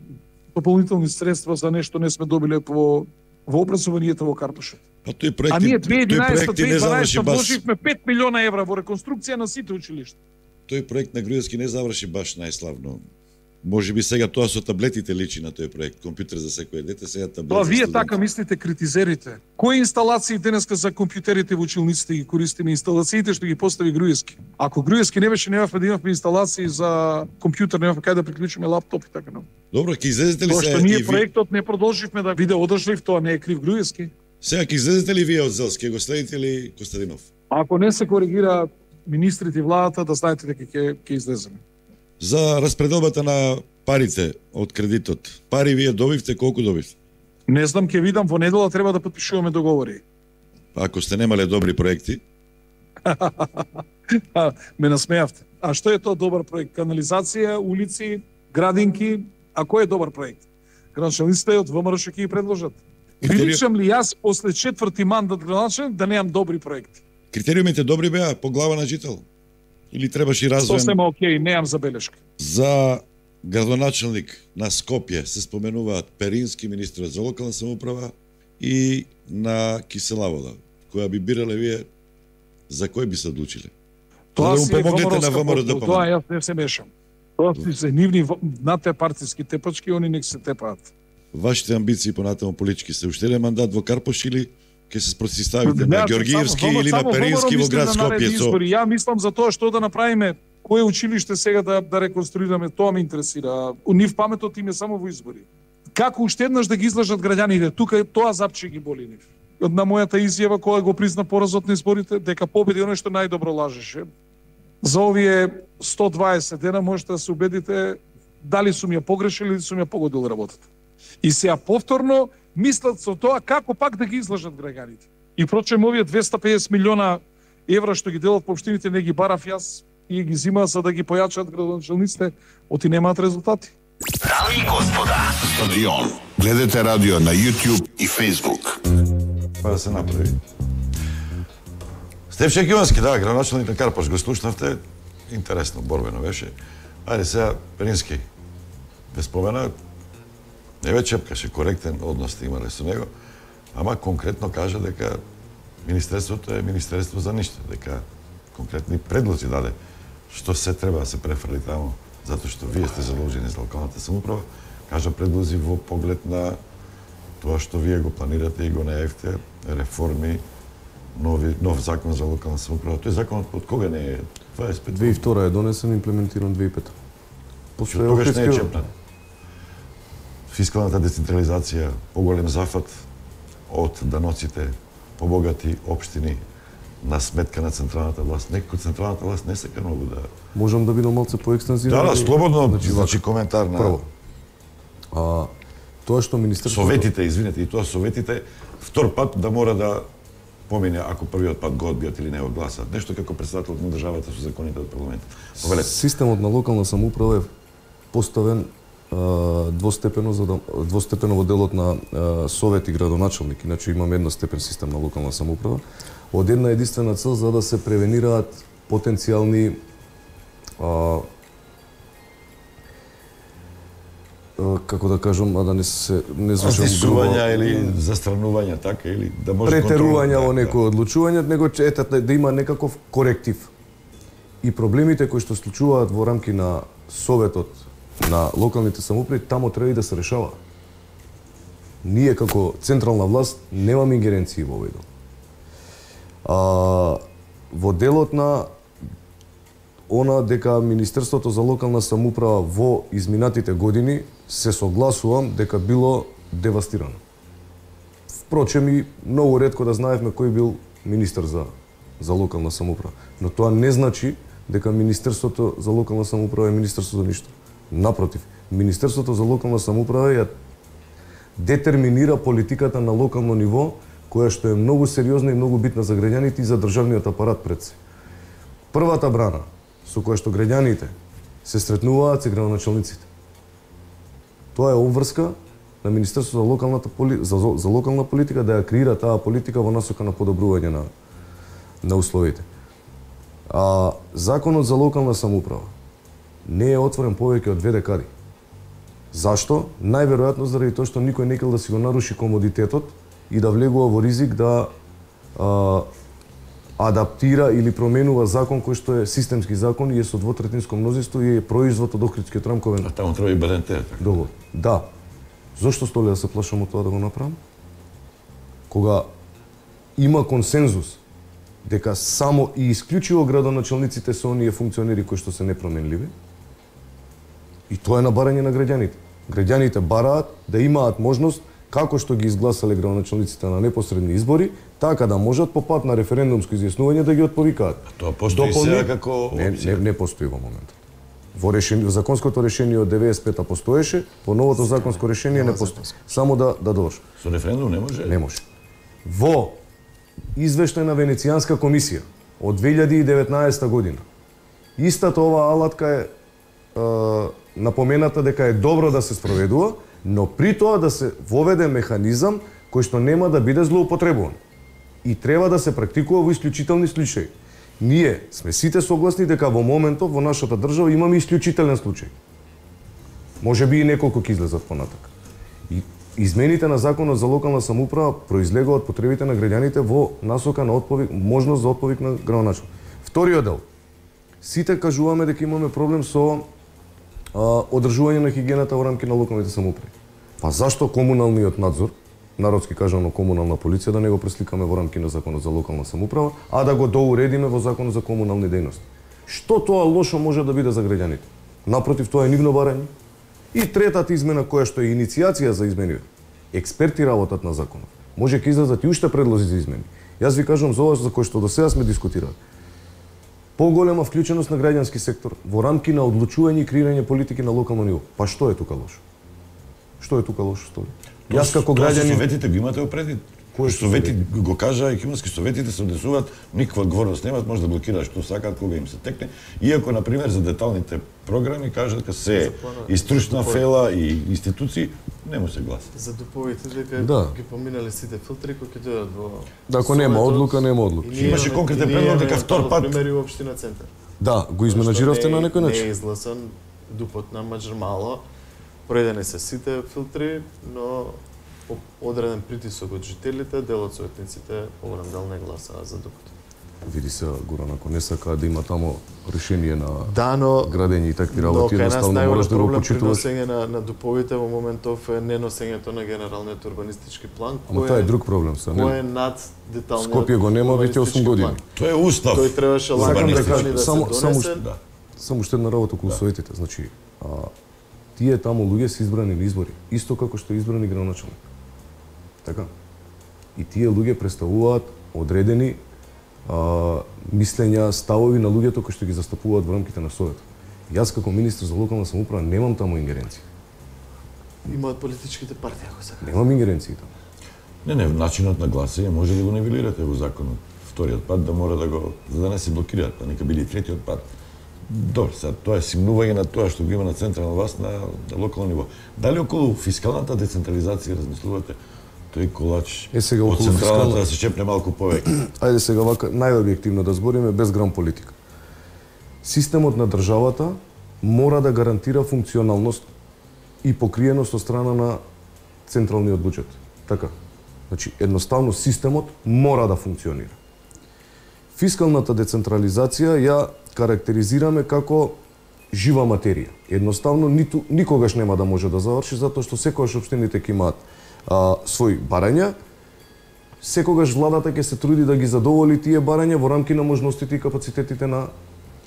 дополнителни средства за нешто не сме добиле во во образованието во Карпошот. А тој проект, а ние две илјадесета тој проект не заврши баш. Вложивме пет милиона евра во реконструкција на сите училишта. Тој проект на Груевски не заврши баш најславно. Може би сега тоа со таблетите личи на тој проект, компјутер за секој дете, сега таблет. Тоа вие така мислите, критизерите. Кои инсталации денеска за компјутерите во училниците ги користиме? Инсталациите што ги постави Груевски. Ако Груевски не беше, немавме да имавме инсталации за компјутер, немавме кај да приклучиме лаптоп и така. Добро, ќе излезете ли тоа се? Тоа што ние проектот не продолживме да биде одржлив, тоа не е крив Груевски. Сега ќе излезете ли вие од Зелски, го следите ли Костадинов? Ако не се коригира министрите и владата, да знаете дека ќе ќе излеземе. За распределбата на парите од кредитот. Пари вие добивте, колку добивте? Не знам, ќе видам, во недела треба да потпишуваме договори. Ако сте немале добри проекти? Ме насмеавте. А што е тоа добар проект? Канализација, улици, градинки, а кој е добар проект? Градоначалниците од ВМРО ќе ги предложат. Приличам ли јас после четврти мандат градоначалник да немам добри проекти? Критериумите добри беа по глава на жител? Или требаше и развоен? Сосема окей, немам забелешка. За градоначалник на Скопје се споменуваат Перински, министерот за локална самоуправа, и на Кисела вода. Која би бирале вие, за кој би се одлучиле? Тоа да си е помогнете на ВМРО да тоа јас не се мешам. Тоа си се нивни надте партиски тепачки, они нек се тепаат. Вашите амбиции понатаму политички се уште еден мандат во Карпош или ќе се спротивставите на Ѓоргиевски или на Перински во град Скопје? Ја мислам за тоа што да направиме, кое училиште сега да да реконструираме, тоа ме интересира. Нив паметот им е само во избори. Како уште еднаш да ги излажат граѓаните? Тука тоа запче ги боли нив. На мојата изјава која го призна поразот на изборите, дека победи оној што најдобро лажеше. За овие сто дваесет дена можете да се убедите дали сум ја погрешил или сум ја погодил работата. И сега повторно мислат со тоа како пак да ги излажат граѓаните. И прочем овие двеста и педесет милиона евра што ги делат по општините не ги барав јас и ги зима за да ги појачат градоначалниците, оти немаат резултати. Дами и господа, Стадион. Гледате радио на YouTube и Facebook. Па да се направи. Стефче Кивански, да, градоначалник на Карпаш, го слушнавте. Интересно, борбено беше. Ајде сега, Перински, ве спомена, не ве чепкаше, коректен однос имале со него, ама конкретно кажа дека Министерството е Министерство за ништо, дека конкретни предлози даде што се треба да се префрли таму, затоа што вие сте задолжени за локалната самоуправа, кажа предлози во поглед на тоа што вие го планирате и го најавите, реформи, нови, нов закон за локална самоуправа. Тој законот од кога не е? дваесет и пет две тисаќи и втора е донесен, имплементиран две тисаќи и пета. Што тогаш не е чепнат. Фискалната децентрализација, поголем зафат од даноците, побогати општини на сметка на централната власт. Некој централната власт не сека многу да... Можам да бидам малце поекстензивен? Да, да, слободно, значи, значи коментар на... Прво, а, тоа што Министерството... Советите, извинете, и тоа советите, втор пат да мора да помине ако првиот пат го одбијат или не го гласат. Нешто како председател на државата со законите од парламентот. Повелете. Системот на локална самоуправа е поставен а, двостепено за да, двостепено во делот на а, совет и градоначалник. Иначе имаме една степен систем на локална самоуправа. Од една единствена цел за да се превенираат потенцијални а, како да кажам, а да не се не звучам грубо, или застранувања, така, или да може претерувања во некои одлучувања, него ете да има некаков коректив. И проблемите кои што случуваат во рамки на советот на локалните самоуправи, тамо треба и да се решава. Ние како централна власт немаме ингеренции во овој дел. А, во делот на она дека Министерството за локална самоуправа во изминатите години се согласувам дека било девастирано. Впрочем и многу ретко да знаевме кој бил министер за за локална самоуправа, но тоа не значи дека Министерството за локална самоуправа е министерство за ништо. Напротив, Министерството за локална самоуправа ја детерминира политиката на локално ниво, која што е многу сериозна и многу битна за граѓаните и за државниот апарат пред се. Првата брана со која што граѓаните се сретнуваат се градоначалниците. Тоа е обврска на Министерството за локалната поли... за, за локална политика да ја креира таа политика во насока на подобрување на на условите. А законот за локална самоуправа не е отворен повеќе од две декади. Зашто? Најверојатно заради тоа што никој не кел да си го наруши комодитетот и да влегува во ризик да а, адаптира или променува закон кој што е системски закон и е со двотретинско мнозинство и е производ од Охридскиот рамковен. А таму треба и БНТ. Договор. Да. Зошто столи да се плашам од тоа да го направам? Кога има консензус дека само и исклучиво градоначалниците се оние функционери кои што се непроменливи, и тоа е на барање на граѓаните. Граѓаните бараат да имаат можност како што ги изгласале градоначалниците на непосредни избори, така да можат по пат на референдумско изјаснување да ги отповикаат. Тоа постои сега како не, не, не постои во моментот. Во решение, законското решение од деветдесет и пета постоеше, по новото законско решение не постои. Само да да довршам. Со референдум не може? Не може. Во извештај на Венецијанска комисија од две илјади и деветнаесета година, истата оваа алатка е, е напомената дека е добро да се спроведува, но при тоа да се воведе механизам кој што нема да биде злоупотребуван. И треба да се практикува во исклучителни случаи. Ние сме сите согласни дека во моментов во нашата држава имаме исклучителен случај. Може би и неколку ќе излезат понатака. И измените на законот за локална самоуправа произлегува од потребите на граѓаните во насока на отповик, можност за отповик на градоначалник. Вториот дел. Сите кажуваме дека имаме проблем со а, одржување на хигиената во рамки на локалните самоуправи. Па зашто комуналниот надзор, народски кажано комунална полиција, да не го пресликаме во рамки на законот за локална самоуправа, а да го доуредиме во законот за комунални дејности? Што тоа лошо може да биде за граѓаните? Напротив, тоа е нивно барање. И третата измена која што е иницијација за измени, експерти работат на законот. Може ќе излезат и уште предлози за измени. Јас ви кажам за ова за кој што до сега сме дискутирали. Поголема вклученост на граѓански сектор во рамки на одлучување и креирање политики на локално ниво. Па што е тука лошо? Што е тука лошо стои? Јас како граѓанин советите ги имате опреди. Кој совети го кажа, економски советите се однесуваат, никаква одговорност немаат, може да блокираат што сакаат кога им се текне. Иако на пример за деталните програми кажат дека се и стручна фела и институции не му се гласа. За дуповите дека да. ги поминале сите филтри кои ќе дојдат во Да, ако нема одлука, нема одлука. Имаше конкретен предлог дека втор пат примери во општина Центар. Да, го изменаџиравте на некој начин. Не е изгласан дупот на Маџармало. Проедени се сите филтри, но по одреден притисок од жителите, дел од советниците поголем дел не гласаа за дупот. Види се, Горан, ако не сака да има тамо решение на да, но, градење и такви работи, едноставно мораш да го почитуваш. При носење на, на дуповите во моментов е неносењето на генералниот урбанистички план, кој е, тоа е друг проблем са. Кој е над деталниот Скопје го нема веќе осум години. Тоа е устав. Тој требаше лагано да, да само, се донесе. Само, да. само уште една работа околу да. Советите. Значи, а, тие таму луѓе се избрани на избори, исто како што е избрани градоначалник. Така. И тие луѓе представуваат одредени а, мислења, ставови на луѓето кои што ги застапуваат во рамките на Советот. Јас како министр за локална самоуправа немам таму ингеренција. Имаат политичките партии, ако сакате. Немам ингеренции таму. Не, не, начинот на гласање може да го нивелирате во законот. Вториот пат да мора да го, за да не се блокираат, па нека биде и третиот пат. Добро, сега тоа е симнување на тоа што го има на централна власт на, на локално ниво. Дали околу фискалната децентрализација размислувате тој колач е, сега, од централната фискална... да се чепне малку повеќе? Ајде сега вака најобјективно да збориме без грам политика. Системот на државата мора да гарантира функционалност и покриеност од страна на централниот буџет. Така. Значи, едноставно системот мора да функционира. Фискалната децентрализација ја карактеризираме како жива материја. Едноставно ниту никогаш нема да може да заврши затоа што секогаш општините ќе имаат а, своји барања. Секогаш владата ќе се труди да ги задоволи тие барања во рамки на можностите и капацитетите на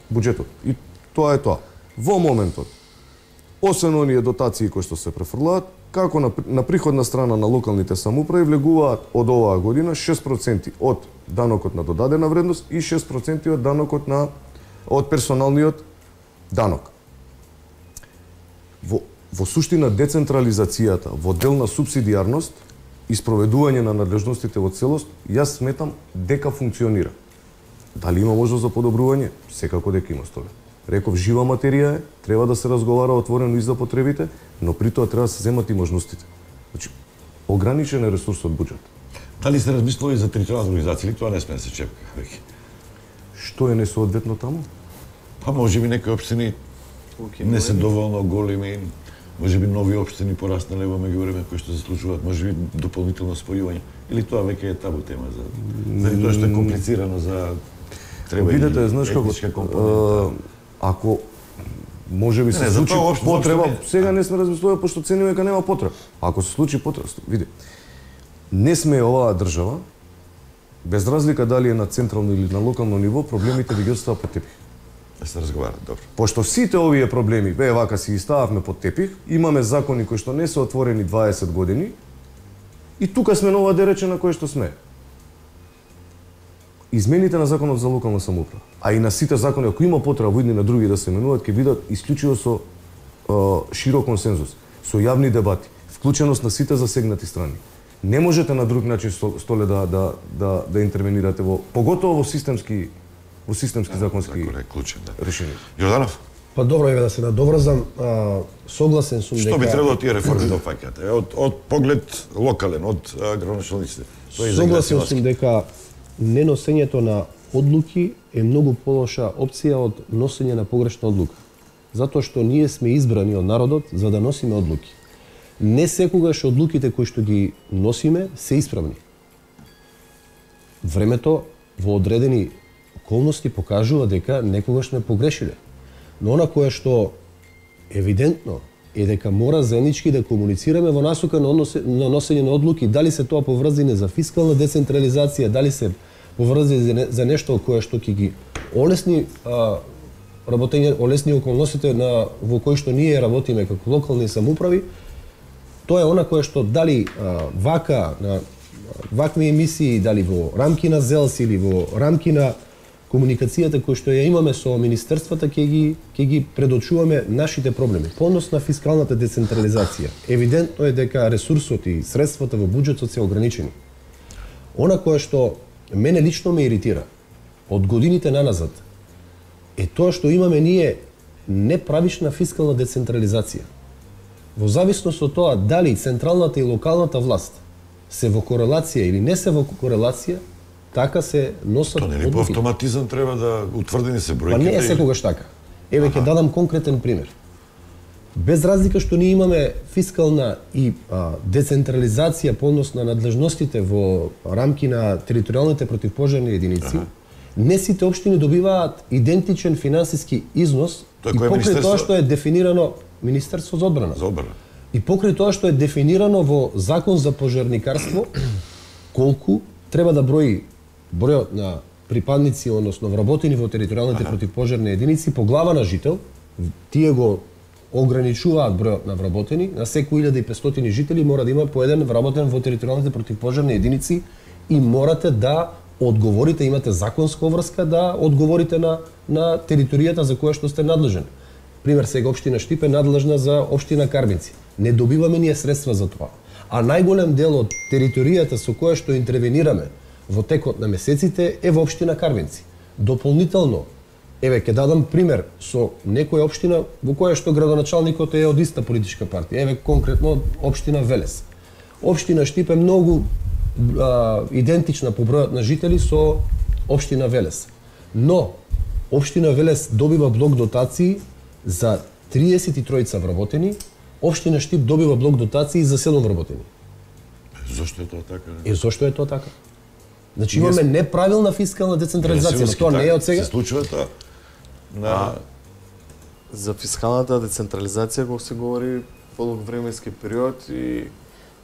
буџетот. И тоа е тоа. Во моментот, освен оние дотации кои што се префрлаат, како на, на приходна страна на локалните самоуправи влегуваат од оваа година шест проценти од данокот на додадена вредност и шест проценти од данокот на од персоналниот данок. Во, во суштина децентрализацијата, во дел на субсидијарност и спроведување на надлежностите во целост, јас сметам дека функционира. Дали има можност за подобрување? Секако дека има стоја. Реков, жива материја е, треба да се разговара отворено и за потребите, но при тоа треба да се земат и можностите. Значи, ограничен е ресурсот буџет. Дали се размислува и за територијална организација или тоа не сме да се чепка веќе? Што е несоодветно таму? Па можеби некои општини не се доволно големи, можеби нови општини пораснале во меѓувреме кои што заслужуваат, можеби дополнително спојување. Или тоа веќе е табу тема за заради тоа што е комплицирано за треба видете, и знаеш како компонента. Ако може би се не, случи потреба, не. Сега не сме размислували пошто цениме дека нема потреба. Ако се случи потреба, види. Не сме оваа држава, без разлика дали е на централно или на локално ниво, проблемите да ги остава под тепих. Да се разговара, добро. Пошто сите овие проблеми, бе, вака си ги стававме под тепих, имаме закони кои што не се отворени дваесет години, и тука сме на ова дерече на кој што сме. Измените на законот за локална самоуправа, а и на сите закони, ако има потреба во едни на други да се менуваат, ќе бидат исклучиво со е, широк консензус, со јавни дебати, вклученост на сите засегнати страни. Не можете на друг начин столе да да да да интервенирате во поготово во системски во системски да, законски закон е клучен, да. решение. Јорданов? Па добро, еве да се надоврзам, а, согласен сум дека Што би требало тие реформи да опфаќаат? Од од поглед локален, од градоначалниците. Согласен сум дека неносењето на одлуки е многу полоша опција од носење на погрешна одлука. Затоа што ние сме избрани од народот за да носиме одлуки. Не секогаш одлуките кои што ги носиме се исправни. Времето во одредени околности покажува дека некогаш сме погрешиле. Но она кое што евидентно е дека мора заеднички да комуницираме во насока на, односе, на носење на одлуки, дали се тоа поврзано за фискална децентрализација, дали се поврзано за, не, за нешто кое што ќе ги олесни а, работење, олесни околностите на во кои што ние работиме како локални самоуправи. Тоа е она кое што дали а, вака на вакви емисии, дали во рамки на ЗЕЛС или во рамки на комуникацијата која што ја имаме со министерствата ќе ги ќе ги предочуваме нашите проблеми. По однос на фискалната децентрализација, евидентно е дека ресурсот и средствата во буџетот се ограничени. Она кое што мене лично ме иритира од годините наназад е тоа што имаме ние неправишна фискална децентрализација. Во зависност од тоа дали централната и локалната власт се во корелација или не се во корелација, така се носат одлуки. Тоа не е по автоматизам треба да утврдени се бројките. Па не е секогаш така. Еве ќе дадам конкретен пример. Без разлика што ние имаме фискална и а, децентрализација по однос на надлежностите во рамки на територијалните противпожарни единици, ага. не сите општини добиваат идентичен финансиски износ Тоа и покрај тоа што е дефинирано Министерство за одбрана. За одбрана. И покрај тоа што е дефинирано во Закон за пожарникарство колку треба да брои бројот на припадници, односно вработени во територијалните ага. противпожарни единици по глава на жител, тие го ограничуваат бројот на вработени, на секои илјада и петстотини жители мора да има по еден вработен во територијалните противпожарни единици и морате да одговорите, имате законска врска да одговорите на на територијата за која што сте надлежен. Пример, сега општина Штип е надлежна за општина Карбинци. Не добиваме ние средства за тоа. А најголем дел од територијата со која што интервенираме во текот на месеците е во општина Карбинци. Дополнително, еве ќе дадам пример со некоја општина во која што градоначалникот е од иста политичка партија. Еве конкретно општина Велес. Општина Штип е многу а, идентична по бројот на жители со општина Велес. Но општина Велес добива блок дотации за триесет и тројца вработени, општина Штип добива блок дотации за седум вработени. Зошто е тоа така? Е, зошто е тоа така? Значи имаме неправилна фискална децентрализација, но тоа не е од сега. Се случува тоа. На а, за фискалната децентрализација кога се говори подолг временски период и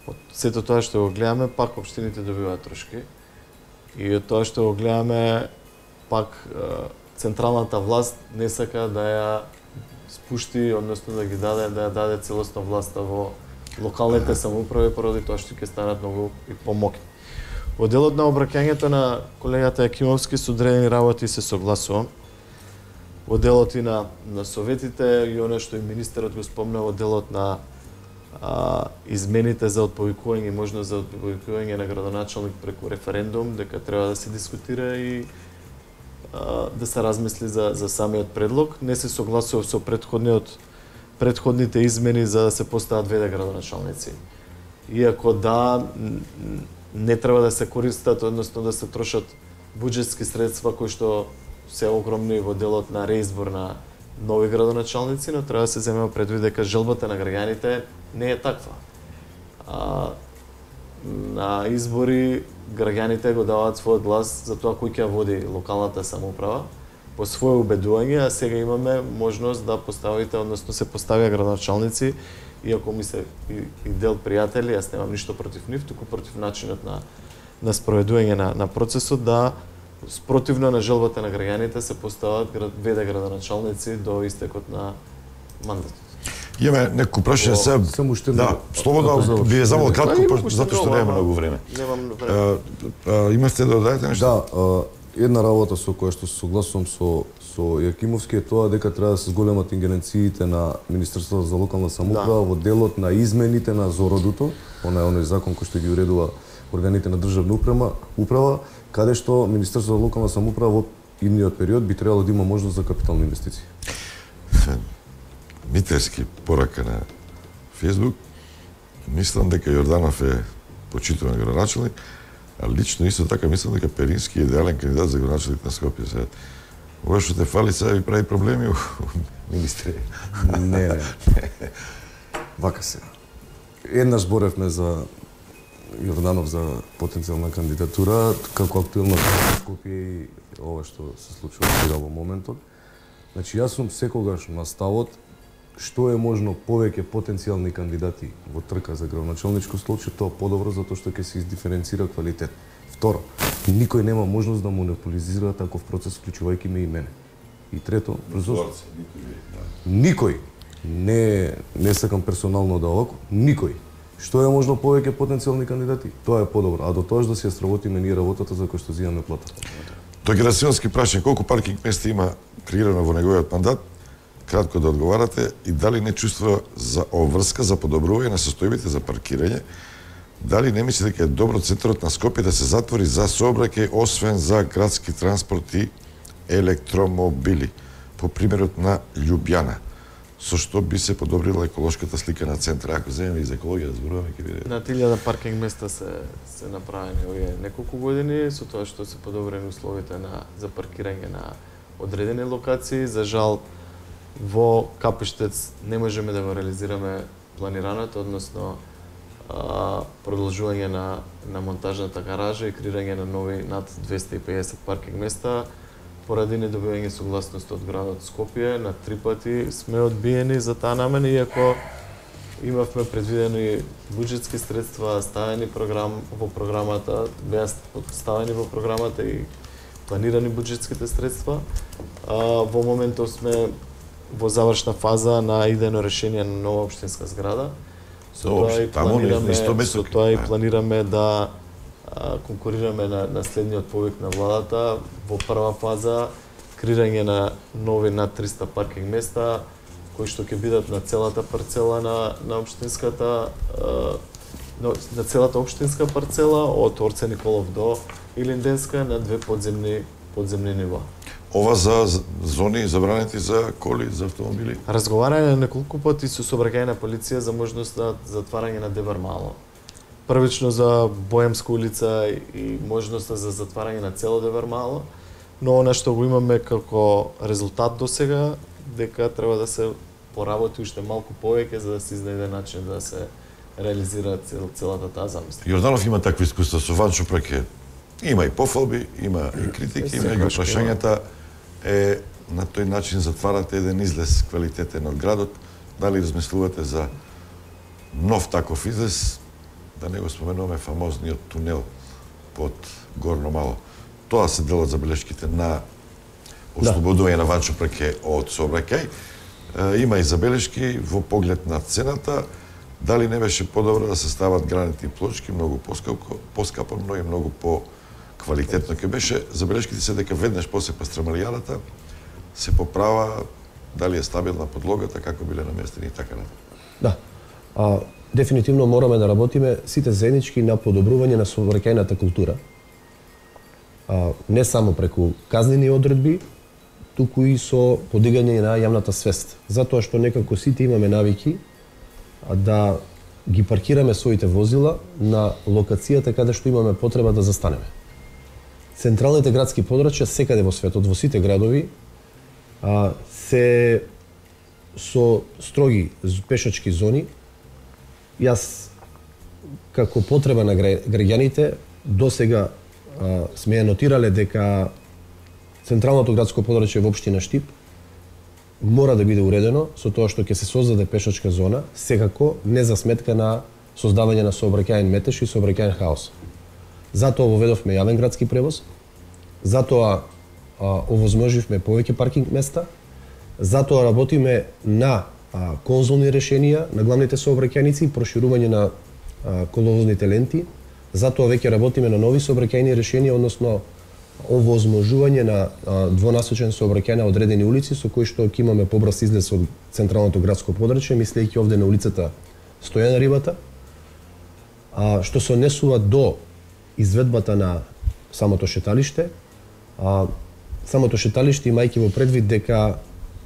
од сето тоа што го гледаме, пак општините добиваат трошки. И од тоа што го гледаме, пак централната власт не сака да ја спушти, односно да ги даде, да ја даде целосна власта во локалните самоуправи, поради тоа што ќе станат многу и помоќни. Во делот на обраќањето на колегата Јакимовски со одредени работи се согласувам. Во делот и на, на советите и оно што и министерот го спомна во делот на а, измените за отповикување, можност за отповикување на градоначалник преку референдум, дека треба да се дискутира и а, да се размисли за, за самиот предлог. Не се согласував со предходниот предходните измени за да се постават веде градоначалници. Иако да, не треба да се користат, односно да се трошат буџетски средства кои што се огромни во делот на реизбор на нови градоначалници, но треба да се земе предвид дека желбата на граѓаните не е таква. А, на избори граѓаните го даваат својот глас за тоа кој ќе води локалната самоуправа по своје убедување, а сега имаме можност да поставите, односно се поставија градоначалници, иако ми се и, и дел пријатели, јас немам ништо против нив, туку против начинот на на спроведување на, на процесот, да спротивно на желбата на граѓаните се постават веде градоначалници до истекот на мандатот. Имаме некој прашање се. Само уште да, слободно би ве замол кратко, затоа што нема многу време. Немам време. Имате да додадете нешто? Да, една работа со која што се согласувам со со Јакимовски е тоа дека треба да се зголемат ингеренциите на Министерството за локална самоуправа да. во делот на измените на Зородуто, она е оној закон кој што ги уредува органите на државна управа, управа, каде што Министерството за локална самоуправа во идниот период би требало да има можност за капитални инвестиции. Митерски порака на Фејсбук. Мислам дека Јорданов е почитуван градоначалник, а лично исто така мислам дека Перински е идеален кандидат за градоначалник на Скопје. Сега ова што те фали сега ви прави проблеми, министре. Не, не. Вака се. Еднаш зборевме за Јорданов за потенцијална кандидатура, како актуелна Скопје и ова што се случува сега во моментот. Значи, јас сум секогаш на ставот што е можно повеќе потенцијални кандидати во трка за градоначалничко столче, тоа подобро затоа што ќе се издиференцира квалитет. Второ, никој нема можност да монополизира таков процес, вклучувајќи ме и мене. И трето, никој, не, не сакам персонално да овако, никој. Што е можно повеќе потенцијални кандидати? Тоа е подобро. А до тоа да се сработиме ние работата за која што зимаме плата. Тој Герасимовски прашање колку паркинг места има креирано во неговиот мандат, кратко да одговарате и дали не чувства за обврска за подобрување на состојбите за паркирање, дали не мисли дека е добро центарот на Скопје да се затвори за сообраќај освен за градски транспорт и електромобили, по примерот на Љубјана, со што би се подобрила еколошката слика на центар. Ако земеме и за екологија да зборуваме, ќе биде. На илјада паркинг места се се направени овие неколку години со тоа што се подобрени условите на за паркирање на одредени локации. За жал во Капиштец не можеме да го реализираме планираното, односно а, продолжување на на монтажната гаража и креирање на нови над двесте и педесет паркинг места. Поради недобивање согласност од градот Скопје, на три пати сме одбиени за таа намена, иако имавме предвидени буџетски средства, ставени програм во програмата, беа ставени во програмата и планирани буџетските средства. А, во моментов сме во завршна фаза на идејно решение на нова општинска зграда. Со тоа и планираме, со тоа и планираме да а, конкурираме на, на следниот повик на владата во прва фаза креирање на нови над триста паркинг места кои што ќе бидат на целата парцела на на општинската а, на, на целата општинска парцела од Орце Николов до Илинденска на две подземни подземни нива. Ова за зони забранети за коли, за автомобили? Разговарање неколку пати со сообраќајна полиција за можност за затварање на Дебар Мало. Првично за Боемска улица и можноста за затварање на цело Дебар Мало, но она што го имаме како резултат до сега, дека треба да се поработи уште малку повеќе за да се изнајде начин да се реализира цел, целата таа замисла. Јорданов има такви искуства со Ванчо Праке. Има и пофалби, има и критики, меѓу прашањата е на тој начин затварате еден излез квалитетен од градот. Дали размислувате за нов таков излез, да не го споменуваме фамозниот тунел под Горно Мало. Тоа се дел од забелешките на ослободување на Ванчо Праке од сообраќај. Има и забелешки во поглед на цената, дали не беше подобро да се стават гранитни плочки, многу поскапо, поскапо, но и многу по квалитетно ќе беше. Забелешките се дека веднаш после пастрамалијадата се поправа дали е стабилна подлогата, како биле наместени и така натаму. Да. А, дефинитивно мораме да работиме сите заеднички на подобрување на сообраќајната култура. А, не само преку казнени одредби, туку и со подигање на јавната свест. Затоа што некако сите имаме навики да ги паркираме своите возила на локацијата каде што имаме потреба да застанеме. Централните градски подрачја секаде во светот, во сите градови, а, се со строги пешачки зони. Јас, како потреба на граѓаните, досега а, сме ја нотирале дека Централното градско подрачје во општина Штип мора да биде уредено со тоа што ќе се создаде пешачка зона, секако не за сметка на создавање на сообраќајен метеж и сообраќајен хаос. Затоа воведовме јавен градски превоз, затоа а, овозможивме повеќе паркинг места, затоа работиме на а, конзулни решенија на главните сообраќајници и проширување на а, коловозните ленти, затоа веќе работиме на нови сообраќајни решенија, односно овозможување на а, двонасочен сообраќај на одредени улици со кои што ќе имаме побрз излез од Централното градско подрачје, мислејќи овде на улицата Стојана Рибата, а, што се однесува до изведбата на самото шеталиште. А, самото шеталиште, имајќи во предвид дека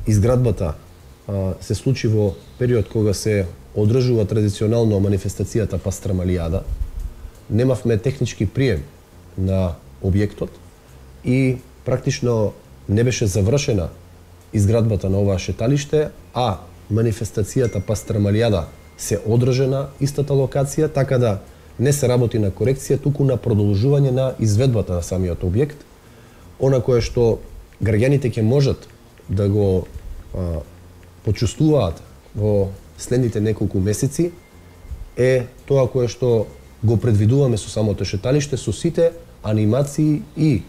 изградбата а, се случи во период кога се одржува традиционално манифестацијата Пастрамалијада, немавме технички прием на објектот и практично не беше завршена изградбата на оваа шеталиште, а манифестацијата Пастрамалијада се одржа на истата локација, така да не се работи на корекција, туку на продолжување на изведбата на самиот објект, она кое што граѓаните ќе можат да го а, почувствуваат во следните неколку месеци е тоа кое што го предвидуваме со самото шеталиште, со сите анимации и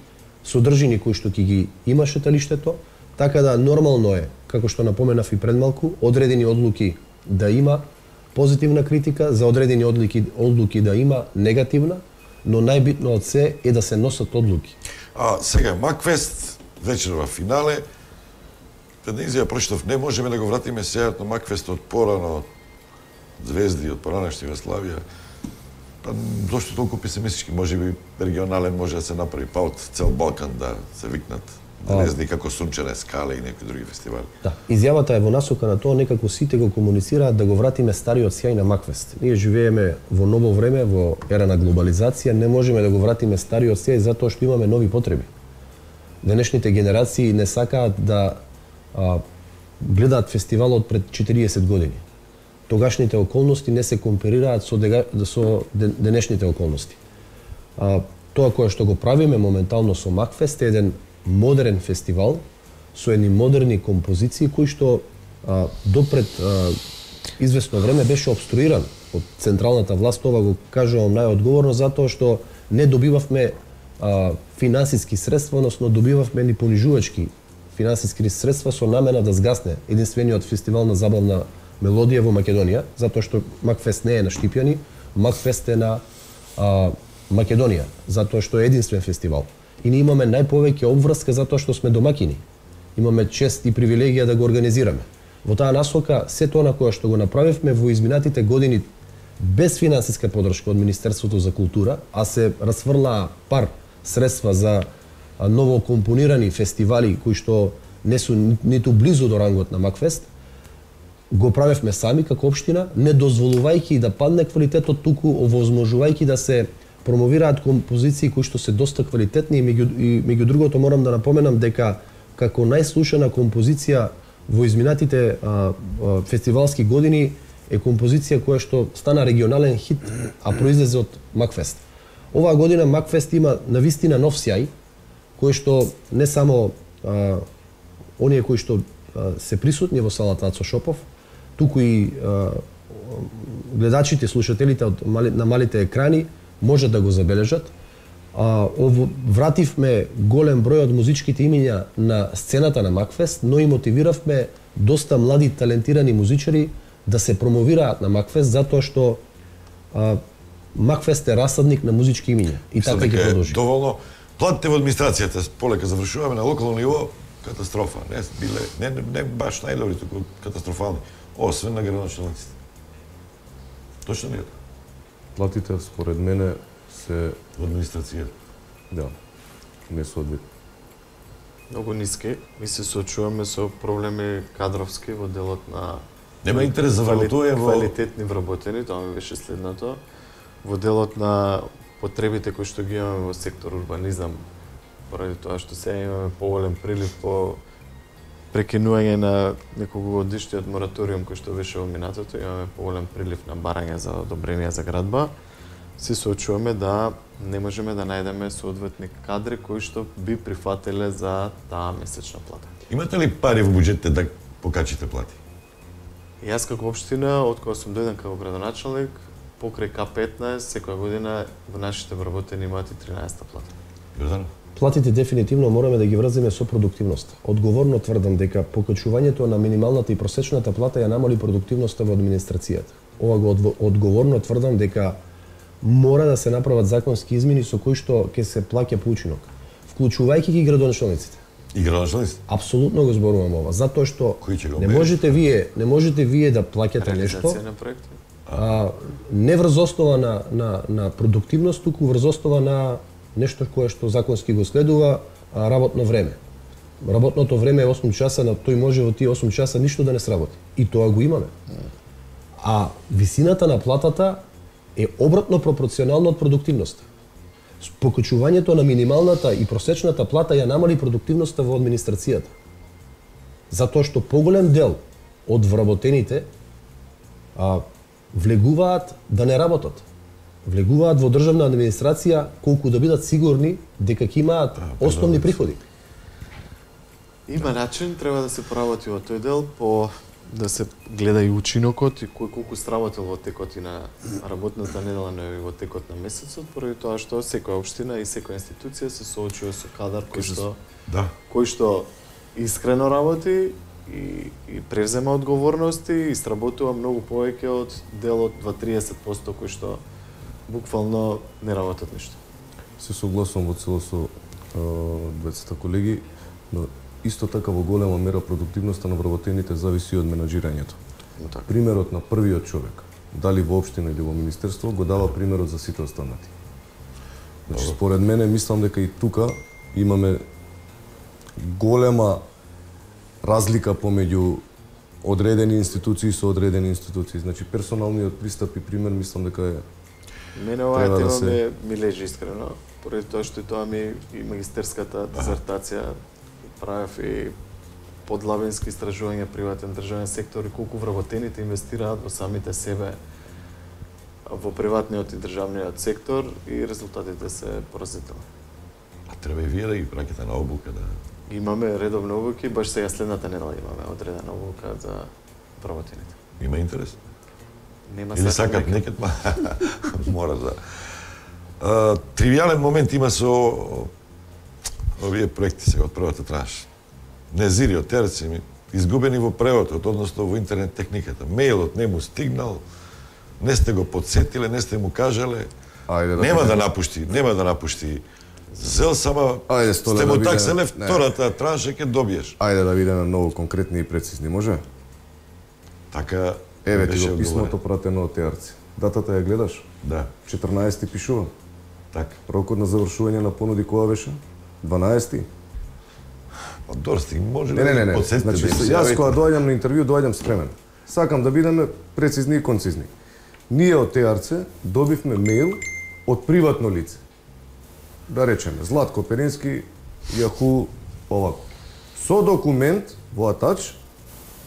содржини кои што ќе ги има шеталиштето, така да нормално е, како што напоменав и пред малку, одредени одлуки да има позитивна критика, за одредени одлуки, одлуки да има негативна, но најбитно од се е да се носат одлуки. А сега Макфест вечерва финале. Една изјава прочитав, не можеме да го вратиме сејат на Макфестот порано од Звезди, од поранешна Југославија. Па зошто толку песимистички? Може би регионален може да се направи, па од цел Балкан да се викнат Звезди како Сунчене скале и некои други фестивали. Да, изјавата е во насока на тоа некако сите го комуницираат да го вратиме стариот сјај на Макфест. Ние живееме во ново време, во ера на глобализација, не можеме да го вратиме стариот сјај затоа што имаме нови потреби. Денешните генерации не сакаат да а, гледаат фестивалот пред четириесет години. Тогашните околности не се комперираат со, дега, со денешните околности. А, тоа кое што го правиме моментално со Макфест е еден модерен фестивал со едни модерни композиции кои што а, допред а, известно време беше обструиран од централната власт. Ова го кажувам најодговорно затоа што не добивавме а, финансиски средства, односно добивавме ни понижувачки финансиски средства со намена да згасне единствениот фестивал на забавна мелодија во Македонија, затоа што Макфест не е на Штипјани, Макфест е на а, Македонија, затоа што е единствен фестивал. И ние имаме најповеќе обврска затоа што сме домакини. Имаме чест и привилегија да го организираме. Во таа насока, се тоа на кое што го направивме во изминатите години без финансиска подршка од Министерството за култура, а се расфрлаа пар средства за ново компонирани фестивали кои што не су ниту близу до рангот на Макфест, го правевме сами како општина, не дозволувајќи да падне квалитетот, туку овозможувајќи да се промовираат композиции кои што се доста квалитетни и меѓу, и меѓу другото морам да напоменам дека како најслушана композиција во изминатите а, а, фестивалски години е композиција која што стана регионален хит, а произлезе од Макфест. Оваа година Макфест има навистина нов сјај, кој што не само а, оние кои што а, се присутни во салата Ацо Шопов, туку и а, гледачите, слушателите од мали, на малите екрани можат да го забележат. А, ово, вративме голем број од музичките имиња на сцената на Макфест, но и мотивиравме доста млади талентирани музичари да се промовираат на Макфест, затоа што а, Макфест е расадник на музички имиња. И така ќе продолжи. Доволно. Платите во администрацијата, полека завршуваме на локално ниво, катастрофа. Не биле, не, не, не баш најдобри, туку катастрофални. Освен на градоначалниците. Точно ли е? Платите, според мене, се... Во администрацијата? Да, не соодветни. Многу ниски. Ми се соочуваме со проблеми кадровски во делот на... Нема интерес за вработување во... Квалитетни вработени, тоа ми беше следното. Во делот на потребите кои што ги имаме во сектор урбанизам, поради тоа што сега имаме поголем прилив по прекинување на неколгогодишниот мораториум кој што беше во минатото, имаме поголем прилив на барање за одобрение за градба, се соочуваме да не можеме да најдеме соодветни кадри кои што би прифатиле за таа месечна плата. Имате ли пари во буџетите да покачите плати? Јас како општина, од кога сум дојден како градоначалник, покрај К петнаесет, секоја година во нашите вработени имаат и тринаесетта плата. Јордан? Платите дефинитивно мораме да ги врземе со продуктивност. Одговорно тврдам дека покачувањето на минималната и просечната плата ја намали продуктивноста во администрацијата. Ова го одговорно тврдам дека мора да се направат законски измени со кои што ќе се плаќа по учинок, вклучувајќи ги градоначалниците. И градоначалниците? Апсолутно го зборувам ова, затоа што не можете вие, не можете вие да плаќате нешто. Реализација на проекти. А, не врз основа на, на, на продуктивност, туку врз основа на нешто кое што законски го следува, а, работно време. Работното време е осум часа, на тој може во тие осум часа ништо да не сработи. И тоа го имаме. А висината на платата е обратно пропорционално од продуктивноста. Покачувањето на минималната и просечната плата ја намали продуктивноста во администрацијата. Затоа што поголем дел од вработените а, влегуваат да не работат. Влегуваат во државна администрација колку да бидат сигурни дека ќе имаат основни приходи. Има начин, треба да се поработи во тој дел, по да се гледа и учинокот и кој колку сработил во текот и на работната недела, но и во текот на месецот, поради тоа што секоја општина и секоја институција се соочува со кадар кој што да. кој што искрено работи и, и превзема одговорности и сработува многу повеќе од делот два триесет проценти кој што буквално не работат ништо. Се согласувам во цело со дваесет колеги, но исто така во голема мера продуктивноста на вработените зависи од менаџирањето. Примерот на првиот човек, дали во општина или во министерство, го дава примерот за сите останати. Значи, според мене, мислам дека и тука имаме голема разлика помеѓу одредени институции со одредени институции. Значи, персоналниот пристап и пример, мислам дека е... Мене оваа тема да се... ме, ми лежи искрено, поради тоа што и тоа ми и магистерската дизертација правев и подлабински истражување приватен државен сектор и колку вработените инвестираат во самите себе во приватниот и државниот сектор и резултатите се поразителни. А треба и вие да ги праќате на обука, да... Имаме редовни обуки, баш сега следната недела имаме одредена обука за вработените. Има интерес? Нема. Или сакат некад, ма мора да... А, тривијален момент има со овие проекти сега од првата транш. Незири од терци ми изгубени во преводот, односно во интернет техниката. Мејлот не му стигнал, не сте го подсетиле, не сте му кажале. Ајде, да нема да напушти, нема да напушти. Зел сама Ајде, сте му да такселе видиме... втората транша ќе добиеш. Ајде да видиме многу конкретни и прецизни, може? Така еве ти го писмото пратено од Теарци. Датата ја гледаш? Да. четрнаесети пишува. Така. Рокот на завршување на понуди кога беше? дванаесети. Па дорсти може не, не, не, не. подсетите Значи, да јас кога доаѓам на интервју, доаѓам спремен. Сакам да бидеме прецизни и концизни. Ние од Теарце добивме мејл од приватно лице. Да речеме, Златко Перински, Јаху, овако. Со документ во атач,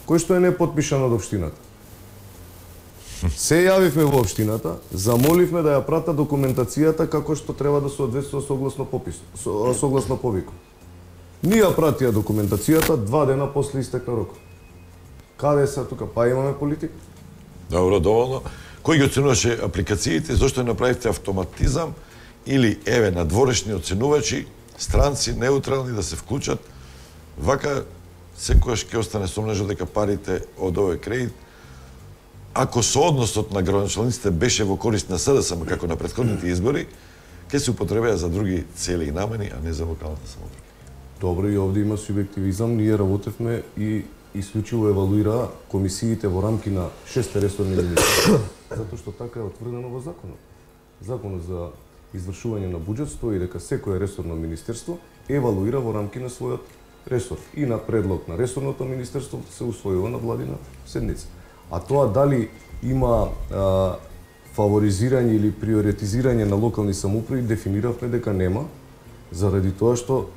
кој што е не потпишан од општината. Се јавивме во општината, замоливме да ја прата документацијата како што треба да соодветствува согласно попис, со, согласно повикот. Ние ја пратија документацијата два дена после истекна рокот. Каде се тука? Па имаме политика. Добро, доволно. Кој ги оценуваше апликациите, зошто ја направивте автоматизам или еве надворешни оценувачи, странци неутрални да се вклучат, вака секојаш ќе остане сомнежа дека парите од овој кредит, ако соодносот на градоначалниците беше во корист на СДСМ како на претходните избори, ќе се употребеа за други цели и намени, а не за локалната самоуправа. Добро, и овде има субјективизам. Ние работевме и исклучиво евалуира комисиите во рамки на шест ресорни министри. Затоа што така е утврдено во законот. Законот за извршување на буџет стои дека секое ресорно министерство евалуира во рамки на својот ресор и на предлог на ресорното министерство се усвојува на владина седница. А тоа дали има а, фаворизирање или приоритизирање на локални самоуправи, дефиниравме дека нема, заради тоа што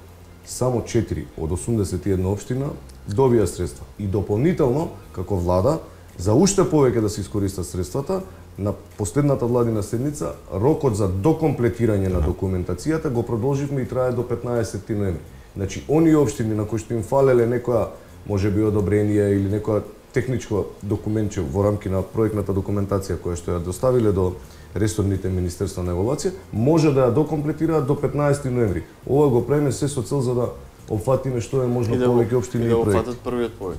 само четири од осумдесет и една општина добија средства. И дополнително, како влада, за уште повеќе да се искористат средствата, на последната владина седница, рокот за докомплетирање на документацијата го продолживме и трае до петнаесети ноември. Значи, оние општини на кои што им фалеле некоја, може би, одобрение или некоја техничко документче во рамки на проектната документација која што ја доставиле до ресорните министерства на евалуација, може да ја докомплетираат до петнаесети ноември. Ова го правиме се со цел за да опфатиме што е можно повеќе општини и, и да проекти. опфатат првиот повик.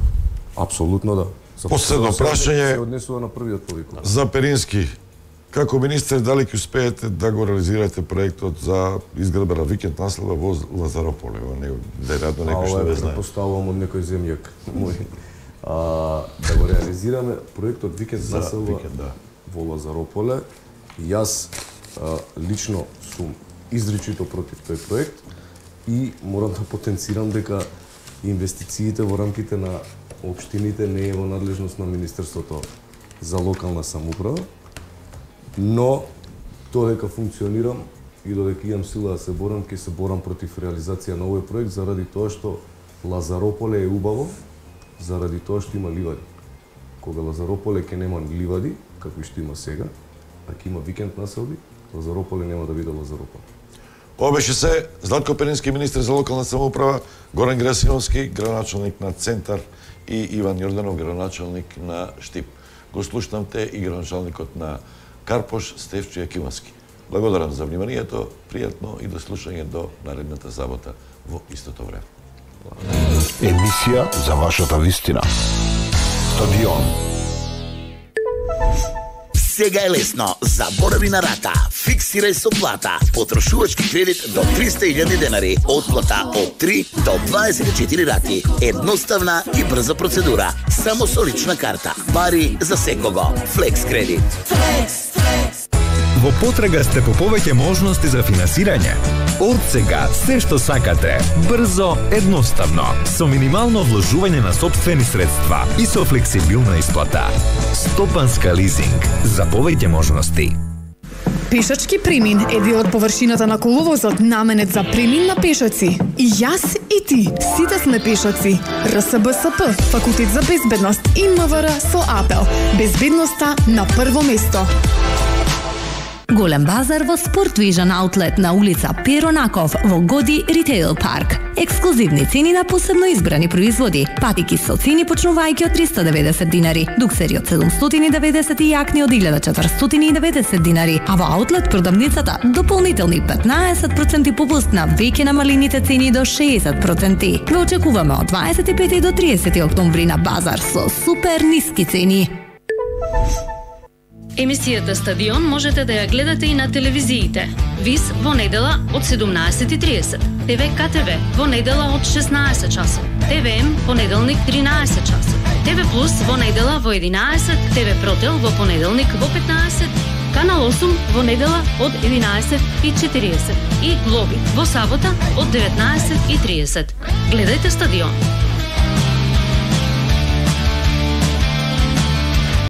Апсолутно да. Последно прашање се однесува на првиот повик. За Перински. Како министер, дали ќе успеете да го реализирате проектот за изградба на викенд населба во Лазарополе? Веројатно некој што не знае. Поставувам од некој земјак мој. А, да го реализираме проектот викенд населба да. во Лазарополе. Јас а, лично сум изричито против тој проект и морам да потенцирам дека инвестициите во рамките на општините не е во надлежност на Министерството за локална самоуправа, но додека функционирам и додека имам сила да се борам, ќе се борам против реализација на овој проект заради тоа што Лазарополе е убаво, заради тоа што има ливади. Кога Лазарополе ќе нема ливади, како што има сега, а ќе има викенд населби, Лазарополе нема да биде Лазарополе. Ова беше се Златко Перински, министер за локална самоуправа, Горан Грасиновски, градоначалник на Центар и Иван Јорданов, градоначалник на Штип. Го слушнавте и градоначалникот на Карпош, Стефчо Јакимовски. Благодарам за вниманието, пријатно и до слушање до наредната сабота во истото време. Емисија за вашата вистина. Стадион. Сега е лесно. Заборави на рата. Фиксирај со плата. Потрошувачки кредит до триста илјади денари. Отплата од три до дваесет и четири рати. Едноставна и брза процедура. Само со лична карта. Бари за секого. Флекс кредит. Во потрага сте по повеќе можности за финансирање. Од сега се што сакате, брзо, едноставно, со минимално вложување на сопствени средства и со флексибилна исплата. Стопанска лизинг за повеќе можности. Пешачки премин е дел од површината на коловозот наменет за премин на пешаци. И јас и ти, сите сме пешаци. Р С Б С П, Факултет за безбедност и М В Р со апел. Безбедноста на прво место. Голем базар во Sport Vision Outlet на улица Перо Наков во Годи Ритейл Парк. Ексклузивни цени на посебно избрани производи. Патики со цени почнувајќи од триста и деветдесет динари, дуксери од седумстотини и деветдесет и јакни од илјада четиристотини и деветдесет динари, а во Outlet продавницата дополнителни петнаесет проценти попуст на веќе намалените цени до шеесет проценти. Ве очекуваме од дваесет и пети до триесети октомври на базар со супер ниски цени. Емисијата Стадион можете да ја гледате и на телевизиите. ВИС во недела од седумнаесет и триесет, Т В К Т В во недела од шеснаесет часот, Т В М понеделник тринаесет часот, Т В Плюс во недела во единаесет, Т В Протел во понеделник во петнаесет, Канал осум во недела од единаесет и четириесет и Глоби во сабота од деветнаесет и триесет. Гледајте Стадион.